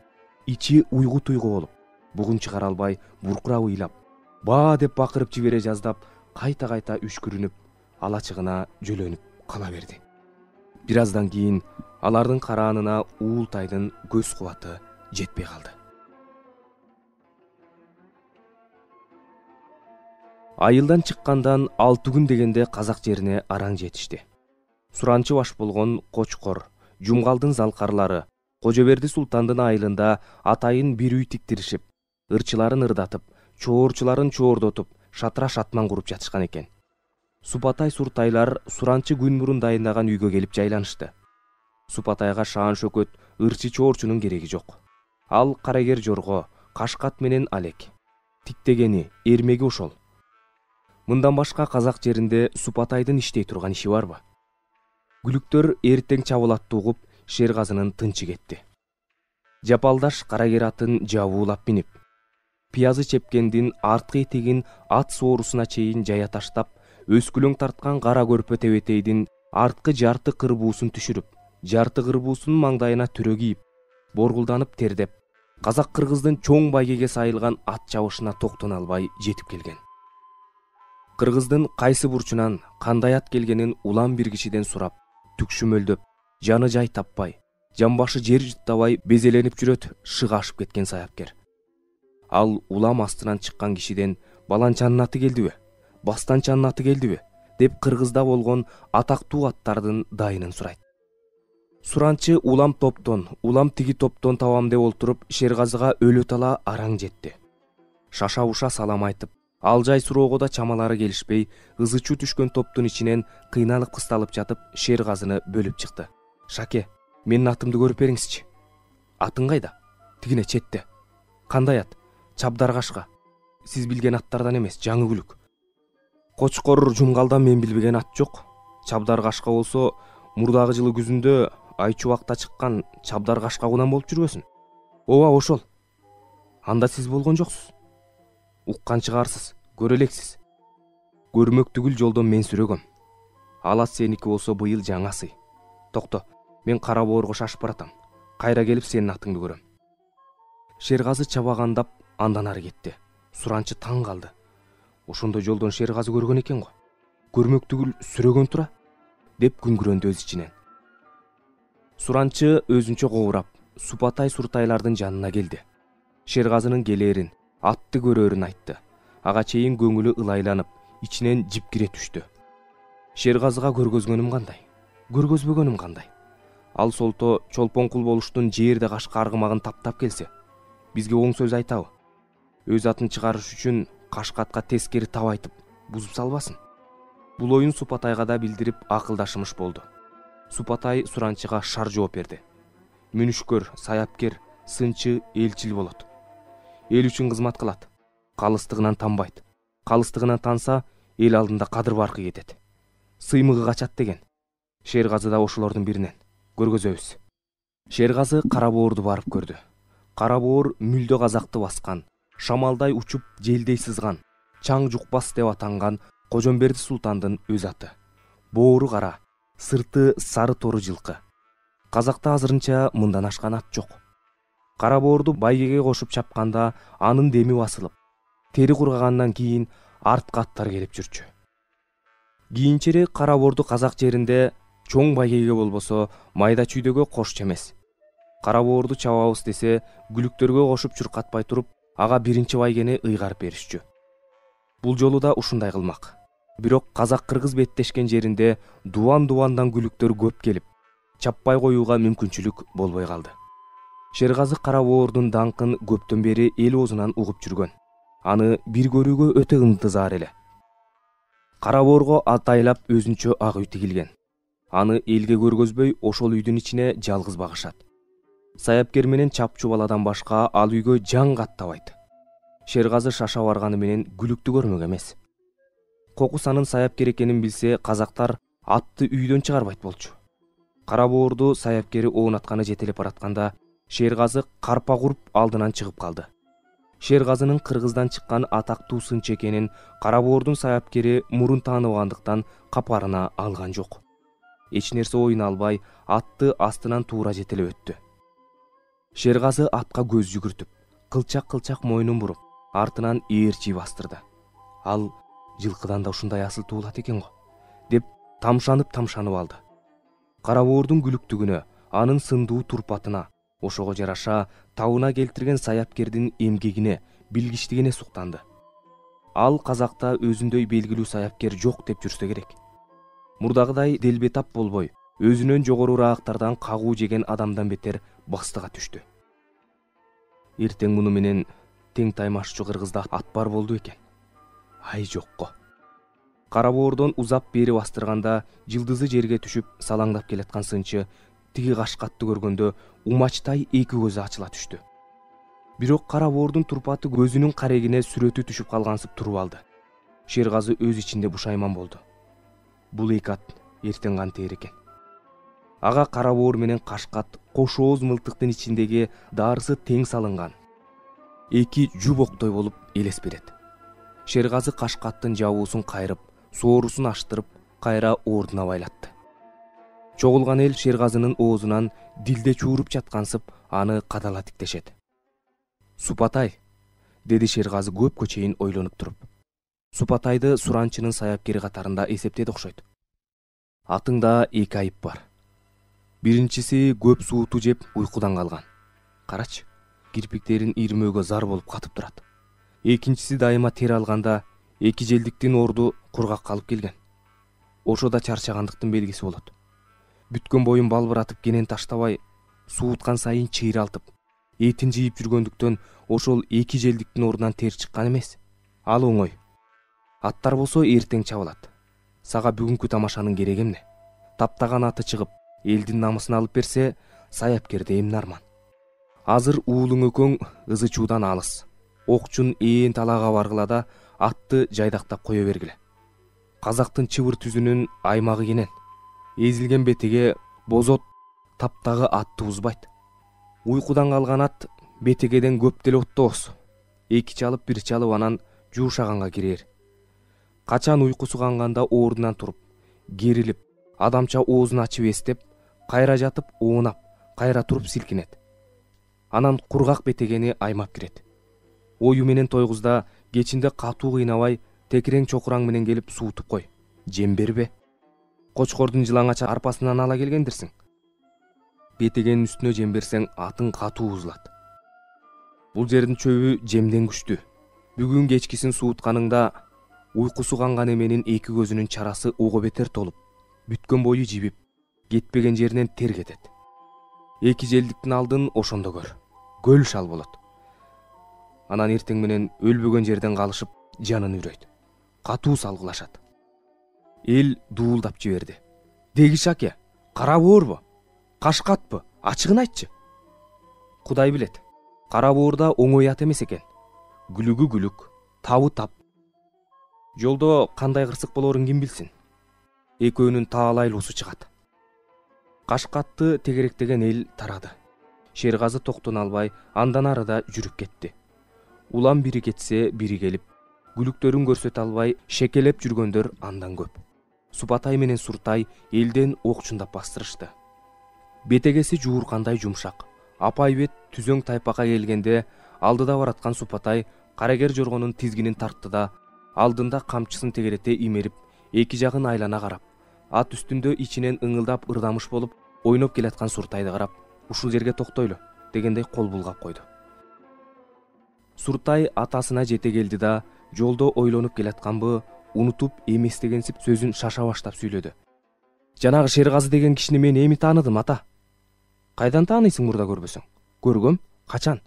ичи уйгу-туйгу болуп, бугун чыгара албай, буркурап ыйлап, баа деп бакырып жибере жаздап, кайта-кайта үшкүрүнүп, алачыгына жөлөнүп кала берди. Бир аздан кийин алардын караанына Уултайдын көз кубаты жетпей калды. Айылдан чыккандан 6 күн дегенде казак жерине араң жетишти. Суранчы баш болгон Кочкор, Жумгалдын залкарлары, Кожоберди султандын айылында атайын бир үй тиктиришип, ырчыларын ырдатып, чоорчуларын чоордотуп, шатыра шатман куруп жатышкан экен. Супатай Суртайлар Суранчы күн мурун дайындаган үйгө келип жайланышты. Супатайга шаан шөкөт ырчы чоорчунун кереги жок. Ал Карагер Жорго, Кашкат менен алек. Тиктегени, эрмеги ошол. Мындан башка казак жеринде Супатайдын иштей турган иши барбы? Күлүктөр эртең чабуулатты угуп, Шергазынын тынчы кетти. Жапалдаш Карагер атын жабуулап минип, пиязы чепкендин арткы этегин ат соорусуна чейин жая таштап, өскүлөң тарткан кара көрпө тебетейдин арткы жарты кырбуусун түшүрүп, жарты кырбуусунун маңдайына түрө кийип, боргулданып тердеп, казак-кыргыздын чоң байгеге сайылган ат чабышына токтоно албай жетип келген. Кыргыздын кайсы бурчунан кандай ат келгенин улам бир кишиден сурап, түкшүмөлдөп, жаны жай таппай, жамбашы жер жыттабай безеленип жүрөт шыга ашып кеткен саяпкер. Ал улам астынан чыккан кишиден баланчанын аты келдиби, бастанчанын аты келдиби деп кыргызда болгон атактуу аттардын дайынын сурайт. Суранчы улам топтон, улам тиги топтон табам деп олтуруп, Шергазыга өлө тала араң жетти. Шаша уша салам айтып, ал жай суроого да чамалары келишпей, ызычуу түшкөн топтун ичинен кыйналып кысталып жатып, Шергазыны бөлүп чыкты. "Шаке, менин атымды көрүп бериңизчи." "Атың кайда?" "Тигине четте." "Кандай ат?" "Чабдар кашка. Сиз билген аттардан эмес, жаңы күлүк." "Кочкор Жумгалдан мен билбеген ат жок. чабдар кашка болсо мурдагы жылы күзүндө айчубакта чыккан чабдар кашкагунан болуп жүрбөсүн? Ооба ошол. Анда сиз болгон жоксуз. Уккан чыгарсыз, көрө элексиз. Көрмөк түгүл жолдон мен сүрөгөм. Алат сеники болсо быйыл жаңа сый. Токто, мен Кара Боорго шашып баратам. Кайра келип сенин атыңды көрөм. Шергазы чабагандап андан ары кетти. Суранчы таң калды. Ошондо жолдон Шергазы көргөн экен го. Көрмөк түгүл сүрөгөн тура, деп күңгүрөндү өз ичинен. Суранчы өзүнчө кобурап, Супатай Суртайлардын жанына келди. Шергазынын келээрин, атты көрөрүн айтты. Ага чейин көңүлү ылайланып, ичинен жипкире түштү. Шергазыга көргөзгөнүм кандай, көргөзбөгөнүм кандай? Ал солто чолпон кул болуштун жерде кашка аргымагын таптап келсе, бизге оң сөз айтабы? Өз атын чыгарыш үчүн Кашкатка тескери тап айтып, бузуп салбасын. Бул оюн Супатайга да билдирип акылдашымыш болду. Супатай Суранчыга шар жооп берди. Мүнүшкөр, саяпкер, сынчы, элчил болот. Эл үчүн кызмат кылат. Калыстыгынан танбайт. Калыстыгынан танса, эл алдында кадыр баркы кетет. Сыймыгы качат деген. Шергазы да ошолордун биринен. Көргөзөбүз. Шергазы Кара Боорду барып көрдү. Кара Боор мүлдө казакты баскан, шамалдай учуп желдей сызган, чаң жукпас деп атанган Кожомберди султандын өз аты. Боору кара, сырты сары тору жылкы. Казакта азырынча мындан ашкан ат жок. Кара Боорду байгеге кошуп чапканда анын деми басылып, тери кургагандан кийин артка аттар келип жүрчү. Кийинчерээк Кара Боорду казак жеринде чоң байгеге болбосо майда чүйдөгө кошчу эмес. Кара Боорду чабабыз десе, күлүктөргө кошуп чуркатпай туруп, ага биринчи байгени ыйгарып беришчү. Бул жолу да ушундай кылмак. Бирок казак-кыргыз беттешкен жеринде дубан-дубандан күлүктөр көп келип, чаппай коюуга мүмкүнчүлүк болбой калды. Шергазы Кара Боордун даңкын көптөн бери эл оозунан угуп жүргөн. Аны бир көрүүгө өтө ынтызар эле. Кара Боорго атайлап өзүнчө ак үй тигилген. Аны элге көргөзбөй ошол үйдүн ичине жалгыз багышат. Саяпкер менен чапчу баладан башка ал үйгө жан каттабайт. Шергазы шаша барганы менен күлүктү көрмөк эмес. Кокус анын саяпкер экенин билсе, казактар атты үйдөн чыгарбайт болчу. Кара Боорду саяпкери оунатканы жетелеп баратканда Шергазы карпа куруп алдынан чыгып калды. Шергазынын кыргыздан чыккан атактуу сынчы экенин Кара Боордун саяпкери мурун тааныбагандыктан капарына алган жок. Эч нерсе оюна албай, атты астынан туура жетелеп өттү. Шергазы атка көз жүгүртүп, кылчак-кылчак мойнун буруп, артынан ээрчи бастырды. Ал жылкыдан да ушундай асыл туулат экен го, деп тамшанып алды. Кара Боордун күлүктүгүнө, анын сындуу турпатына, ошого жараша табына келтирген саяпкердин эмгегине, билгичтигине суктанды. Ал казакта өзүндөй белгилүү саяпкер жок деп жүрсө керек. Мурдагыдай делбетап болбой, өзүнөн жогорураагыктардан кагуу жеген адамдан бетер бастыга түштү. Эртең муну менен тең таймашчу кыргызда ат бар болду экен. Ай жокко. Кара Боордон узап бери бастырганда жылдызы жерге түшүп салаңдап келаткан сынчы тиги Кашкатты көргөндө умачтай эки көзү ачыла түштү. Бирок Кара Боордун турпаты көзүнүн карегине сүрөтү түшүп калгансып туруп алды. Шергазы өз ичинде бушайман болду. Бул эки ат эртең кантээр экен. Ага Кара Боор менен Кашкат кош ооз мылтыктын ичиндеги даарысы тең салынган. Эки жубоктой болуп элес берет. Шергазы Кашкаттын жабуусун кайрып, соорусун аштырып, кайра ордуна байлатты. Чогулган эл Шергазынын оозунан дилде чууруп жаткансып, аны кадала тиктешет. Супатай, деди Шергазы көпкө чейин ойлонуп туруп. Супатайды Суранчынын саяпкери катарында эсептеди окшойт. Атыңда эки айып бар. Биринчиси көп сууту жеп уйкудан калган. Карачы, кирпиктерин ирмөөгө зар болуп катып турат. Экинчиси дайыма тер алганда эки желдиктин орду кургак калып келген. Ошо да чарчагандыктын белгиси болот. Бүткөн боюн балбыратып кенен таштабай, сууткан сайын чыйралтып, этин жыйып жүргөндүктөн ошол эки желдиктин ордунан тер чыккан эмес. Ал оңой. Аттар болсо эртең чабылат. Сага бүгүнкү тамашанын кереги эмне? Таптаган аты чыгып, элдин намысын алып берсе, саяпкерде эмне арман? Азыр уулуң экөөң ызы чуудан алыс. Окчун ээн талаага баргыла да атты жайдактап кое бергиле. казактын чыбыр түзүнүн аймагы кенен. Эзилген бетеге бозот таптагы атты узбайт. Уйкудан калган ат бетегеден көп деле оттобос. 2 чалып 1 чалып анан жуушаганга кирер. Качан уйкусу канганда ордунан туруп, керилип, адамча оозун ачып эстеп, кайра жатып оонап, кайра туруп силкинет. Анан кургак бетегени аймап кирет. Ою менен тойгузда кечинде катуу кыйнабай, текирең чокураң менен келип суутуп кой. Жем бербе. Кочкордун жылаңача арпасынан ала келгендирсиң. Бетегенин үстүнө жем берсең, атың катуу бузулат. Бул жердин чөбү жемден күчтүү. Бүгүн кечкисин суутканыңда уйкусу канган эменин 2 көзүнүн чарасы ого бетер толуп, бүткөн бою жибип, кетпеген жеринен тер кетет. 2 желдиктин алдын ошондо көр. Көл шал болот. Анан эртең менен өлбөгөн жерден калышып, жанын үрөйт. Катуу салгылашат. Эл дуулдап жиберди. Дегиш аке, кара боорбу? Кашкатпы? Ачыгын айтчы. Кудай билет. Кара боорда оңой ат эмес экен. Күлүгү күлүк, табы тап. Жолдо кандай кырсык болорун ким билсин? Экөөнүн таалайлуусу чыгат. Кашкатты тегеректеген эл тарады. Шергазы токтоно албай, андан арыда жүрүп кетти. Улам бири кетсе, бири келип, күлүктөрүн көрсөтө албай, шекелеп жүргөндөр андан көп. Супатай менен Суртай элден окчундап бастырышты. Бетегеси жууркандай жумшак. Апайбет түзөң тайпакка келгенде, алдыда бараткан Супатай карагер жоргонун тизгинин тартты да, алдында камчысын тегерете имерип, 2 жагын айлана карап, ат үстүндө ичинен ыңылдап ырдамыш болуп, ойноп келаткан Суртайды карап, ушул жерге токтойлу дегендей кол булгап койду. Суртай атасына жете келди да, жолдо ойлонуп келатканбы, унутуп эместегенсип сөзүн шаша баштап сүйлөдү. Жанагы Шергазы деген кишини мен эми тааныдым, ата. Кайдан тааныйсың мурда көрбөсөң? Көргөм, качан?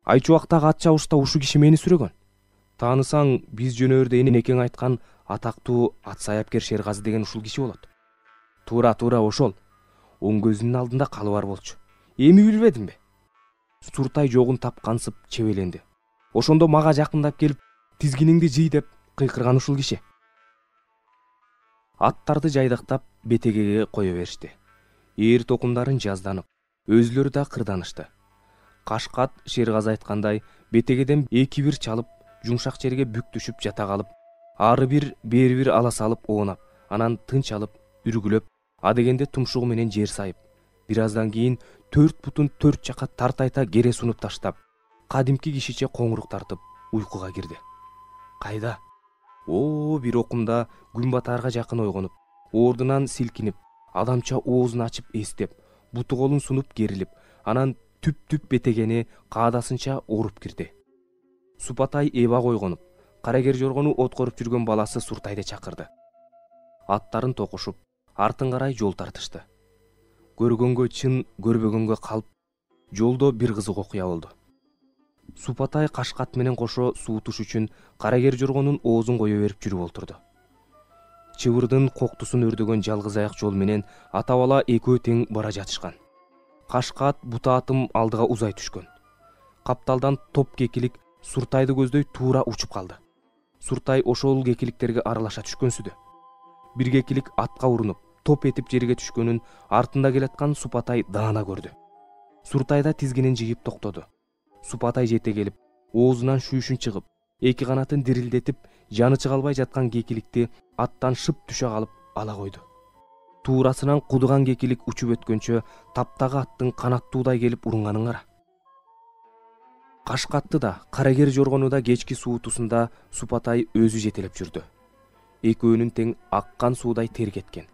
Айчубактагы ат чабышта ушу киши мени сүрөгөн. Таанысаң, биз жөнөөрдө энекең айткан атактуу ат саяпкер Шергазы деген ушул киши болот. Туура ошол. Оң көзүнүн алдында калы бар болчу. Эми билбедимби? Суртай жогун тапкансып чебеленди. Ошондо мага жакындап келип, тизгиниңди жый деп кыйкырган ушул киши. Аттарды жайдактап бетегеге кое беришти. Ээр токумдарын жазданып, өзүлөрү да кырданышты. Кашкат Шергазы айткандай бетегеден 2-1 чалып, жумшак жерге бүк түшүп жата калып, ары бир, бери бир ала салып оонап, анан тынч алып, үргүлөп, адегенде тумшугу менен жер сайып, бир аздан кийин 4 бутун 4 жака тартайта кере сунуп таштап, кадимки кишиче коңурук тартып, уйкуга кирди. Кайда? Бир окумда күн батаарга жакын ойгонуп, ордунан силкинип, адамча оозун ачып эстеп, буту колун сунуп керилип, анан түп бетегени каадасынча оруп кирди. Супатай эба койгонуп, карагер жоргону откоруп жүргөн баласы Суртайды чакырды. Аттарын токушуп, артын карай жол тартышты. Көргөнгө чын, көрбөгөнгө калп, жолдо бир кызык окуя болду. Супатай Кашкат менен кошо суутуш үчүн карагер жоргонун оозун кое берип жүрүп олтурду. Чыбырдын коктусун өрдөгөн жалгыз аяк жол менен ата бала экөө тең бара жатышкан. Кашкат бутаатым алдыга узай түшкөн. Капталдан топ кекилик Суртайды көздөй туура учуп калды. Суртай ошол кекиликтерге аралаша түшкөнсүдө. Бир кекилик атка урунуп, топ этип жерге түшкөнүн артында келаткан Супатай даана көрдү. Суртайда тизгинин жыйып токтоду. Супатай жете келип, оозунан шүүшүн чыгып, 2 канатын дирилдетип, жаны чыга албай жаткан кекиликти аттан шып түшө калып ала койду. Туурасынан кудуган кекилик учуп өткөнчө таптагы аттын канаттуудай келип урунганын кара. Кашкатты да, карагер жоргону да кечки суутусунда Супатай өзү жетелеп жүрдү. Экөөнүн тең аккан суудай тер кеткен.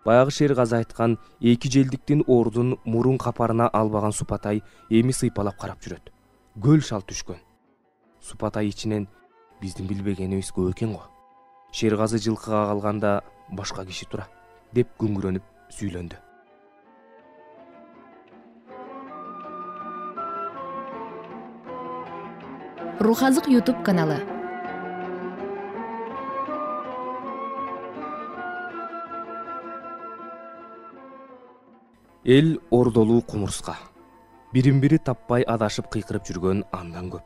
Баягы Шергазы айткан 2 желдиктин ордун мурун капарына албаган Супатай эми сыйпалап карап жүрөт. Көл шал түшкөн. Супатай ичинен биздин билбегенибиз көп экен го. Шергазы жылкыга калганда башка киши тура деп күңгүрөнүп сүйлөндү. Рухазык YouTube каналы. Эл ордолуу кумурска. Бирин бири таппай адашып кыйкырып жүргөн андан көп.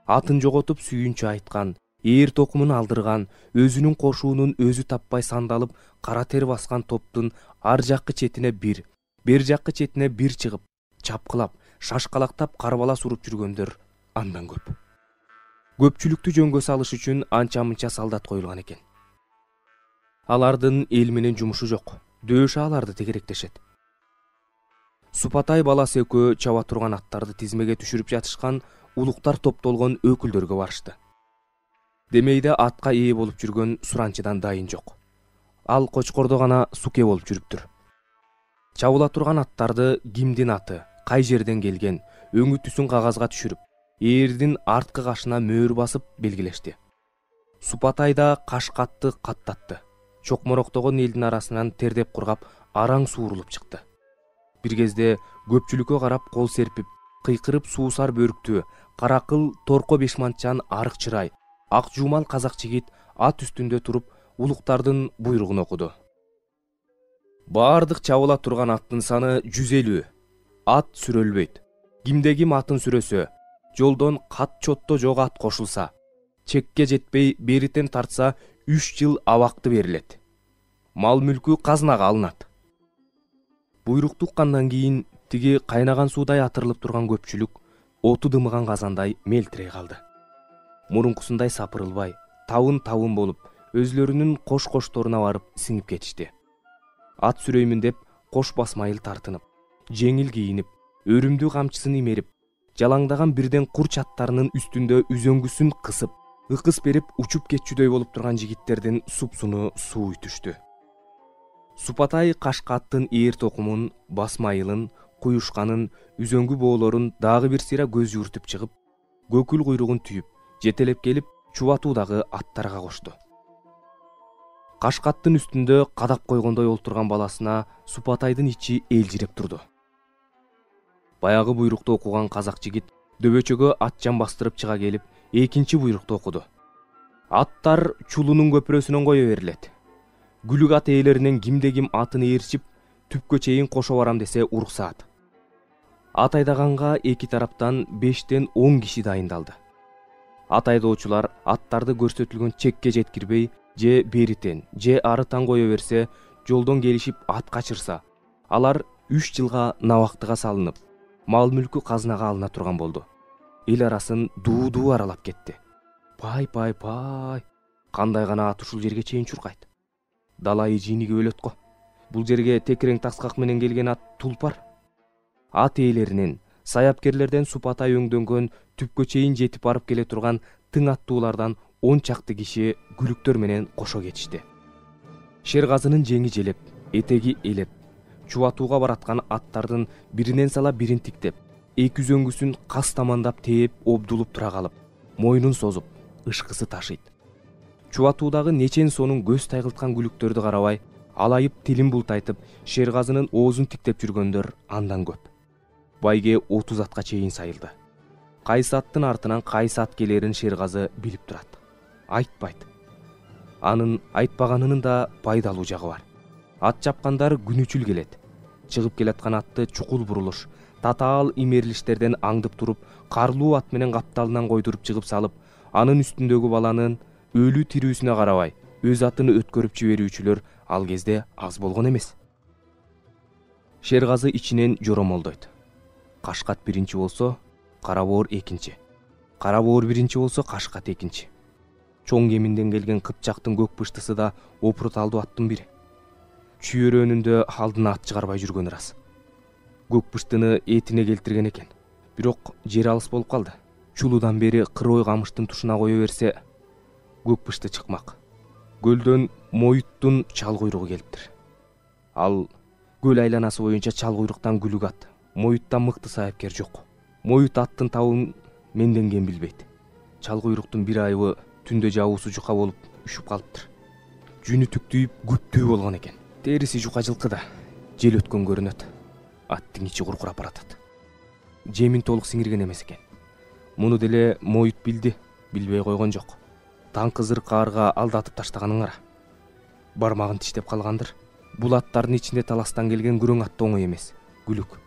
Атын жоготуп сүйүнчү айткан, ээр токумун алдырган, өзүнүн кошуунун өзү таппай сандалып кара тер баскан топтун ар жаккы четине бир, бер жаккы четине бир чыгып, чапкылап, шашкалактап карбалас уруп жүргөндөр андан көп. Көпчүлүктү жөнгө салыш үчүн анча-мынча солдат коюлган экен. Алардын эл менен жумушу жок, дөшө аларды тегеректешет. Супатай баласы экөө чаба турган аттарды тизмеге түшүрүп жатышкан улуктар топтолгон өкүлдөргө барышты. Демейде атка ээ болуп жүргөн суранчыдан дайын жок. Ал кочкордо гана суке болуп жүрүптүр. Чабыла турган аттарды кимдин аты, кай жерден келген, өңү түсүн кагазга түшүрүп, ээрдин арткы кашына мөөр басып белгилешти. Супатай да кашкатты каттатты. Чокмороктогон элдин арасынан тердеп кургап, араң суурулуп чыкты. Бир кезде көпчүлүккө карап кол серпип, кыйкырып суусар бөрүктүү, каракыл торко бешманчан арык чырай, ак жуумал казак жигит ат үстүндө туруп улуктардын буйругун окуду. Баардык чабыла турган аттын саны 150. Ат сүрөлбөйт. Кимде ким атын сүрөсө, жолдон кат чотто жок ат кошулса, чекке жетпей беритен тартса 3 жыл абакты берилет. Мал мүлкү казынага алынат. Буйрукту уккандан кийин тиги кайнаган суудай атырылып турган көпчүлүк оту дымыган казандай мелтирей калды. Мурункусундай сапырылбай, табын болуп, өзлөрүнүн кош-кошторуна барып сиңип кетишти. Ат сүрөймүн деп кош басмайыл тартынып, жеңил кийинип, өрүмдүү камчысын имерип, жалаңдаган бирден курч аттарынын үстүндө үзөңгүсүн кысып, ыкыс берип учуп кетчүдөй болуп турган жигиттердин супсуну суу үтүштү. Супатай кашка аттын ээр токумун, басмайылын, куюшканын, үзөңгү боолорун дагы бир сыйра көз юртуп чыгып, көкүл куйругун түйүп, жетелеп келип чубатуудагы аттарга кошту. Кашкаттын үстүндө кадап койгондой олтурган баласына Супатайдын ичи элжиреп турду. Баягы буйрукту окуган казак жигит дөбөчөгө атчан бастырып чыга келип, экинчи буйрукту окуду. Аттар чулунун көпүрөсүнөн кое берилет. Күлүк ат ээлеринен кимде ким атын ээрчип, түпкө чейин кошо барам десе уруксаат. Ат айдаганга эки тараптан 5-10 киши дайындалды. Ат айдоочулар аттарды көрсөтүлгөн чекке жеткирбей, же беритен, же арытан кое берсе, жолдон келишип ат качырса, алар 3 жылга набактыга салынып, мал мүлкү казынага алына турган болду. Эл арасын дуу аралап кетти. Пай, кандай гана ат ушул жерге чейин чуркайт. Далайы жийниги өлөт го. Бул жерге текирең таксак менен келген ат тулпар. Ат ээлеринен, саяпкерлерден Супатай өңдөнгөн түпкө чейин жетип барып келе турган тың аттуулардан 10 чакты киши күлүктөр менен кошо кетишти. Шергазынын жеңи желеп, этеги элеп, чубатууга бараткан аттардын биринен сала бирин тиктеп, эки үзөңгүсүн кас тамандап тээп обдулуп тура калып, мойнун созуп, ышкысы ташыйт. Чубатуудагы нечен сонун көз тайгылткан күлүктөрдү карабай, алайып тилин бултайтып, Шергазынын оозун тиктеп жүргөндөр андан көп. Байге 30 атка чейин сайылды. Кайсы аттын артынан кайсы ат келерин Шергазы билип турат. Айтпайт. Анын айтпаганынын да пайдалуу жагы бар. Ат чапкандар күнүчүл келет. Чыгып келаткан атты чукул бурулуш, татаал имерилиштерден аңдып туруп, карлуу ат менен капталынан койдуруп чыгып салып, анын үстүндөгү баланын өлүү тирүүсүнө карабай, өз атын өткөрүп жиберүүчүлөр ал кезде аз болгон эмес. Шергазы ичинен жоромолдойт. Кашкат биринчи болсо, кара боор экинчи. Кара боор биринчи болсо, кашкат экинчи. Чоң кеминден келген Кыпчактын көк пыштысы да опурталдуу аттын бири. Чүйөрөнүндө алдына ат чыгарбай жүргөн ырас. Көк пыштыны этине келтирген экен. Бирок жери алыс болуп калды. Чулуудан бери кырой камыштын тушуна кое берсе, көк пышты чыкмак. Көлдөн Моюттун чал куйругу келиптир. Ал көл айланасы боюнча чал куйруктан күлүк ат. Моюттан мыкты саяпкер жок. Моют аттын табын менденген билбейт. Чал куйруктун бир айыбы түндө жабуусу жука болуп үшүп калыптыр. Жүнү түктүйүп күптүү болгон экен. Териси жука жылкы да жел өткөн көрүнөт. Аттын ичи куркурап баратат. Жемин толук сиңирген эмес экен. Муну деле Моют билди, билбей койгон жок. Таң кызыр каарга алдатып таштаганын кара. Бармагын тиштеп калгандыр. Бул аттардын ичинде таластан келген күрөң ат да оңой эмес. Күлүк.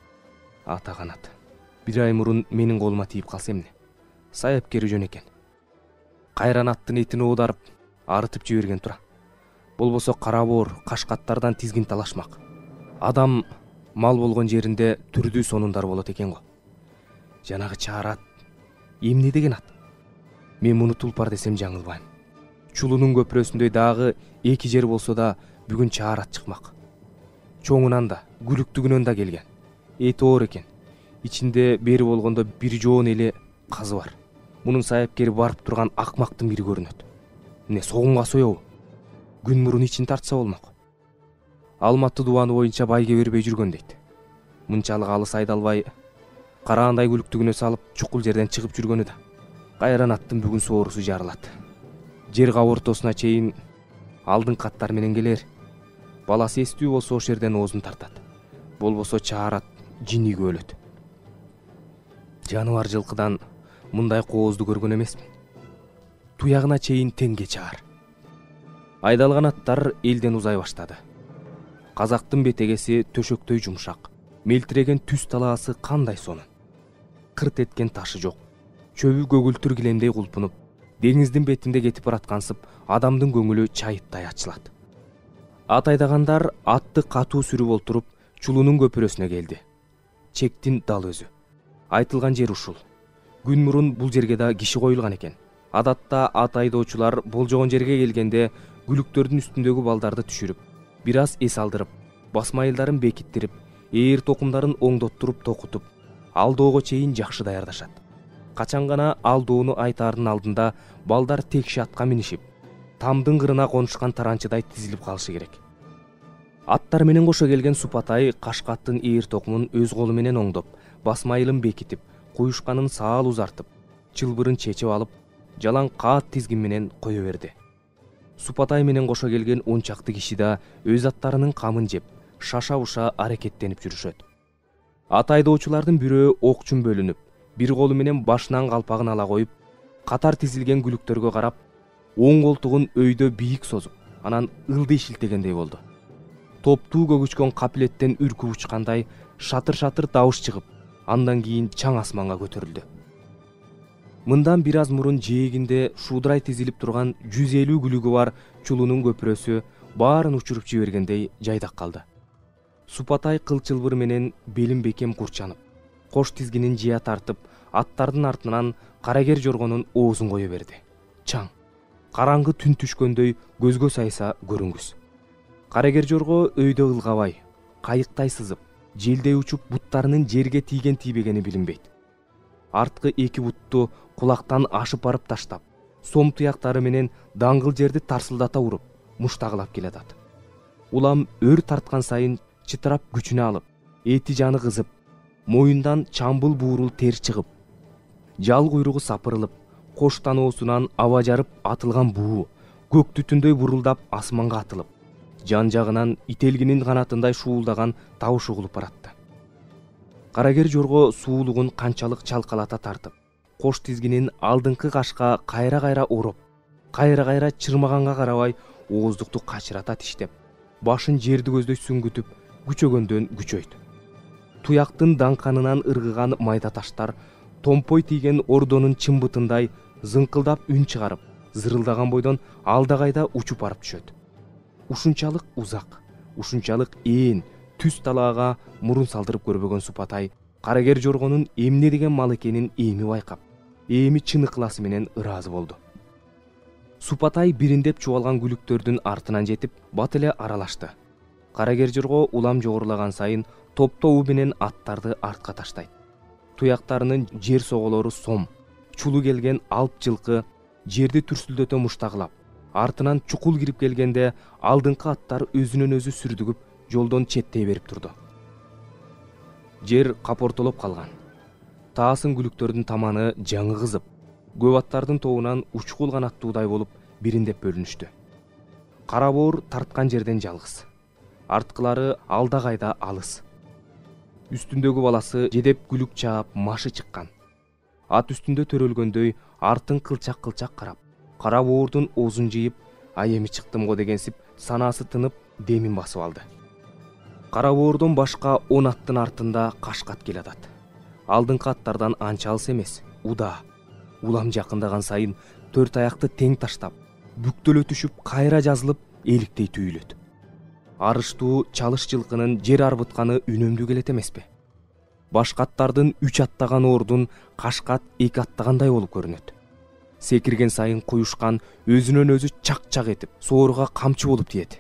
Ата канат. Бир ай мурун менин колума тийип калса эмне? Саяпкери жөн экен. кайран аттын этин оодарып арытып жиберген тура. Болбосо кара боор кашкаттардан тизгин талашмак. Адам мал болгон жеринде түрдүү сонундар болот экен го. Жанагы чаар ат эмне деген ат? Мен муну тулпар десем жаңылбайм. Чулунун көпүрөсүндөй дагы эки жер болсо да бүгүн чаар ат чыкмак. Чоңунан да, күлүктүгүнөн да келген. Эти оор экен. Ичинде бери болгондо бир жоон эле казы бар. Мунун сайапкери барып турган акмактын бири көрүнөт. Эмне согумга соёбу? Күн мурун ичин тартса болмок. Алматы дубаны боюнча байге бербей жүргөн дейт. Мынчалык алыс айдалбай, караандай күлүктүгүнө салып чукул жерден чыгып жүргөнү да. Кайран аттын бүгүн соорусу жарылат. Жер кабыртосуна чейин алдыңкы аттар менен келер. Баласы эстүү болсо ошол жерден оозун тартат. Болбосо чаар ат жинигип өлөт. Жаныбар жылкыдан мындай коозду көргөн эмесмин. Туягына чейин теңге чаар. Айдалган аттар элден узай баштады. Казактын бетегеси төшөктөй жумшак, мелтиреген түз талаасы кандай сонун. Кырт эткен ташы жок. Чөбү көгүлтүр килемдей кулпунуп, деңиздин бетинде кетип бараткансып, адамдын көңүлү чайыттай ачылат. Ат айдагандар атты катуу сүрүп олтуруп, чулунун көпүрөсүнө келди. Чектин дал өзү. Айтылган жер ушул. Күн мурун бул жерге да киши коюлган экен. Адатта ат айдоочулар болжогон жерге келгенде күлүктөрдүн үстүндөгү балдарды түшүрүп, бир аз эс алдырып, басмайылдарын бекиттирип, ээр токумдарын оңдоттуруп токутуп, алдоого чейин жакшы даярдашат. Качан гана алдоону айтаардын алдында балдар текши атка минишип, тамдын кырына конушкан таранчыдай тизилип калышы керек. Аттар менен кошо келген Супатай кашкаттын ээр токумун өз колу менен оңдоп, басмайылын бекитип, куюшканын саал узартып, чылбырын чечип алып, жалаң каат тизгин менен кое берди. Супатай менен кошо келген 10 чакты киши да өз аттарынын камын жеп, шаша-уша аракеттенип жүрүшөт. Ат айдоочулардын бирөө окчун бөлүнүп, бир колу менен башынан калпагын ала коюп, катар тизилген күлүктөргө карап, оң колтугун өйдө бийик созуп, анан ылдый шилтегендей болду. Топтуу көгүчкөн капилеттен үркүп учкандай шатыр-шатыр дабыш чыгып, андан кийин чаң асманга көтөрүлдү. Мындан бир аз мурун жээгинде шуудурай тизилип турган 150 күлүгү бар чулунун көпүрөсү баарын учуруп жибергендей жайдак калды. Супатай кыл чылбыр менен белин бекем курчанып, кош тизгинин жыя тартып, аттардын артынан карагер жоргонун оозун кое берди. Чаң, караңгы түн түшкөндөй көзгө сайса көрүнгүс. Карагер жорго өйдө ылгабай, кайыктай сызып, желдей учуп буттарынын жерге тийген тийбегени билинбейт. Арткы эки бутту кулактан ашып барып таштап, сом туяктары менен даңгыл жерди тарсылдата уруп, муштагылап келатат. Улам өр тарткан сайын чытырап күчүнө алып, эти жаны кызып, моюндан чамбыл буурул тер чыгып, жал куйругу сапырылып, кош таноосунан аба жарып атылган буу көк түтүндөй бурулдап асманга атылып, жан жагынан ителгинин канатындай шуулдаган табыш угулуп баратты. Карагер жорго суулугун канчалык чалкалата тартып, кош тизгинин алдыңкы кашка кайра-кайра ороп, кайра-кайра чырмаганга карабай ооздукту качырата тиштеп, башын жерди көздөй сүңгүтүп, күчөгөндөн күчөйт. Туяктын даңканынан ыргыган майда таштар томпой тийген ордонун чымбытындай зыңкылдап үн чыгарып, зырылдаган бойдон алдагайда учуп барып түшөт. Ушунчалык узак, ушунчалык ээн түз талаага мурун салдырып көрбөгөн Супатай карагер жоргонун эмне деген мал экенин эми байкап, эми чын ыкласы менен ыраазы болду. Супатай бириндеп чубалган күлүктөрдүн артынан жетип, бат эле аралашты. Карагер жорго улам жогорулаган сайын топтоо менен аттарды артка таштайт. Туяктарынын жер соголору сом, чулу келген алп жылкы жерди түрсүлдөтө муштагылап, артынан чукул кирип келгенде алдыңкы аттар өзүнөн өзү сүрдүгүп жолдон четтей берип турду. Жер капортолоп калган. Таасын күлүктөрдүн таманы жаңы кызып, көп аттардын тобунан учкул канаттуудай болуп бириндеп бөлүнүштү. Кара боор тарткан жерден жалгыз. Арткылары алда кайда алыс. Үстүндөгү баласы жедеп күлүк чаап машы чыккан. Ат үстүндө төрөлгөндөй артын кылчак-кылчак карап, кара боордун оозун жыйып, ай эми чыктым го дегенсип санаасы тынып, демин басып алды. Кара боордон башка 10 аттын артында кашкат келатат. Алдыңкы аттардан анча алыс эмес, уда. Улам жакындаган сайын төрт аякты тең таштап, бүктөлө түшүп кайра жазылып эликтей түйүлөт. Арыштуу чалыш жылкынын жер арбытканы үнөмдүү келет эмеспи? Башкаттардын 3 аттаган ордун кашкат 2 аттагандай болуп көрүнөт. Секирген сайын куюшкан өзүнөн өзү чак-чак этип, сооруга камчы болуп тиет.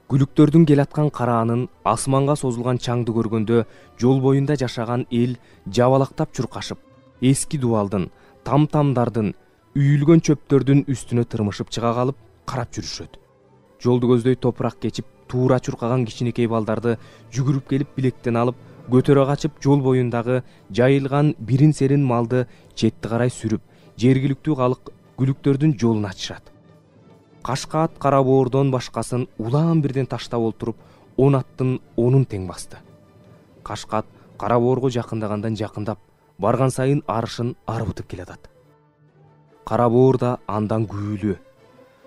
Күлүктөрдүн келаткан караанын асманга созулган чаңды көргөндө жол боюнда жашаган эл жабалактап чуркашып, эски дубалдын, там-тамдардын, үйүлгөн чөптөрдүн үстүнө тырмышып чыга калып карап жүрүшөт. Жолду көздөй топурак кечип, туура чуркаган кичинекей балдарды жүгүрүп келип билектен алып, көтөрө качып жол боюндагы жайылган бирин-серин малды четти карай сүрүп, жергиликтүү калык күлүктөрдүн жолун ачышат. Кашка ат кара боордон башкасын улаан бирден таштап олтуруп, 10 аттын 10-ун тең басты. Кашка ат кара боорго жакындагандан жакындап, барган сайын арышын арбытып келатат. Кара боор да андан күбүлүү.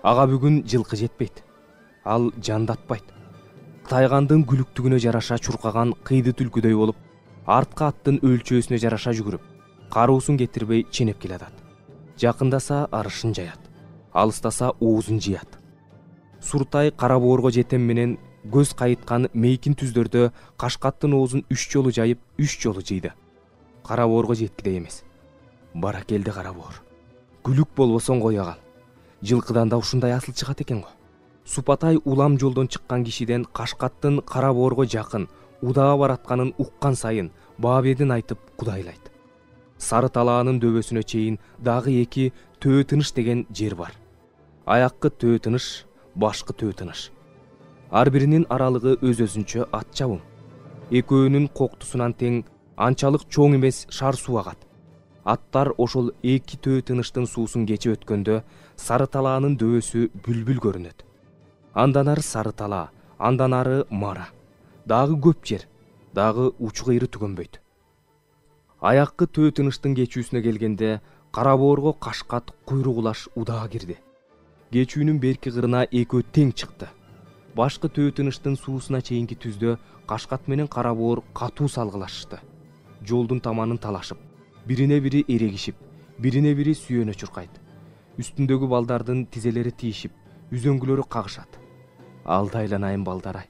Ага бүгүн жылкы жетпейт. Ал жандатпайт. Тайгандын күлүктүгүнө жараша чуркаган кыйды түлкүдөй болуп, артка аттын өлчөөсүнө жараша жүгүрүп, каруусун кетирбей ченеп келатат. Жакындаса арышын жаят, алыстаса оозун жыят. Суртай кара боорго жетем менен көз кайыткан мейкин түздөрдө кашкаттын оозун 3 жолу жайып, 3 жолу жыйды. Кара боорго жеткидей эмес. Баракелде кара боор. Күлүк болбосоң кое кал. Жылкыдан да ушундай асыл чыгат экен го. Супатай улам жолдон чыккан кишиден кашкаттын кара боорго жакын, удаа баратканын уккан сайын баабедин айтып кудайлайт. Сары талаанын дөбөсүнө чейин дагы 2 төө тыныш деген жер бар. Аяккы төө тыныш, башкы төө тыныш. Ар биринин аралыгы өз-өзүнчө ат чабым. Экөөнүн коктусунан тең анчалык чоң эмес шар суу агат. Аттар ошол 2 төө тыныштын суусун кечип өткөндө сары талаанын дөбөсү бүлбүл көрүнөт. Андан ары сары талаа, андан ары мара. Дагы көп жер, дагы учу кыйры түгөнбөйт. Аяккы төө тыныштын кечүүсүнө келгенде кара боорго кашкат куйругулаш удаа кирди. Кечүүнүн берки кырына экөө тең чыкты. Башкы төө тыныштын суусуна чейинки түздө кашкат менен кара боор катуу салгылашышты. Жолдун таманын талашып, бирине бири эрегишип, бирине бири сүйөнө чуркайт. Үстүндөгү балдардын тизелери тийишип, үзөңгүлөрү кагышат. Алда айланайын балдар-ай.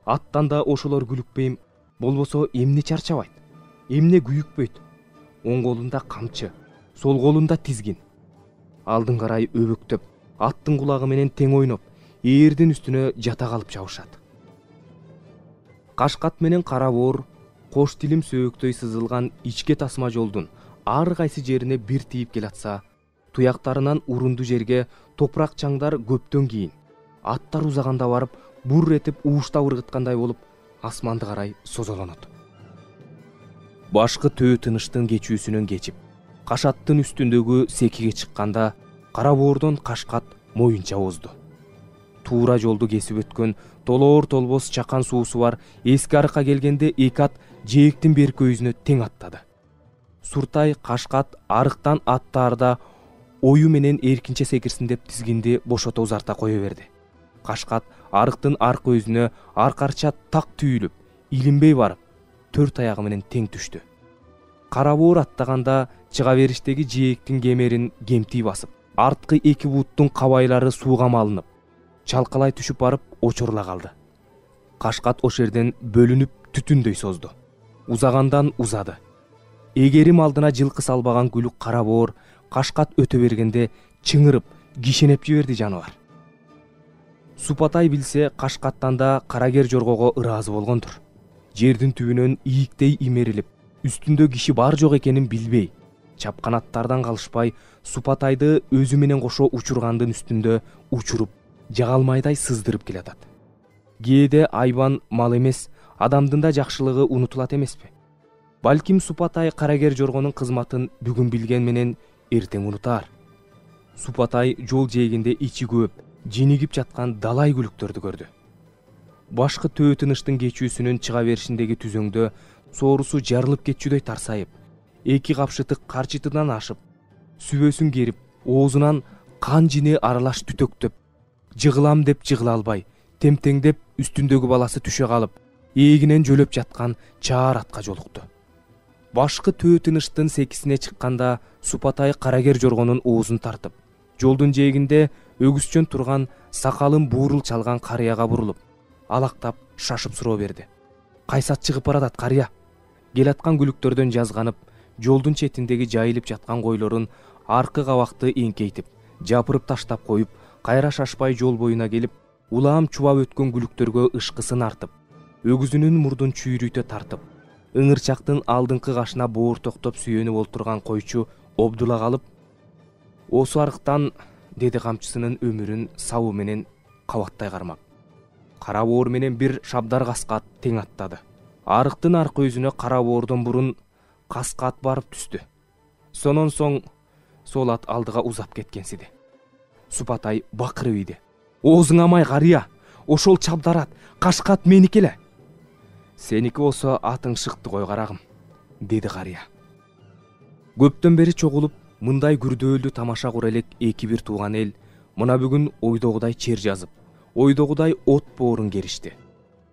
Аттан да ошолор күлүкпейм, болбосо эмне чарчабайт, эмне күйүкпөйт. Оң колунда камчы, сол колунда тизгин. Алдын карай өбөктөп, аттын кулагы менен тең ойноп, ээрдин үстүнө жата калып жабышат. Кашкат менен кара боор кош тилим сөөктөй сызылган ичке тасма жолдун ар кайсы жерине бир тийип келатса, туяктарынан урунду жерге топурак чаңдар көптөн кийин, аттар узаганда барып, бур этип ууштап ыргыткандай болуп, асманды карай созолонот. Башкы төө тыныштын кечүүсүнөн кечип, кашаттын үстүндөгү секиге чыкканда, кара боордон кашкат моюнча озду. Туура жолду кесип өткөн толоор толбос чакан суусу бар эски арыкка келгенде 2 ат жээктин берки өзүнө тең аттады. Суртай кашкат арыктан аттаарда ою менен эркинче секирсин деп тизгинди бошото узарта кое берди. Кашкат арыктын аркы өзүнө аркарча так түйүлүп, илинбей барып, 4 аягы менен тең түштү. Кара боор аттаганда чыга бериштеги жээктин кемерин кемтий басып, арткы 2 буттун кабайлары сууга малынып, чалкалай түшүп барып очорула калды. Кашкат ош жерден бөлүнүп түтүндөй созду. Узагандан узады. Эгерим алдына жылкы салбаган күлүк кара боор кашкат өтө бергенде чыңырып, кишенеп жиберди жаныбар. Супатай билсе, кашкаттан да карагер жоргого ыраазы болгондур. Жердин түбүнөн ийиктей имерилип, үстүндө киши бар жок экенин билбей, чапкан аттардан калышпай, Супатайды өзү менен кошо учургандын үстүндө учуруп, жагалмайдай сыздырып келатат. Кээде айбан мал эмес, адамдын да жакшылыгы унутулат эмеспи? Балким Супатай карагер жоргонун кызматын бүгүн билген менен эртең унутаар. Супатай жол жээгинде ичи көп, жинигип жаткан далай күлүктөрдү көрдү. Башкы төө тыныштын кечүүсүнүн чыга беришиндеги түзөңдө соорусу жарылып кетчүдөй тарсайып, 2 капшыты карчытынан ашып, сүбөсүн керип, оозунан кан жини аралаш түтөктөп, жыгылам деп жыгыла албай, темтеңдеп үстүндөгү баласы түшө калып, эгинен жөлөп жаткан чаар атка жолукту. башкы төө тыныштын секисине чыкканда Супатай Карагер жоргонун оозун тартып, жолдун жээгинде өгүзчөн турган сакалын буурул чалган карыяга бурулуп, алактап шашып суроо берди. Кайсат чыгып баратат карыя? Келаткан күлүктөрдөн жазганып, жолдун четиндеги жайылып жаткан койлорун аркы кабакты эңкейтип, жапырып таштап коюп, кайра шашпай жол боюна келип, улаам чубап өткөн күлүктөргө ышкысын артып, өгүзүнүн мурдун чүйрүйтө тартып, ыңырчактын алдыңкы кашына боор токтоп сүйөнүп олтурган койчу обдула калып, осу арыктан, деди камчысынын өмүрүн сабы менен кабаттай кармап. Кара боор менен бир шабдар каска ат тең аттады. Арыктын аркы өзүнө кара боордон бурун каска ат барып түстү. Сонон соң сол ат алдыга узап кеткенсиди. Супатай бакырып ийди. Оозуң амай карыя, ошол чабдар ат, кашка ат меники эле. Сеники болсо атың шыкты кой карагым, деди карыя. Көптөн бери чогулуп, мындай күрдөөлүү тамаша кура элек эки бир тууган эл мына бүгүн ойдогудай чер жазып, ойдогудай от боорун керишти.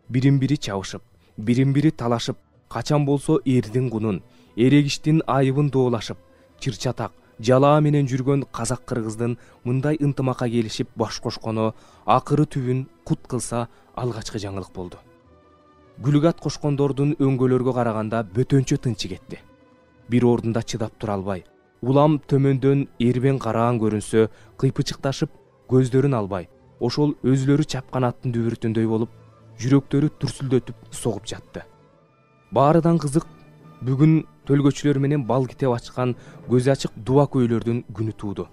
Бирин-бири чабышып, бирин-бири талашып, качан болсо эрдин кунун, эрегиштин айыбын доолашып, чыр-чатак, жалаа менен жүргөн казак-кыргыздын мындай ынтымакка келишип баш кошкону акыры түбүн кут кылса алгачкы жаңылык болду. Күлүк ат кошкондордун өңгөлөргө караганда бөтөнчө тынчы кетти. Бир ордунда чыдап тура албай, улам төмөндөн эрбең караан көрүнсө, кыйпычыкташып, көздөрүн албай, ошол өзүлөрү чапкан аттын дүбүрүтүндөй болуп, жүрөктөрү дүрсүлдөтүп согуп жатты. Баарыдан кызык, бүгүн төлгөчүлөр менен бал китеп ачкан көзү ачык дуба көйлөрдүн күнү тууду.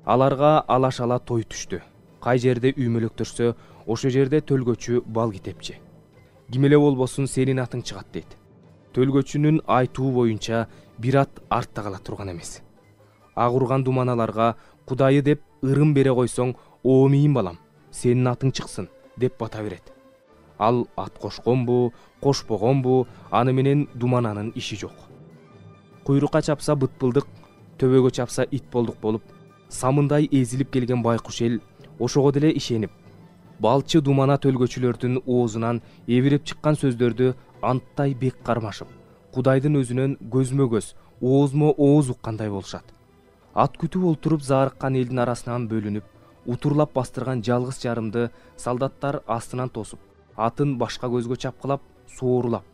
Аларга алаш-ала той түштү. Кай жерде үймөлөктөрсө, ошо жерде төлгөчү бал китепчи. Ким эле болбосун сенин атың чыгат дейт. Төлгөчүнүн айтуу боюнча бир ат артта кала турган эмес. Ак урган думаналарга Кудайы деп ырым бере койсоң, о мийин балам, сенин атың чыксын деп бата берет. Ал ат кошконбу, кошпогонбу, аны менен думананын иши жок. Куйрукка чапса бытпылдык, төбөгө чапса ит болдук болуп, самындай эзилип келген байкуш эл ошого деле ишенип, балчы думана төлгөчүлөрдүн оозунан эбирип чыккан сөздөрдү анттай бек кармашып, Кудайдын өзүнөн көзмө-көз, оозмо-ооз уккандай болушат. Ат күтүп олтуруп заарыккан элдин арасынан бөлүнүп, утурлап бастырган жалгыз жарымды солдаттар астынан тосуп, атын башка көзгө чапкылап, соорулап,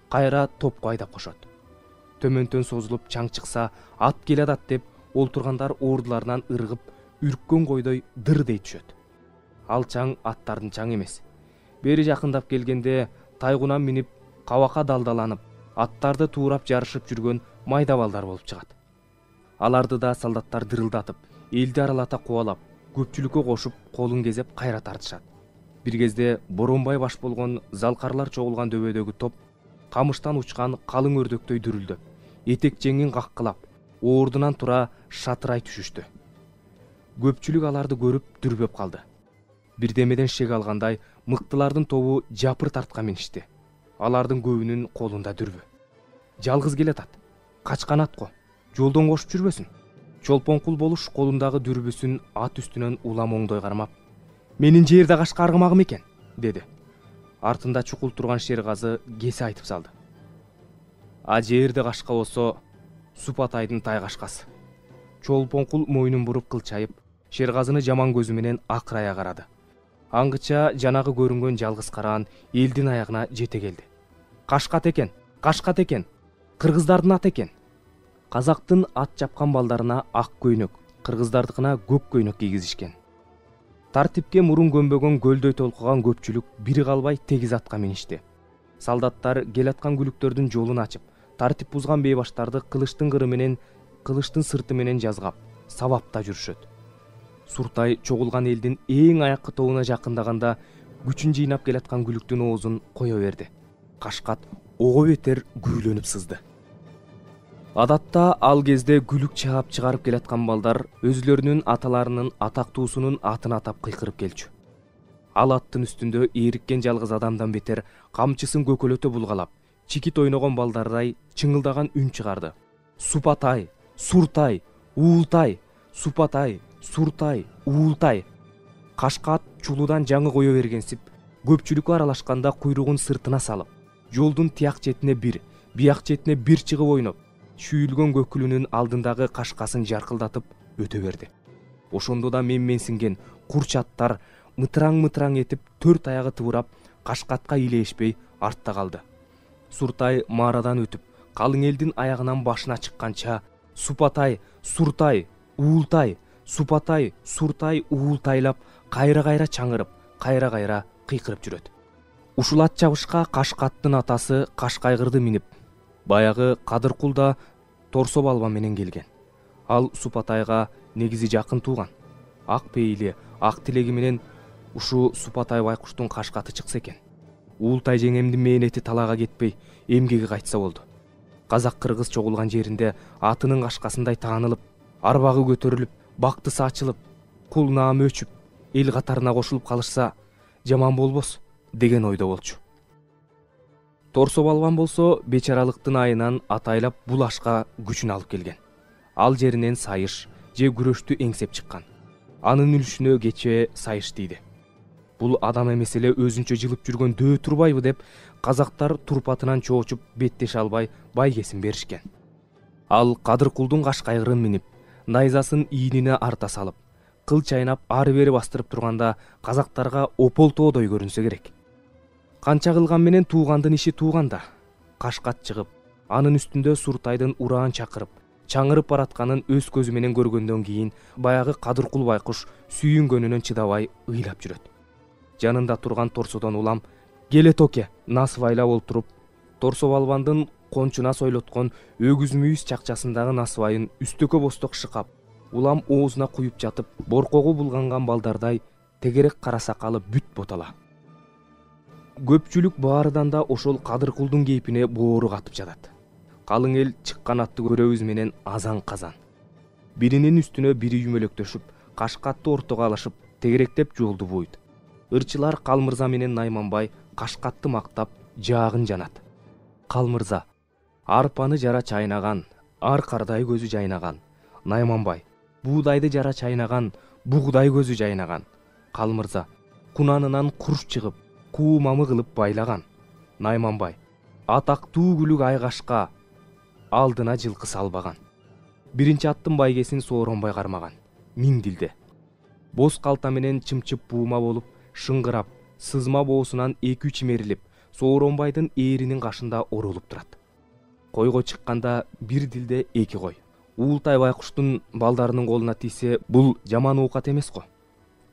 кайра топко айдап кошот. Төмөнтөн созулуп чаң чыкса, ат келатат деп, олтургандар ордуларынан ыргып, үрккөн койдой дыр дей түшөт. Ал чаң аттардын чаң эмес. Бери жакындап келгенде, тайгунан минип, кабакка далдаланып, аттарды туурап жарышып жүргөн майда балдар болуп чыгат. Аларды да солдаттар дырылдатып, элди аралата кубалап, көпчүлүккө кошуп, колун кезеп кайра тартышат. Бир кезде Боронбай баш болгон залкарлар чогулган дөбөдөгү топ камыштан учкан калың өрдөктөй дүрүлдөп, этек жеңин каккылап, ордунан тура шатырай түшүштү. Көпчүлүк аларды көрүп дүрбөп калды. Бирдемеден шек алгандай, мыктылардын тобу жапыр тарткан миништи. Алардын көбүнүн колунда дүрбү. Жалгыз келатат. Качкан ат го. Жолдон кошуп жүрбөсүн. Чолпонкул болуш колундагы дүрбүсүн ат үстүнөн улам оңдой кармап, "Менин жерде кашка аргымагым экен", деди. Артында чукул турган Шергазы кесе айтып салды. "А жерде кашка болсо, Супатайдын тай кашкасы." Чолпонкул мойнун буруп кылчайып, Шергазыны жаман көзү менен акырая карады. Аңгыча жанагы көрүнгөн жалгыз караан элдин аягына жете келди. "Кашкат экен, кашкат экен. Кыргыздардын аты экен." Казактын ат чапкан балдарына ак көйнөк, кыргыздардыкына көк көйнөк кийгизишкен. Тартипке мурун көмбөгөн көлдөй толкуган көпчүлүк бири калбай тегиз атка миништи. Солдаттар келаткан күлүктөрдүн жолун ачып, тартип бузган бейбаштарды кылычтын кыры менен, кылычтын сырты менен жазгап, сабапта жүрүшөт. Суртай чогулган элдин эң аяккы тобуна жакындаганда күчүн жыйнап келаткан күлүктүн оозун кое берди. Кашкат ого бетер күрүлөнүп сызды. Адатта ал кезде күлүк чаап чыгарып келаткан балдар өзүлөрүнүн аталарынын атактуусунун атын атап кыйкырып келчү. Ал аттын үстүндө эриккен жалгыз адамдан бетер камчысын көкөлөтө булгалап, чикит ойногон балдардай чыңылдаган үн чыгарды. "Супатай, Суртай, Уултай, Супатай, Суртай, Уултай." Кашка ат чулуудан жаңы кое бергенсип, көпчүлүккө аралашканда куйругун сыртына салып, жолдун тияк четине бир, бияк четине бир чыгып ойноп, шүйүлгөн көкүлүнүн алдындагы кашкасын жаркылдатып өтө берди. Ошондо да менсинген курчаттар мытыраң этип 4 аягы тыбырап кашкатка илешпей артта калды. Суртай маарадан өтүп, калың элдин аягынан башына чыкканча Супатай, Суртай, Уултай, Супатай, Суртай, Уултайлап кайра чаңырып, кайра кыйкырып жүрөт. Ушул ат чабышка Кашкаттын атасы Кашкайгырды минип, баягы Кадыркул да Торсо балба менен келген. Ал Супатайга негизи жакын тууган. Ак пейили, ак тилеги менен ушу Супатай байкуштун кашкаты чыкса экен. Уултай жеңемдин мээнети талаага кетпей, эмгеги кайтса болду. Казак-кыргыз чогулган жеринде атынын кашкасындай таанылып, арбагы көтөрүлүп, бактысы ачылып, кул наамы өчүп, эл катарына кошулуп калышса жаман болбос деген ойдо болчу. Торсо балбан болсо бечаралыктын айынан атайлап бул ашка күчүн алып келген. Ал жеринен сайыш же күрөштү эңсеп чыккан. Анын үлүшүнө кече сайыш тийди. Бул адам эмес эле өзүнчө жылып жүргөн дөө турбайбы деп казактар турпатынан чоочуп беттеше албай байгесин беришкен. Ал Кадыркулдун Кашкайгырын минип, найзасын ийнине арта салып, кыл чайнап ары бери бастырып турганда казактарга ополтоодой көрүнсө керек. Канча кылган менен туугандын иши тууганда. Кашкат чыгып, анын үстүндө Суртайдын ураан чакырып, чаңырып баратканын өз көзү менен көргөндөн кийин баягы Кадыркул байкуш сүйүнгөнүнөн чыдабай ыйлап жүрөт. Жанында турган Торсодон улам келе токе насыбайлап олтуруп, Торсо балбандын кончуна сойлоткон өгүз мүйүз чакчасындагы насыбайын үстөкө босток шыкап, улам оозуна куюп жатып, боркогу булганган балдардай тегерек кара сакалы бүт ботала. Көпчүлүк баарыдан да ошол Кадыркулдун кейпине боору катып жатат. Калың эл чыккан атты көрөбүз менен азан-казан. Биринин үстүнө бири үймөлөктөшүп, Кашкатты ортого алышып, тегеректеп жолду бууйт. Ырчылар Калмырза менен Найманбай Кашкатты мактап, жаагын жанат. Калмырза арпаны жара чайнаган, ар кардай көзү жайнаган. Найманбай буудайды жара чайнаган, бугдай көзү жайнаган. Калмырза кунанынан курш чыгып, куу мамы кылып байлаган. Найманбай атактуу күлүк айгашка алдына жылкы салбаган. Биринчи аттын байгесин Сооронбай кармаган. Миң дилде. Боз калта менен чымчып буума болуп, шыңгырап, сызма боосунан 2-3 чимерилип, Сооронбайдын ээринин кашында оролуп турат. Койго чыкканда бир дилде 2 кой. Уултай байкуштун балдарынын колуна тийсе, бул жаман оокат эмес го.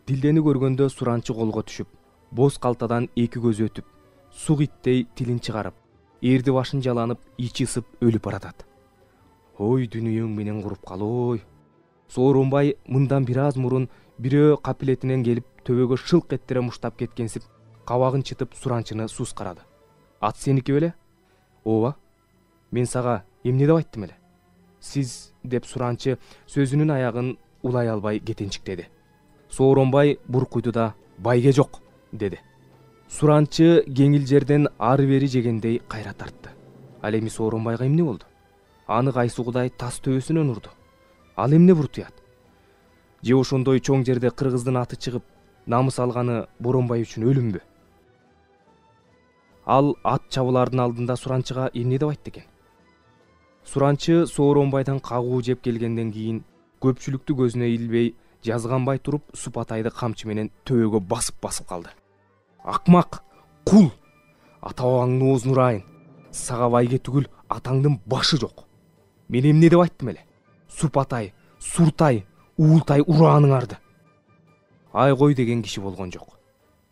Дилдени көргөндө суранчы колго түшүп, боз калтадан 2 көзү өтүп, сук иттей тилин чыгарып, эрди башын жаланып, ичи ысып өлүп баратат. Ой, дүнүйөң менен куруп калой. Сооронбай мындан бир аз мурун бирөө капилетинен келип төбөгө шылк эттире муштап кеткенсип, кабагын чытып суранчыны сус карады. Ат сеники беле? Ооба. Мен сага эмне деп айттым эле? Сиз деп суранчы сөзүнүн аягын улай албай кетенчиктеди. Сооронбай буркуйду да байге жок деди. Суранчы кеңил жерден ары бери жегендей кайра тартты. Ал эми Сооронбайга эмне болду? Аны кайсы кудай тас төбөсүнөн урду. Ал эмне буртуят? Же ошондой чоң жерде кыргыздын аты чыгып, намыс алганы Боронбай үчүн өлүмбү? Ал ат чабуулардын алдында суранчыга эмне деп айтты экен? Суранчы Сооронбайдан кагуу жеп келгенден кийин көпчүлүктү көзүнө илбей, жазганбай туруп Супатайды камчы менен төбөгө басып калды. Акмак, кул! Ата-бабаңдын оозун урайын. Сага байге түгүл атаңдын башы жок. Мен эмне деп айттым эле? Супатай, Суртай, Уултай урааныңарды. Айгой деген киши болгон жок.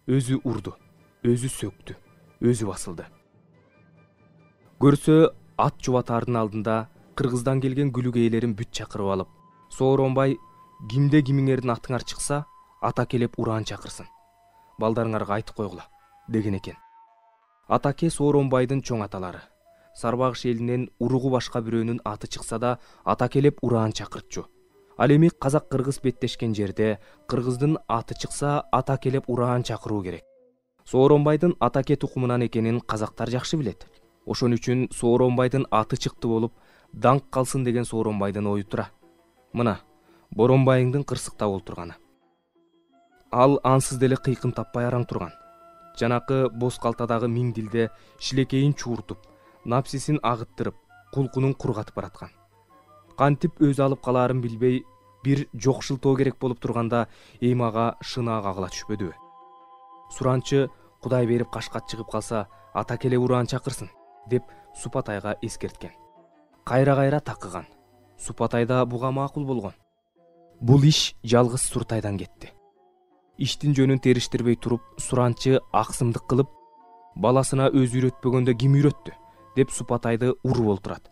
Өзү урду, өзү сөктү, өзү басылды. Көрсө ат жубатардын алдында кыргыздан келген күлүк ээлерин бүт чакырып алып, Сооронбай кимде кимиңердин атыңар чыкса, ата келип ураан чакырсын. Балдарыңарга айтып койгула деген экен. Атаке Сооронбайдын чоң аталары. Сарбагыш элинен уругу башка бирөөнүн аты чыкса да, ата келип ураан чакыртчу. Ал эми казак-кыргыз беттешкен жерде кыргыздын аты чыкса, ата келип ураан чакыруу керек. Сооронбайдын Атаке тукумунан экенин казактар жакшы билет. Ошон үчүн Сооронбайдын аты чыкты болуп, даңк калсын деген Сооронбайдын ою тура. Мына, Боронбайыңдын кырсыкта олтурганы. Ал ансыз деле кыйкым таппай араң турган. Жанакы боз калтадагы миң дилде шилекейин чууртуп, напсисин агыттырып кулкунун кургатып бараткан. Кантип өз алып калаарын билбей бир жокшултоо керек болуп турганда эми ага шынаа кагыла түшпөдүбү? Суранчы Кудай берип кашкат чыгып калса ата келе ураан чакырсын деп Супатайга эскерткен. Кайра такыган. Супатай да буга макул болгон. Бул иш жалгыз Суртайдан кетти. Иштин жөнүн териштирбей туруп, суранчы аксымдык кылып, баласына өзү үйрөтпөгөндө ким үйрөттү деп Супатайды уруп олтурат.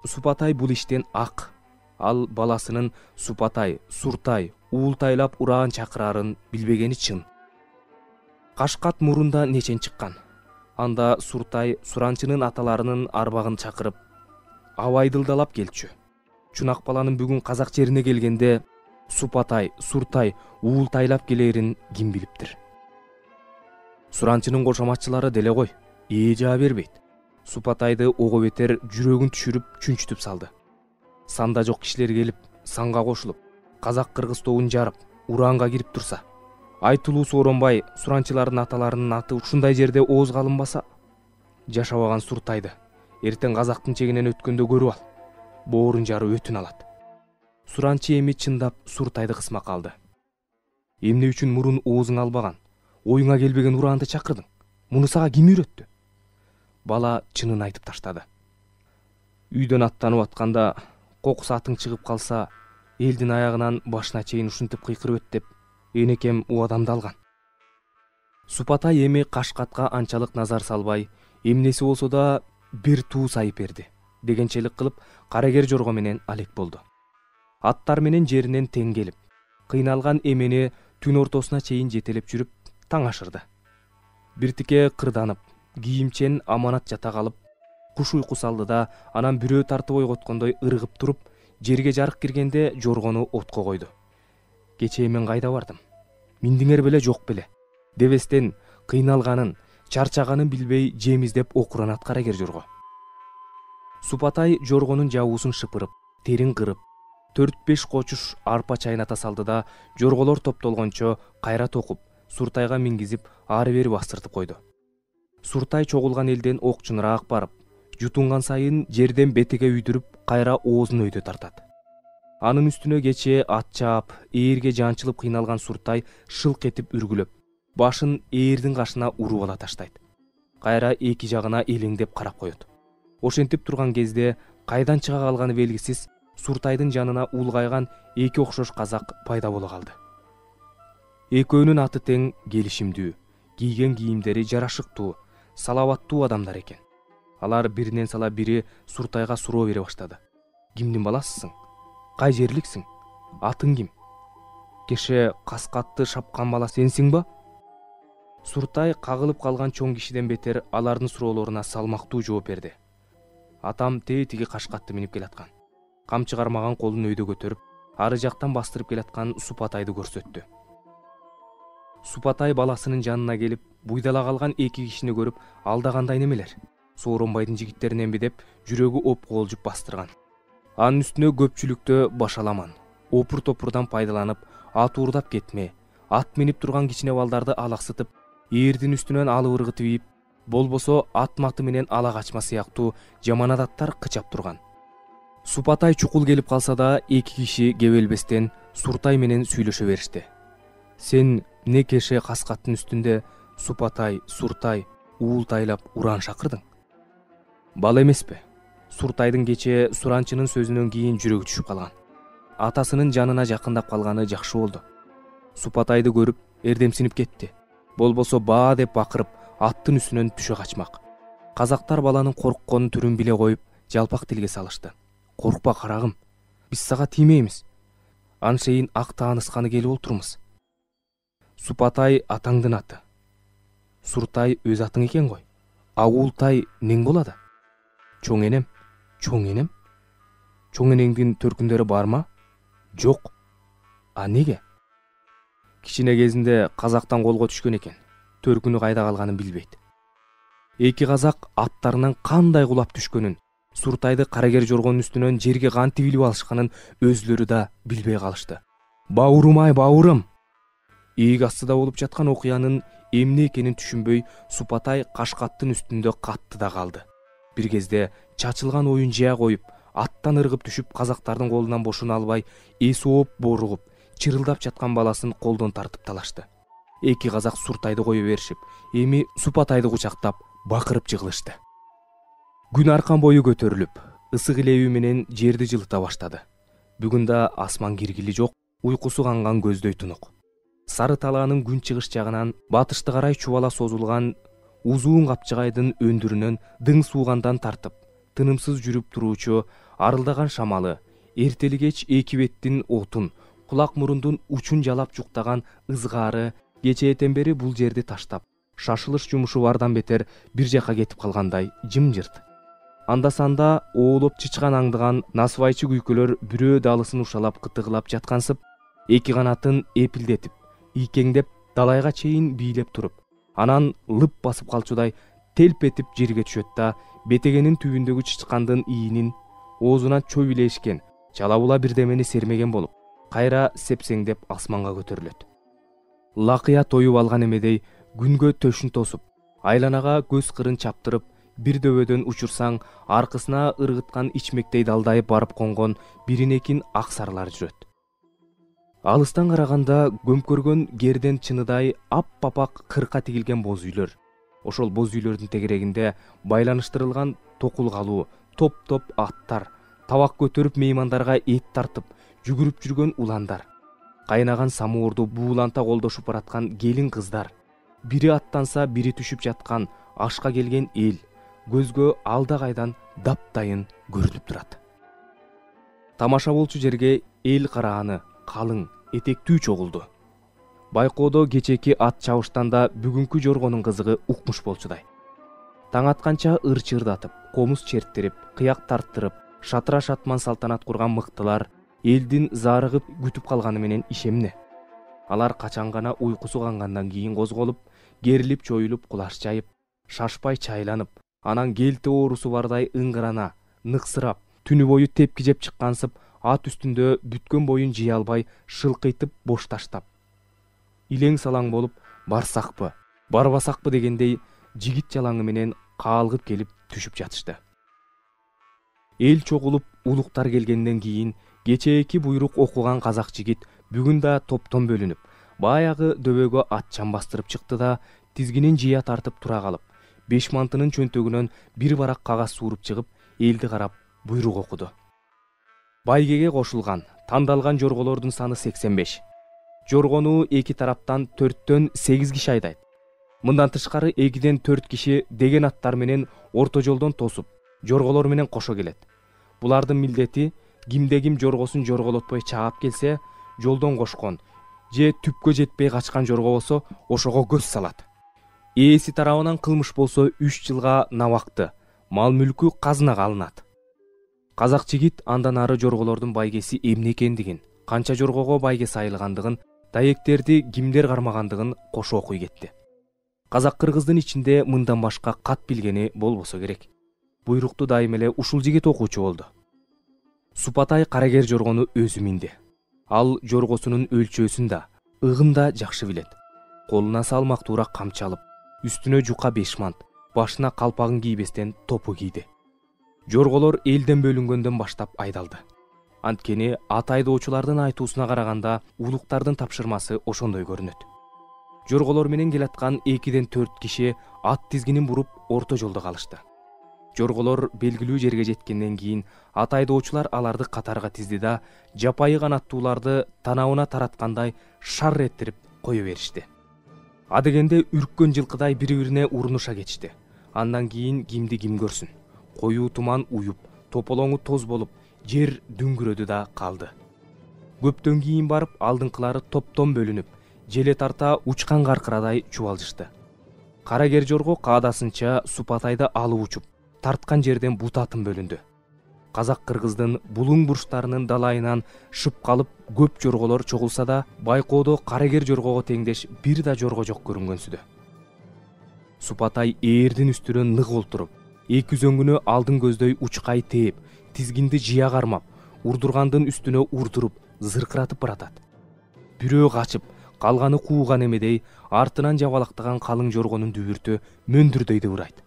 Супатай бул иштен ак. Ал баласынын Супатай, Суртай, уултайлап ураан чакырарын билбегени чын. Кашкат мурунда нечен чыккан. Анда Суртай суранчынын аталарынын арбагын чакырып, абайдылдалап келчү. Чунак баланын бүгүн казак жерине келгенде Супатай, Суртай уултайлап келерин ким билиптир? Суранчынын кошоматчылары деле кой, жаа бербейт. Супатайды ого бетер жүрөгүн түшүрүп чүнчүтүп салды. Санда жок кишилер келип, санга кошулуп, казак-кыргыз тобун жарып, ураанга кирип турса, айтылуу сооронбай суранчылардын аталарынын аты ушундай жерде оозго алынбаса, жашабаган Суртайды эртең казактын чегинен өткөндө көрүп ал. Боорун жарып өтүн алат. Суранчы эми чындап Суртайды кысмак алды. Эмне үчүн мурун оозуң албаган, оюңа келбеген ураанды чакырдың? Муну сага ким үйрөттү? Бала чынын айтып таштады. Үйдөн аттанып атканда кокус атың чыгып калса, элдин аягынан башына чейин ушинтип кыйкырып өт деп энекем убадамды алган. Супатай эми кашкатка анчалык назар салбай, эмнеси болсо да бир туу сайып берди дегенчелик кылып карагер жорго менен алек болду. Аттар менен жеринен тең келип, кыйналган эмени түн ортосуна чейин жетелеп жүрүп таң ашырды. Биртике кырданып, кийимчен аманат жата калып, куш уйку салды да, анан бирөө тартып ойготкондой ыргып туруп, жерге жарык киргенде жоргону отко койду. Кечээ мен кайда бардым? Миндиңер беле жок беле? Дебестен кыйналганын, чарчаганын билбей жемиздеп окуранат карагер жорго. Супатай жоргонун жабуусун шыпырып, терин кырып, 4-5 кочуш арпа чайната салды да, жорголор топтолгончо кайра токуп, Суртайга мингизип, ары-бери бастыртып койду. Суртай чогулган элден окчуныраак барып, жутунган сайын жерден бетиге үйдүрүп, кайра оозун өйдө тартат. Анын үстүнө кечээ ат чаап, ээрге жанчылып кыйналган Суртай шылк этип үргүлөп, башын ээрдин кашына уруп ала таштайт. Кайра эки жагына элеңдеп карап коет. Ошентип турган кезде кайдан чыга калганы белгисиз Суртайдын жанына улгайган эки окшош казак пайда боло калды. Экөөнүн аты тең, келишимдүү, кийген кийимдери жарашыктуу, салабаттуу адамдар экен. Алар биринен сала бири Суртайга суроо бере баштады. Кимдин баласысың? Кай жерликсиң? Атың ким? Кеше каскатты шапкан бала сенсиң ба? Суртай кагылып калган чоң кишиден бетер алардын суроолоруна салмактуу жооп берди. Атам тетиги кашкатты минип келаткан. Камчы кармаган колун өйдө көтөрүп, ары жактан бастырып келаткан Супатайды көрсөттү. Супатай баласынын жанына келип, буйдала калган эки кишини көрүп, алдагандай немелер? Сооронбайдын жигиттериненби деп жүрөгү опколжуп бастырган. Анын үстүнө көпчүлүктө башаламан, опур-топурдан пайдаланып, ат уурдап кетме, ат минип турган кичине балдарды алаксытып, ээрдин үстүнөн алып ыргытып ийип, болбосо ат маты менен ала качма сыяктуу жаман адаттар кычап турган. Супатай чукул келип калса да, эки киши кебелбестен Суртай менен сүйлөшө беришти. Сен не кеше каскаттын үстүндө Супатай, Суртай уултайлап ураан шакырдың? Бала эмеспи? Суртайдын кечээ суранчынын сөзүнөн кийин жүрөгү түшүп калган. Атасынын жанына жакындап калганы жакшы болду. Супатайды көрүп, эрдемсинип кетти. Болбосо баа деп бакырып, аттын үстүнөн түшө качмак. Казактар баланын корккон түрүн биле коюп, жалпак тилге салышты. Коркпа карагым, биз сага тиймейбиз. Аншейин ак таанышканы келип олтурмуз. Супатай атаңдын аты. Суртай өз атың экен ғой. Уултай нең болду? Чоң энем. Чоң энем? Чоң энеңдин төркүндөрү барма? Жок. А неге? Кичине кезинде казактан колго түшкөн экен. Төркүнү кайда калганын билбейт. Эки казак аттарынан кандай кулап түшкөнүн, Суртайды карагер жоргонун үстүнөн жерге кантип илип алышканын өзлөрү да билбей калышты. Бауырым-ай, бауырым! Ийик астыда болуп жаткан окуянын эмне экенин түшүнбөй, Супатай кашкаттын үстүндө катты да калды. бир кезде чачылган оюн жая коюп, аттан ыргып түшүп, казактардын колунан бошоно албай, эси ооп, боругуп, чырылдап жаткан баласын колдон тартып талашты. Эки казак Суртайды кое беришип, эми Супатайды кучактап, бакырып жыгылышты. Күн аркан бою көтөрүлүп, ысык илеби менен жерди жылыта баштады. Бүгүн да асман киргили жок, уйкусу канган көздөй тунук. Сары талаанын күн чыгыш жагынан батышты карай чубала созулган узуун капчыгайдын өндүрүнөн дың суугандан тартып, тынымсыз жүрүп туруучу арылдаган шамалы, эртели кеч эки беттин отун, кулак мурундун учун жалап жуктаган ызгаары кечээден бери бул жерди таштап, шашылыш жумушу бардан бетер бир жака кетип калгандай жымжырт. Анда-санда оолоп чычкан аңдыган насыбайчы күйкөлөр бирөө далысын ушалап кытыгылап жаткансып, эки канатын эпилдетип, ийкеңдеп далайга чейин бийлеп туруп, анан лып басып калчудай телп этип жерге түшөт да, бетегенин түбүндөгү чычкандын ийинин оозунан чөп илешкен, чалабула бирдемени сермеген болуп, кайра сепсеңдеп асманга көтөрүлөт. Лакыя тоюп алган эмедей күнгө төшүн тосуп, айланага көз кырын чаптырып, бир дөбөдөн учурсаң, аркысына ыргыткан ичмектей далдайып барып конгон биринекин ак сарылар жүрөт. Алыстан караганда көмкөргөн герден чыныдай ап-апак кырка тигилген боз үйлөр. Ошол боз үйлөрдүн тегерегинде байланыштырылган токулгалуу, топ-топ аттар, табак көтөрүп меймандарга эт тартып, жүгүрүп жүргөн уландар, кайнаган самуурду бууланта колдошуп бараткан келин кыздар, бири аттанса бири түшүп жаткан ашка келген эл көзгө алда кайдан таптайын көрүнүп турат. Тамаша болчу жерге эл карааны калың, этектүү чогулду. Байкоодо кечеки ат чабыштан да бүгүнкү жоргонун кызыгы укмуш болчудай. Таң атканча ыр чырдатып, комуз черттирип, кыяк тарттырып, шатыра шатман салтанат курган мыктылар элдин зарыгып күтүп калганы менен ишемне. Алар качан гана уйкусу кангандан кийин козголуп, керилип чоюлуп кулаш жайып, шашпай чайланып, анан келте оорусу бардай ыңгырана, ныксырап, түнү бою тепки жеп чыккансып, ат үстүндө бүткөн боюн жыя албай шылкыйтып бош таштап, илең салаң болуп, барсакпы, барбасакпы дегендей жигит жалаңы менен каалгып келип түшүп жатышты. Эл чогулуп, улуктар келгенден кийин кечээки буйрук окуган казак жигит бүгүн да топтон бөлүнүп, баягы дөбөгө атчан бастырып чыкты да, тизгинин жыя тартып тура калып, 5 мантынын чөнтөгүнөн бир барак кагаз сууруп чыгып, элди карап буйрук окуду. Байгеге кошулган, тандалган жорголордун саны 85. Жоргону эки тараптан 4-төн 8 киши айдайт. Мындан тышкары 2-ден 4 киши деген аттар менен орто жолдон тосуп, жорголор менен кошо келет. Булардын милдети кимде ким жоргосун жорголотпой чаап келсе, жолдон кошкон же түпкө жетпей качкан жорго болсо, ошого көз салат. Ээси тарабынан кылмыш болсо 3 жылга набакты, мал-мүлкү казынага алынат. Казак жигит андан ары жорголордун байгеси эмне экендигин, канча жоргого байге сайылгандыгын, даектерди кимдер кармагандыгын кошо окуй кетти. Казак-кыргыздын ичинде мындан башка кат билгени болбосо керек. Буйрукту дайым эле ушул жигит окуучу болду. Супатай карагер жоргону өзү минди. Ал жоргосунун өлчөөсүн да, ыгын да жакшы билет. Колуна салмактуураак камчы алып, үстүнө жука 5 мант, башына калпагын кийбестен топу кийди. Жорголор элден бөлүнгөндөн баштап айдалды. Анткени ат айдоочулардын айтуусуна караганда улуктардын тапшырмасы ошондой көрүнөт. Жорголор менен келаткан 2-ден 4 киши ат тизгинин буруп орто жолдо калышты. Жорголор белгилүү жерге жеткенден кийин ат айдоочулар аларды катарга тизди да, жапайы канаттууларды танабына тараткандай шар эттирип кое беришти. Адегенде үрккөн жылкыдай бири-бирине урунуша кетишти. Андан кийин кимди ким көрсүн. Коюу туман уюп, тополоңу тоз болуп, жер дүңгүрөдү да калды. Көптөн кийин барып алдыңкылары топтон бөлүнүп, желе тарта учкан каркырадай чубалжышты. Карагер жорго каадасынча Супатайды алып учуп, тарткан жерден бутатын бөлүндү. Казак-кыргыздын булуң бурчтарынын далайынан шып калып көп жорголор чогулса да, Байкоодо карагер жоргого теңдеш бир да жорго жок көрүнгөнсүдө. Супатай ээрдин үстүнө нык олтуруп, эки үзөңгүнө алдын көздөй учкай тээп, тизгинди жыя кармап, урдургандын үстүнө урдуруп, зыркыратып баратат. Бирөө качып, калганы кууган эмедей артынан жабалактаган калың жоргонун дүбүртү мөндүрдөй дыбырайт.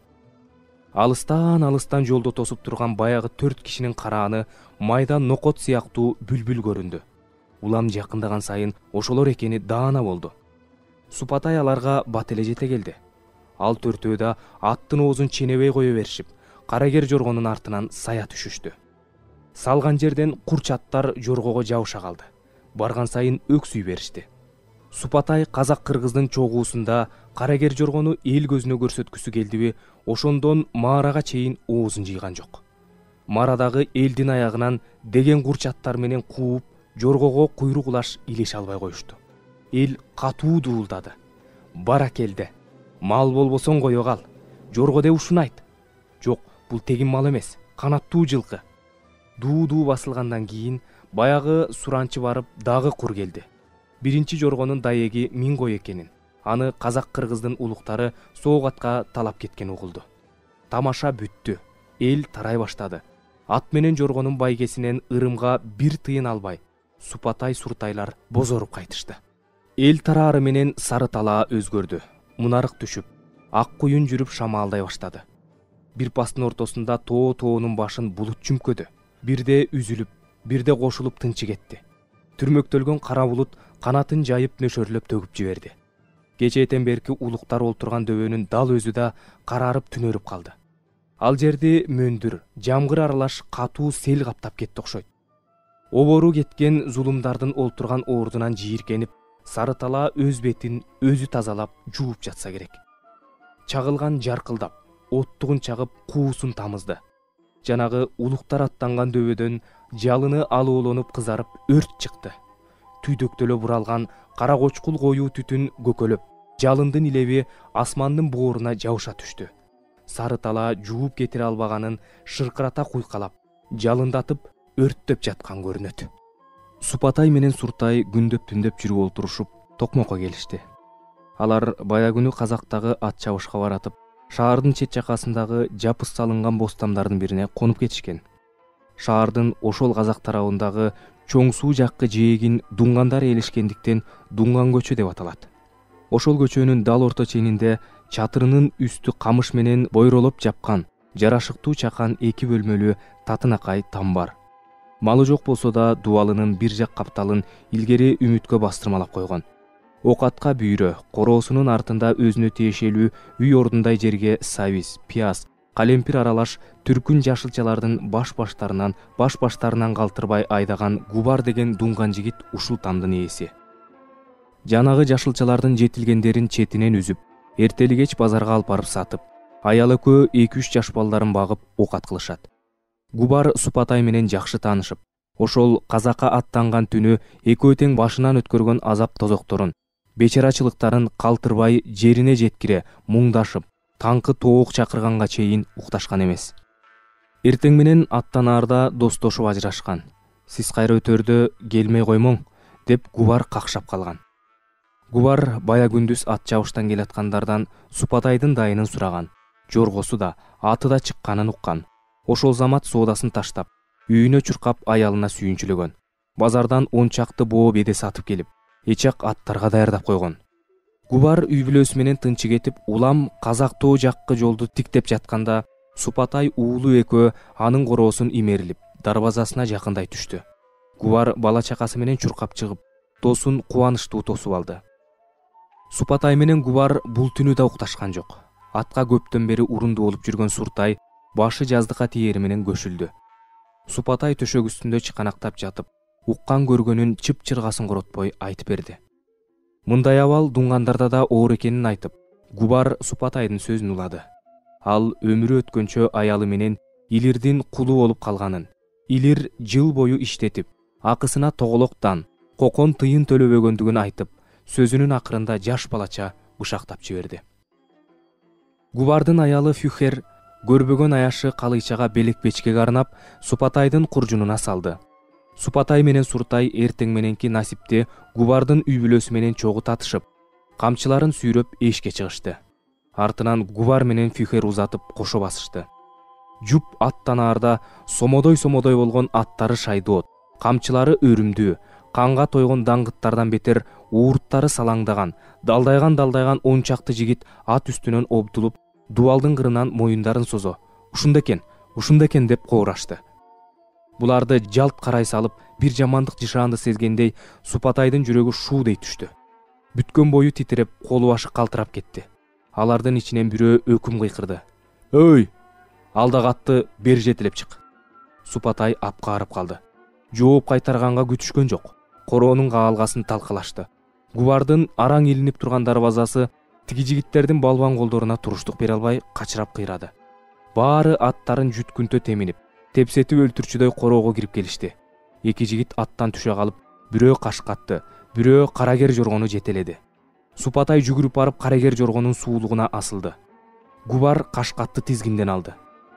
алыстан жолдо тосуп турган баягы 4 кишинин карааны майдан нокот сыяктуу бүлбүл көрүндү. Улам жакындаган сайын ошолор экени даана болду. Супатай аларга бат эле жете келди. Ал төртөө да аттын оозун ченебей кое беришип, карагер жоргонун артынан сая түшүштү. Салган жерден курч аттар жоргого жабыша калды. Барган сайын өксүй беришти. Супатай казак-кыргыздын чогуусунда карагер жоргону эл көзүнө көрсөткүсү келдиби, ошондон Маарага чейин оозун жыйган жок. Маарадагы элдин аягынан деген курч аттар менен кууп, жоргого куйрук улаш илеше албай коюшту. Эл катуу дуулдады. Баракелде. Мал болбосоң кое кал. Жорго деп ушуну айт. Жок, бул тегин мал эмес, канаттуу жылкы. Дуу басылгандан кийин баягы суранчы барып дагы кур келди. Биринчи жоргонун даеги 1000 кой экенин, аны казак-кыргыздын улуктары соок атка талап кеткен угулду. Тамаша бүттү. Эл тарай баштады. Ат менен жоргонун байгесинен ырымга бир тыйын албай, Супатай суртайлар бозоруп кайтышты. Эл тараары менен Сары Талаа өзгөрдү. Мунарык түшүп, ак куюн жүрүп шамаалдай баштады. Бир пастын ортосунда тоонун башын булут чүмкөдү. Бирде үзүлүп, бирде кошулуп тынчы кетти. Түрмөктөлгөн кара булут канатын жайып нөшөрлөп төгүп жиберди. Кечээден берки улуктар олтурган дөбөнүн дал өзү да карарып түнөрүп калды. Ал жерди мөндүр, жамгыр аралаш катуу сел каптап кетти окшойт. Обору кеткен зулумдардын олтурган ордунан жийиркенип, Сары Талаа өз бетин өзү тазалап, жууп жатса керек. Чагылган жаркылдап, оттугун чагып, куусун тамызды. Жанагы улуктар аттанган дөбөдөн жалыны алууланып кызарып өрт чыкты. Түйдөктөлө буралган кара кочкул коюу түтүн көкөлөп, жалындын илеби асмандын бооруна жабыша түштү. Сары Талаа жууп кетире албаганын шыркырата куйкалап, жалындатып, өрттөп жаткан көрүнөт. Супатай менен Суртай күндөп-түндөп жүрүп олтурушуп, токмокко келишти. Алар бая күнү казактагы ат чабышка баратып, шаардын чет жакасындагы жапыс салынган бостамдардын бирине конуп кетишкен. Шаардын ошол казак тарабындагы чоң суу жаккы жээгин дуңгандар ээлешкендиктен Дуңган көчө деп аталат. Ошол көчөнүн дал орто ченинде чатырынын үстү камыш менен бойролоп жапкан жарашыктуу чакан 2 бөлмөлүү татынакай там бар. Малы жок болсо да дубалынын бир жак капталын илгери үмүткө бастырмалап койгон. Окатка бүйрө, короосунун артында өзүнө тиешелүү үй ордундай жерге сабиз, пияз, калемпир аралаш түркүн жашылчалардын баш-баштарынан калтырбай айдаган Губар деген дуңган жигит ушул тамдын ээси. Жанагы жашылчалардын жетилгендерин четинен үзүп, эртели кеч базарга алып барып сатып, аял экөө 2-3 жаш балдарын багып окат кылышат. Губар Супатай менен жакшы таанышып, ошол казакка аттанган түнү экөө тең башынан өткөргөн азап тозокторун, бечарачылыктарын калтырбай жерине жеткире муңдашып, таңкы тоок чакырганга чейин укташкан эмес. Эртең менен аттанаарда достошуп ажырашкан. Сиз кайра өтөрдө келмей коймоң, деп Губар какшап калган. Губар бая күндүз ат чабыштан келаткандардан Супатайдын дайынын сураган. Жоргосу да, аты да чыкканын уккан. Ошол замат соодасын таштап, үйүнө чуркап аялына сүйүнчүлөгөн. Базардан 10 чакты боо беде сатып келип, эчак аттарга даярдап койгон. Губар үй бүлөсү менен тынчы кетип, улам казак тоо жаккы жолду тиктеп жатканда, Супатай уулу экөө анын короосун имерилип, дарбазасына жакындай түштү. Губар бала чакасы менен чуркап чыгып, тосун кубанычтуу тосуп алды. Супатай менен Губар бул түнү да укташкан жок. Атка көптөн бери урунду болуп жүргөн Суртай башы жаздыкка тиери менен көшүлдү. Супатай төшөк үстүндө чыканактап жатып, уккан көргөнүн чып-чыргасын коротпой айтып берди. Мындай абал дуңгандарда да оор экенин айтып, Губар Супатайдын сөзүн улады. Ал өмүрү өткөнчө аялы менен Илирдин кулу болуп калганын, Илир жыл бою иштетип, акысына тоголоктан, кокон тыйын төлөбөгөндүгүн айтып, сөзүнүн акырында жаш балача бышактап жиберди. Губардын аялы Фюхер көрбөгөн аяшы калыйчага белек-бечкеге арнап Супатайдын куржунуна салды. Супатай менен Суртай эртең мененки насипти Губардын үй бүлөсү менен чогуу татышып, камчыларын сүйрөп эшикке чыгышты. Артынан Губар менен Фюхер узатып кошо басышты. Жуп аттанаарда сомодой болгон аттары шайдоот, камчылары өрүмдүү, канга тойгон даңгыттардан бетер уурттары салаңдаган, далдайган 10 чакты жигит ат үстүнөн обдулуп, дубалдын кырынан моюндарын созо, ушунда экен деп коорашты. Буларды жалт карай салып, бир жамандык жышаанды сезгендей Супатайдын жүрөгү шуудей түштү. Бүткөн бою титиреп, колу башы калтырап кетти. Алардын ичинен бирөө өкүм кыйкырды. «Өй! Алдагы атты бери жетелеп чык!» Супатай апкаарып калды. Жооп кайтарганга күтүшкөн жок. Короонун каалгасын талкалашты. Губардын араң илинип турган дарбазасы тиги жигиттердин балбан колдоруна туруштук бере албай качырап кыйрады. Баары аттарын жүткүнтө теминип, тепсетип өлтүрчүдөй короого кирип келишти. Эки жигит аттан түшө калып, бирөө кашкатты, бирөө карагер жоргону жетеледи. Супатай жүгүрүп барып карагер жоргонун суулугуна асылды. Губар кашкатты тизгинден алды.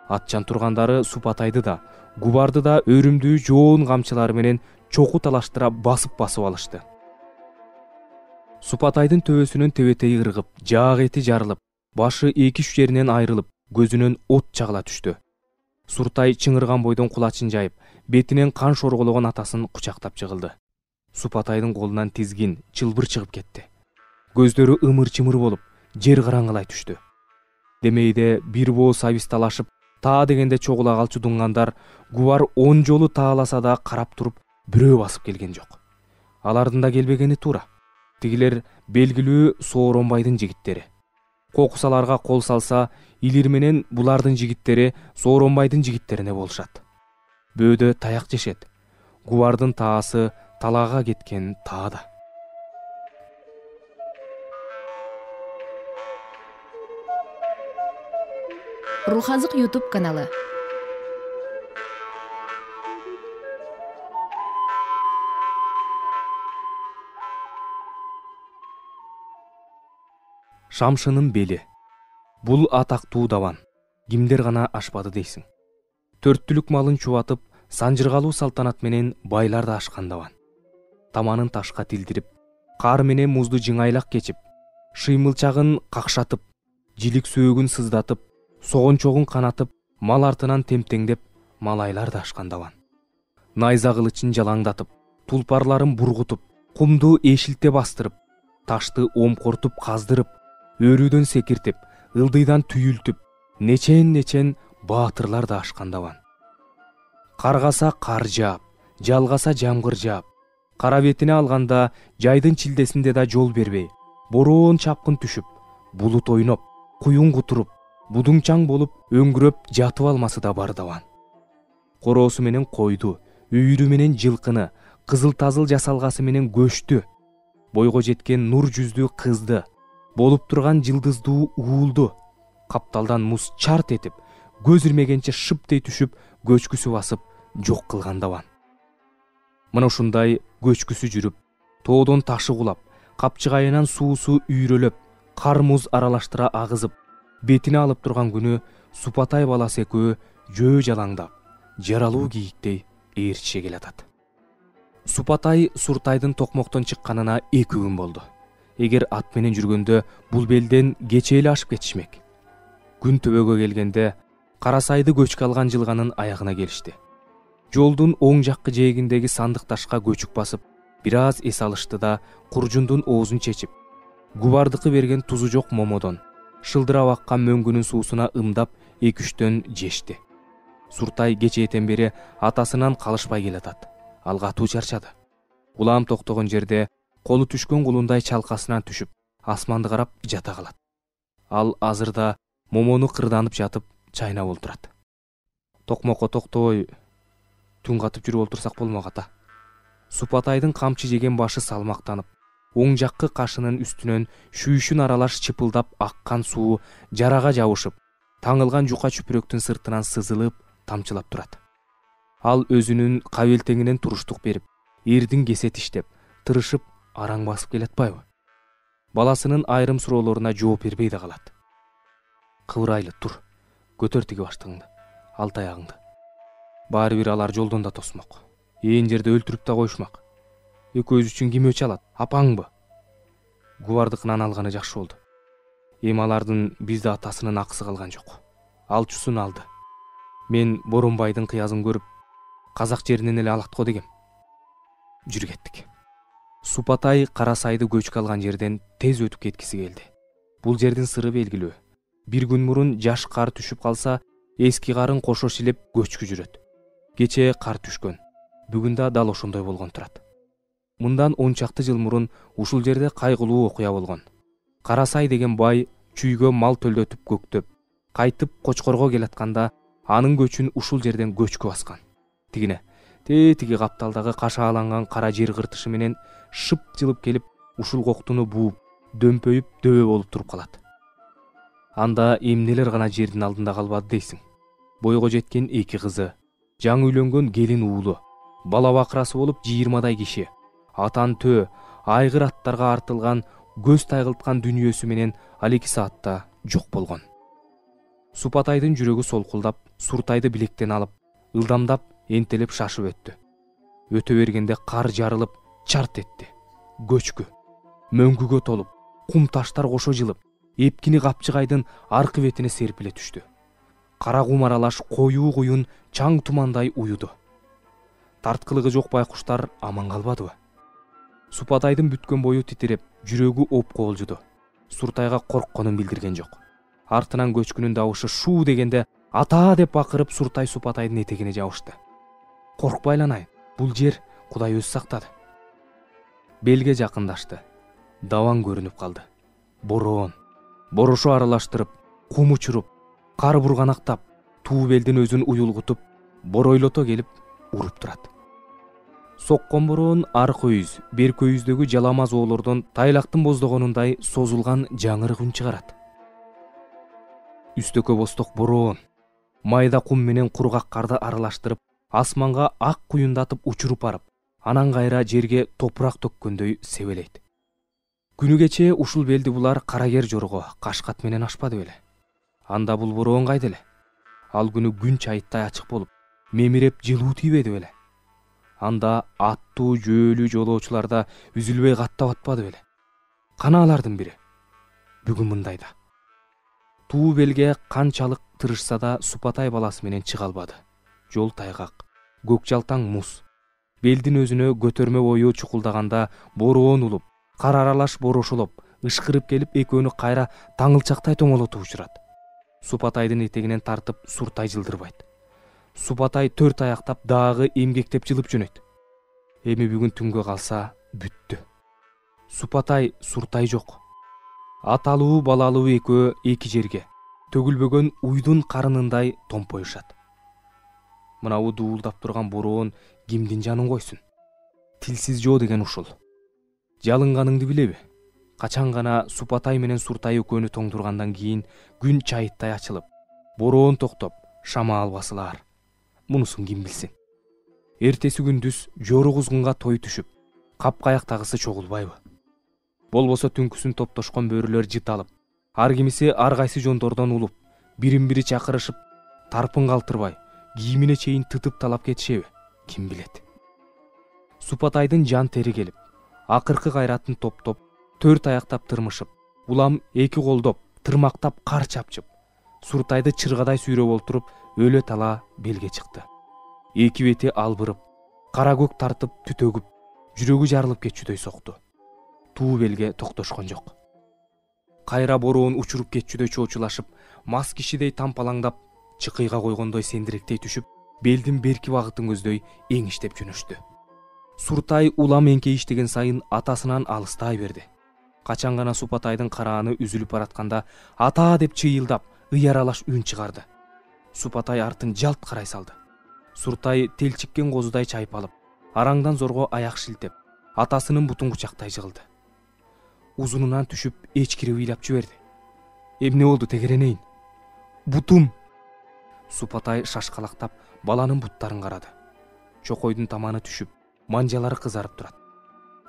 Атчан тургандары Супатайды да, Губарды да өрүмдүү жоон камчылары менен чоку талаштыра басып алышты. Супатайдын төбөсүнөн тебетеги ыргып, жаак эти жарылып, башы 2-3 жеринен айрылып, көзүнөн от чагыла түштү. Суртай чыңырган бойдон кулачын жайып, бетинен кан шоргологон атасын кучактап жыгылды. Супатайдын колунан тизгин, чылбыр чыгып кетти. Көздөрү ымыр-чымыр болуп, жер караңгылай түштү. Демейде бир бооз абис талашып, таа дегенде чогула калчу дуңгандар Губар 10 жолу тааласа да карап туруп, бирөө басып келген жок. Алардын да келбегени туура. Тигилер белгилүү Сооронбайдын жигиттери. Кокусаларга кол салса, Илир менен булардын жигиттери Сооронбайдын жигиттерине болушат. Бөөдө таяк жешет. Губардын таасы талаага кеткен таада. Рухазык YouTube каналы. Шамшынын бели. Бул атактуу даван. Кимдер гана ашпады дейсиң. Төрттүлүк малын чубатып, санжыргалуу салтанат менен байлар да ашкан даван. Таманын ташка тилдирип, кар менен музду жыңайлак кечип, шыймылчагын какшатып, жилик сөөгүн сыздатып, согончогун канатып, мал артынан темтеңдеп, малайлар да ашкан даван. Найза кылычын жалаңдатып, тулпарларын бургутуп, кумду эшилте бастырып, ташты омкортуп каздырып, өрүүдөн секиртип, ылдыйдан түйүлтүп, нечен баатырлар да ашкан даван. Каргаса кар жаап, жалгаса жамгыр жаап, кара бетине алганда жайдын чилдесинде да жол бербей, бороон чапкын түшүп, булут ойноп, куюн кутуруп, будуңчаң болуп, өңгүрөп жатып алмасы да бар даван. Короосу менен койду, үйүрү менен жылкыны, кызыл-тазыл жасалгасы менен көчтү, бойго жеткен нур жүздүү кызды, болуп турган жылдыздуу уулду, капталдан муз чарт этип, көз ирмегенче шыптей түшүп, көчкүсү басып, жок кылган даван. Мына ушундай көчкүсү жүрүп, тоодон ташы кулап, капчыгайынан суусу үйрөлөп, кар муз аралаштыра агызып, бетине алып турган күнү Супатай баласы экөө жөө жалаңдап, жаралуу кийиктей ээрчише келатат. Супатай Суртайдын токмоктон чыкканына 2 күн болду. Эгер ат менен жүргөндө бул белден кече эле ашып кетишмек. Күн төбөгө келгенде Карасайды көчкө алган жылганын аягына келишти. Жолдун оң жаккы жээгиндеги сандык ташка көчүк басып, бир аз эс алышты да куржундун оозун чечип, Губардыкы берген тузу жок момодон, шылдырап аккан мөңгүнүн суусуна ымдап 2-3төн жешти. Суртай кечээден бери атасынан калышпай келатат. Ал катуу чарчады. Улам токтогон жерде колу түшкөн кулундай чалкасынан түшүп, асманды карап жата калат. Ал азырда момону кырданып жатып, чайнап олтурат. Токмокко токтой, түн катып жүрүп олтурсак болмок ата. Супатайдын камчы жеген башы салмактанып, оң жаккы кашынын үстүнөн шүйшүн аралаш чыпылдап аккан суу жарага жабышып, таңылган жука чүпүрөктүн сыртынан сызылып, тамчылап турат. Ал өзүнүн кабелтеңинен туруштук берип, эрдин кесет иштеп, тырышып, араң басып келатпайбы? Баласынын айрым суроолоруна жооп бербей да калат. Кыбырайлы тур, көтөр тиги баштыгыңды, ал таягыңды. Баары бир алар жолдон да тосмок. Ээн жерде өлтүрүп да коюшмак. Экөөбүз үчүн ким өч алат? Апаңбы? Губардыкынан алганы жакшы болду. Эми алардын бизде атасынын акысы калган жок. Алчусун алды. Мен Боронбайдын кыязын көрүп, казак жеринен эле алат го дегем. Жүрүп кеттик. Супатай Карасайды көчкө алган жерден тез өтүп кеткиси келди. Бул жердин сыры белгилүү. Bir gün murun жаш кар түшүп калса, эски карын кошо шилеп көчкү жүрөт. Кечээ кар түшкөн, бүгүн да дал ошондой болгон турат. Мындан 10 чакты жыл мурун ушул жерде кайгылуу окуя болгон. Карасай деген бай чүйгө мал төлдөтүп көктөп, кайтып Кочкорго келатканда анын көчүн ушул жерден көчкү баскан. Тигине тетиги капталдагы кашааланган кара жер кыртышы менен шып жылып келип, ушул коктуну бууп, дөмпөйүп дөбө болуп туруп калат. Анда эмнелер гана жердин алдында калбады дейсиң. Бойго жеткен 2 кызы, жаңы үйлөнгөн келин уулу, бала бакырасы болуп 20дай киши, атан төө, айгыр аттарга артылган көз тайгылткан дүйнөсү менен ал 2 саатта жок болгон. Супатайдын жүрөгү солкулдап, Суртайды билектен алып, ылдамдап, энтелеп шашып өттү. Өтө бергенде кар жарылып, чарт этти. Көчкү мөңгүгө толуп, кум таштар кошо жылып, эпкини капчыгайдын аркы бетине серпиле түштү. Кара кум аралаш коюу куюн чаң тумандай уюду. Тарткылыгы жок байкуштар аман калбадыбы? Супатайдын бүткөн бою титиреп, жүрөгү опко болжуду. Суртайга коркконун билдирген жок. Артынан көчкүнүн дабышы шуу дегенде ата деп бакырып Суртай Супатайдын этегине жабышты. Коркпайланайын, бул жер Кудай өзү сактады. Белге жакындашты. Даваң көрүнүп калды. Бороон, борошо аралаштырып, кум учуруп, кар бурганактап, туу белдин өзүн уюлгутуп, боройлото келип уруп турат. Соккон бороон аркы үйүз, берки үйүздөгү жаламаз оолордон тайлактын боздогонундай созулган жаңырык үн чыгарат. Үстөккө босток бороон, майда кум менен кургак карды аралаштырып, асманга ак куюндатып учуруп барып, анан кайра жерге топурак төккөндөй себелейт. Күнү кечээ ушул белди булар Карагер жорго Кашкат менен ашпады беле? Анда бул бороон кайда эле? Ал күнү күн чайыттай ачык болуп, мемиреп жылуу тийбеди беле? Анда аттуу жөөлүү жолоочуларда үзүлбөй каттап атпады беле? Кана алардын бири? Бүгүн мындайда. Туу белге канчалык тырышса да Супатай баласы менен чыга албады. Жол тайгак, көк жалтаң муз. Белдин өзүнө көтөрмө бою чукулдаганда бороон улуп, кар аралаш борошолоп, ышкырып келип экөөнү кайра таңылчактай тоңолотуп учурат. Супатайдын этегинен тартып Суртай жылдырбайт. Супатай 4 аяктап дагы эмгектеп жылып жөнөйт. Эми бүгүн түнгө калса бүттү. Супатай Суртай жок. Аталуу балалуу экөө эки жерге, төгүлбөгөн уйдун карынындай томпоюшат. Мынабу дуулдап турган бороон кимдин жанын койсун? Тилсиз жоо деген ушул. Жалынганыңды билеби? Качан гана Супатай менен Суртай экөөнү тоңдургандан кийин күн чайыттай ачылып, бороон токтоп, шамаал басылаар. Мунусун ким билсин? Эртеси күндүз жору кузгунга той түшүп, капкаяктагысы чогулбайбы? Болбосо түнкүсүн топтошкон бөрүлөр жыталып, ар кимиси ар кайсы жондордон улуп, бирин-бири чакырышып, тарпын калтырбай, кийимине чейин тытып талап кетишеби? Ким билет? Супатайдын жан тери келип, акыркы кайратын топтоп, 4 аяктап тырмышып, улам 2 колдоп, тырмактап кар чапчып, Суртайды чыргадай сүйрөп олтуруп, өлө тала белге чыкты. Эки бети албырып, кара көк тартып түтөгүп, жүрөгү жарылып кетчүдөй сокту. Туу белге токтошкон жок. Кайра бороон учуруп кетчүдөй чоочулашып, мас кишидей тампалаңдап, чыкыйга койгондой сендиректей түшүп, белдин берки багытын көздөй эңиштеп жөнөштү. Суртай улам эңкейиштеген сайын атасынан алыстай берди. Качан гана Супатайдын карааны үзүлүп баратканда, ата деп чыйылдап, ый аралаш үн чыгарды. Супатай артын жалт карай салды. Суртай телчиккен козудай чайпалып, араңдан зорго аяк шилтеп, атасынын бутун кучактай жыгылды. Узунунан түшүп, эчкирип ыйлап жиберди. Эмне болду тегеренейин? Бутум! Супатай шашкалактап, баланын буттарын карады. Чокойдун таманы түшүп, манжалары кызарып турат.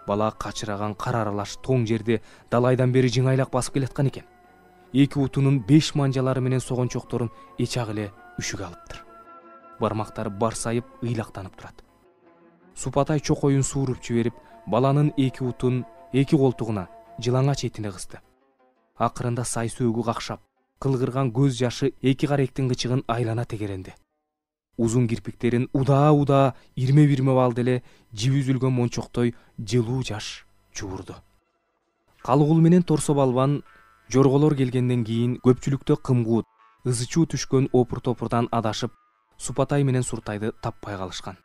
Бала качыраган кар аралаш тоң жерди далайдан бери жыңайлак басып келаткан экен. Эки бутунун 5 манжалары менен согончокторун эчак эле үшүгө алыптыр. Бармактары барсайып, ыйлактанып турат. Супатай чокоюн сууруп жиберип, баланын эки бутун эки колтугуна, жылаңач этине кысты. Акырында сай сөөгү какшап, кылгырган көз жашы эки каректин кычыгын айлана тегеренди. Узун кирпиктерин удаа ирме-бирме балды эле жиби үзүлгөн мончоктой жылуу жаш жуурду. Калыгул менен торсо балбан жорголор келгенден кийин көпчүлүктө кымгуут, ызы чуу түшкөн опур топурдан адашып Супатай менен Суртайды таппай калышкан.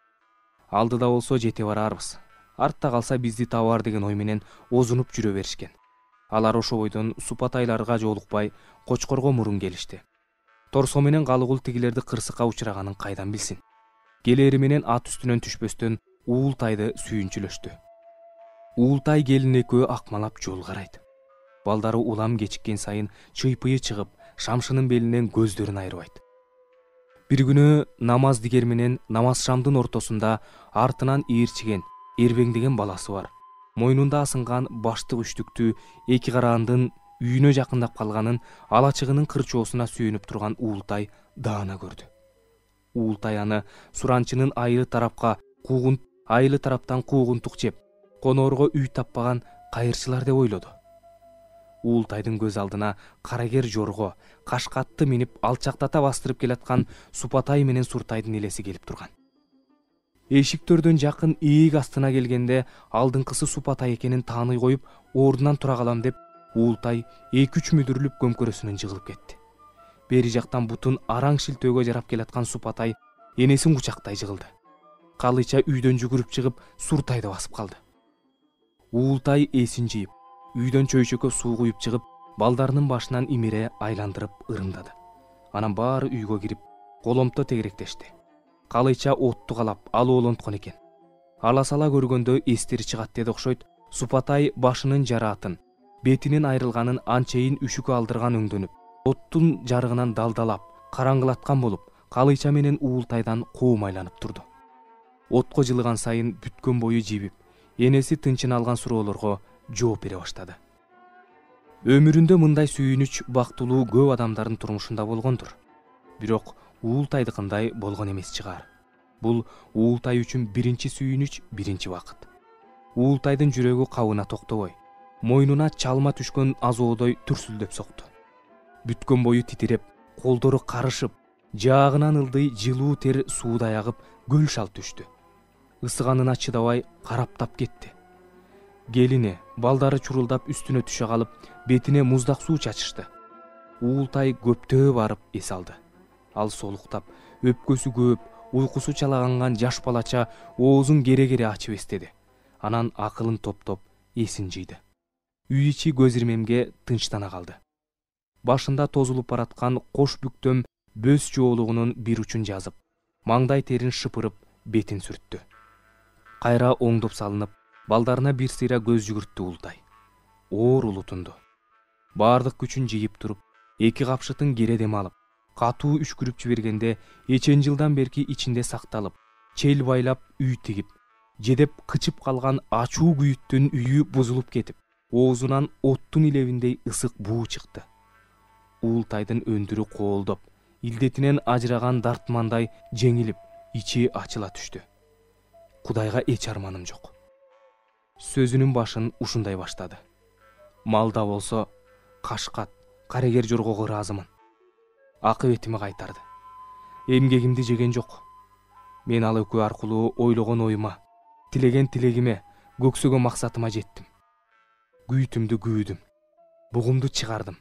Алдыда болсо жете барарбыз, артта калса бизди табар деген ой менен озунуп жүрө беришкен. Алар ошо бойдон Супатайларга жолукпай Кочкорго мурун келишти. Торсо менен Калыгул тигилерди кырсыкка учураганын кайдан билсин? Келери менен ат үстүнөн түшпөстөн Уултайды сүйүнчүлөштү. Уултай келин экөө акмалап жол карайт. Балдары улам кечиккен сайын чыйпыйы чыгып, шамшынын белинен көздөрүн айырбайт. Бир күнү намаз дигер менен намаз шамдын ортосунда артынан ээрчиген, эрбеңдеген баласы бар. Мойнунда асынган баштык үчтүктүү эки караандын үйүнө жакындап калганын алачыгынын кырчоосуна сүйөнүп турган Уултай даана көрдү. Уултай аны суранчынын айылы тараптан куугунтук жеп, коноорго үй таппаган кайырчылар деп ойлоду. Уултайдын көз алдына карагер жорго, кашкатты минип алчактата бастырып келаткан Супатай менен Суртайдын элеси келип турган. Эшиктөрдөн жакын ээк астына келгенде алдыңкысы Супатай экенин тааный коюп, ордунан тура калам деп Уултай 2-3 мүдүрүлүп көмкөрөсүнөн жыгылып кетти. Бери жактан бутун араң шилтөөгө жарап келаткан Супатай энесин кучактай жыгылды. Калыча үйдөн жүгүрүп чыгып Суртайды басып калды. Уултай эсин жыйып, үйдөн чөйчөккө суу куюп чыгып, балдарынын башынан имире айландырып ырымдады. Анан баары үйгө кирип, коломто тегеректешти. Калыча отту калап, алоолонткон экен. Ала-сала көргөндө эстери чыгат деди окшойт. Супатай башынын жараатын, бетинин айрылганын анчейин үшүккө алдырган өңдөнүп, оттун жарыгынан далдалап, караңгылаткан болуп, Калыча менен Уултайдан коомайланып турду. Отко жылыган сайын бүткөн бою жибип, энеси тынчын алган суроолорго жооп бере баштады. Өмүрүндө мындай сүйүнүч бактылуу көп адамдардын турмушунда болгондур. Бирок Уултайдыкындай болгон эмес чыгар. Бул Уултай үчүн биринчи сүйүнүч, биринчи бакыт. Уултайдын жүрөгү кабына токтобой, мойнуна чалма түшкөн азоодой түрсүлдөп сокту. Бүткөн бою титиреп, колдору карышып, жаагынан ылдый жылуу тер суудай агып, көл шалт түштү. Ысыганына чыдабай караптап кетти. Келини, балдары чурулдап үстүнө түшө калып, бетине муздак суу чачышты. Уултай көптөө барып эс алды. Ал солуктап, өпкөсү көп, уйкусу чалаганган жаш балача оозун кере-кере ачып эстеди. Анан акылын топтоп, эсин жыйды. Үй ичи көз ирмемге тынчтана калды. Башында тозулуп бараткан кош бүктөм бөз жоолугунун бир учун жазып, маңдай терин шыпырып, бетин сүрттү. Кайра оңдоп салынып, балдарына бир сыйра көз жүгүрттү Уултай. Оор улутунду. Бардык күчүн жыйып туруп, эки капшытын кере дем алып, катуу үшкүрүп жибергенде эчен жылдан берки ичинде сакталып, чел байлап үй тигип, жедеп кычып калган ачуу күйүттүн үйү бузулуп кетип, оозунан оттун илебиндей ысык буу чыкты. Уултайдын өндүрү коолдоп, илдетинен ажыраган дартмандай жеңилип, ичи ачыла түштү. Кудайга эч арманым жок. Сөзүнүн башын ушундай баштады. Малда болсо, кашкат, карегер жоргого ыраазымын. Акыбетими кайтарды. Эмгегимди жеген жок. Мен ал экөө аркылуу ойлогон оюма, тилеген тилегиме, көксөгөн максатыма жеттим. Күйүтүмдү күйдүм, бугумду чыгардым.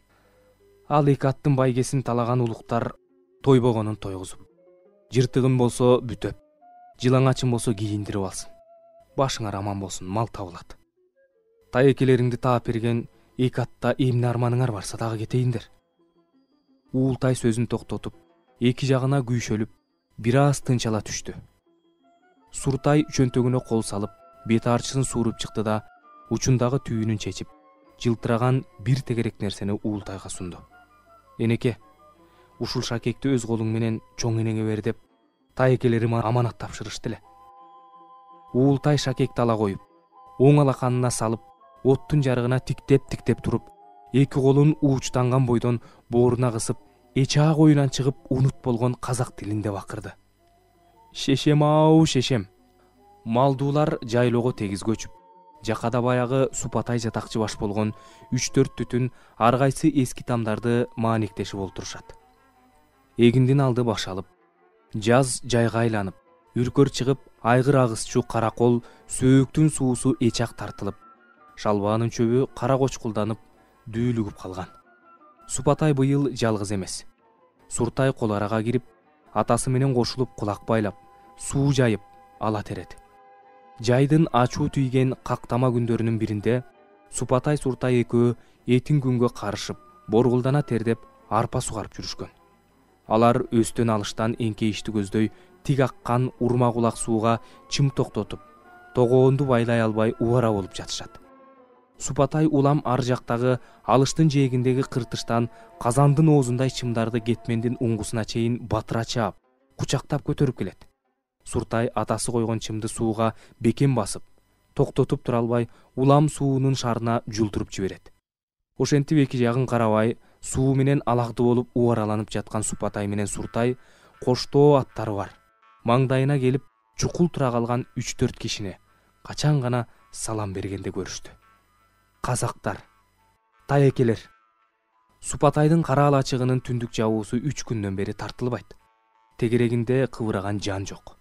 Ал эки аттын байгесин талаган улуктар тойбогонун тойгузуп, жыртыгым болсо бүтөп, жылаңачым болсо кийиндирип алсын. Башыңар аман болсун, мал табылат. Тайекелериңди таап берген эки атта эмне арманыңар барса дагы кетейиндер. Уултай сөзүн токтотуп, эки жагына күйшөлүп, бир аз тынчала түштү. Суртай чөнтөгүнө кол салып, бет арчысын сууруп чыкты да, учундагы түйүнүн чечип, жылтыраган бир тегерек нерсени Уултайга сунду. Энеке, ушул шакекти өз колуң менен чоң энеңе бер деп, тайекелерим аманат тапшырышты эле. Уултай шакекти ала коюп, оң алаканына салып, оттун жарыгына тиктеп туруп, эки колун уучтанган бойдон бооруна кысып, эчаа коюнан чыгып унут болгон казак тилинде бакырды. Шешем-ау, шешем. Малдуулар жайлоого тегиз көчүп, жакада баягы Супатай жатакчы баш болгон 3-4 түтүн ар кайсы эски тамдарды маанектешип олтурушат. Эгиндин алды башалып, жаз жайга айланып, үркөр чыгып, айгыр агысчу каракол сөөктүн суусу эчак тартылып, шалбаанын чөбү кара кочкулданып, дүүлүгүп калган. Супатай быйыл жалгыз эмес. Суртай кол арага кирип, атасы менен кошулуп кулак байлап, суу жайып ала тереди. Жайдын ачуу түйген кактама күндөрүнүн биринде Супатай Суртай экөө этин күнгө карышып, боргулдана тердеп арпа сугарып жүрүшкөн. Алар өстөн алыштан эңкейишти көздөй тик аккан урма кулак сууга чым токтотуп, тогоонду байлай албай убара болуп жатышат. Супатай улам ар жактагы алыштын жээгиндеги кыртыштан казандын оозундай чымдарды кетмендин уңгусуна чейин батыра чаап, кучактап көтөрүп келет. Суртай атасы койгон чымды сууга бекем басып, токтотуп тура албай, улам суунун шарына жултуруп жиберет. Ошентип эки жагын карабай, суу менен алагды болуп убараланып жаткан Супатай менен Суртай коштоо аттары бар. Маңдайына келип чукул тура калган 3-4 кишини качан гана салам бергенде көрүштү. Казактар, таекелер. Супатайдын кара алачыгынын түндүк жабуусу 3 күндөн бери тартылбайт. Тегерегинде кыбыраган жан жок.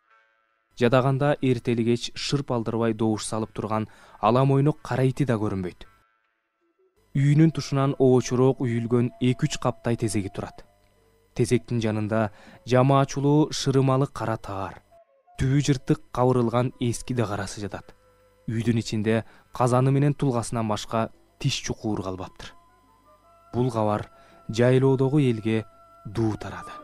Жадаганда эртели кеч шырп алдырбай добуш салып турган ала мойнок кара ити да көрүнбөйт. Үйүнүн тушунан оочуроок үйүлгөн 2-3 каптай тезеги турат. Тезектин жанында жамаачулуу шырымалы кара таар, түбү жыртык кабырылган эски да карасы жатат. Үйдүн ичинде казаны менен тулгасынан башка тиш чукуур калбаптыр. Бул кабар жайлоодогу элге дуу тарады.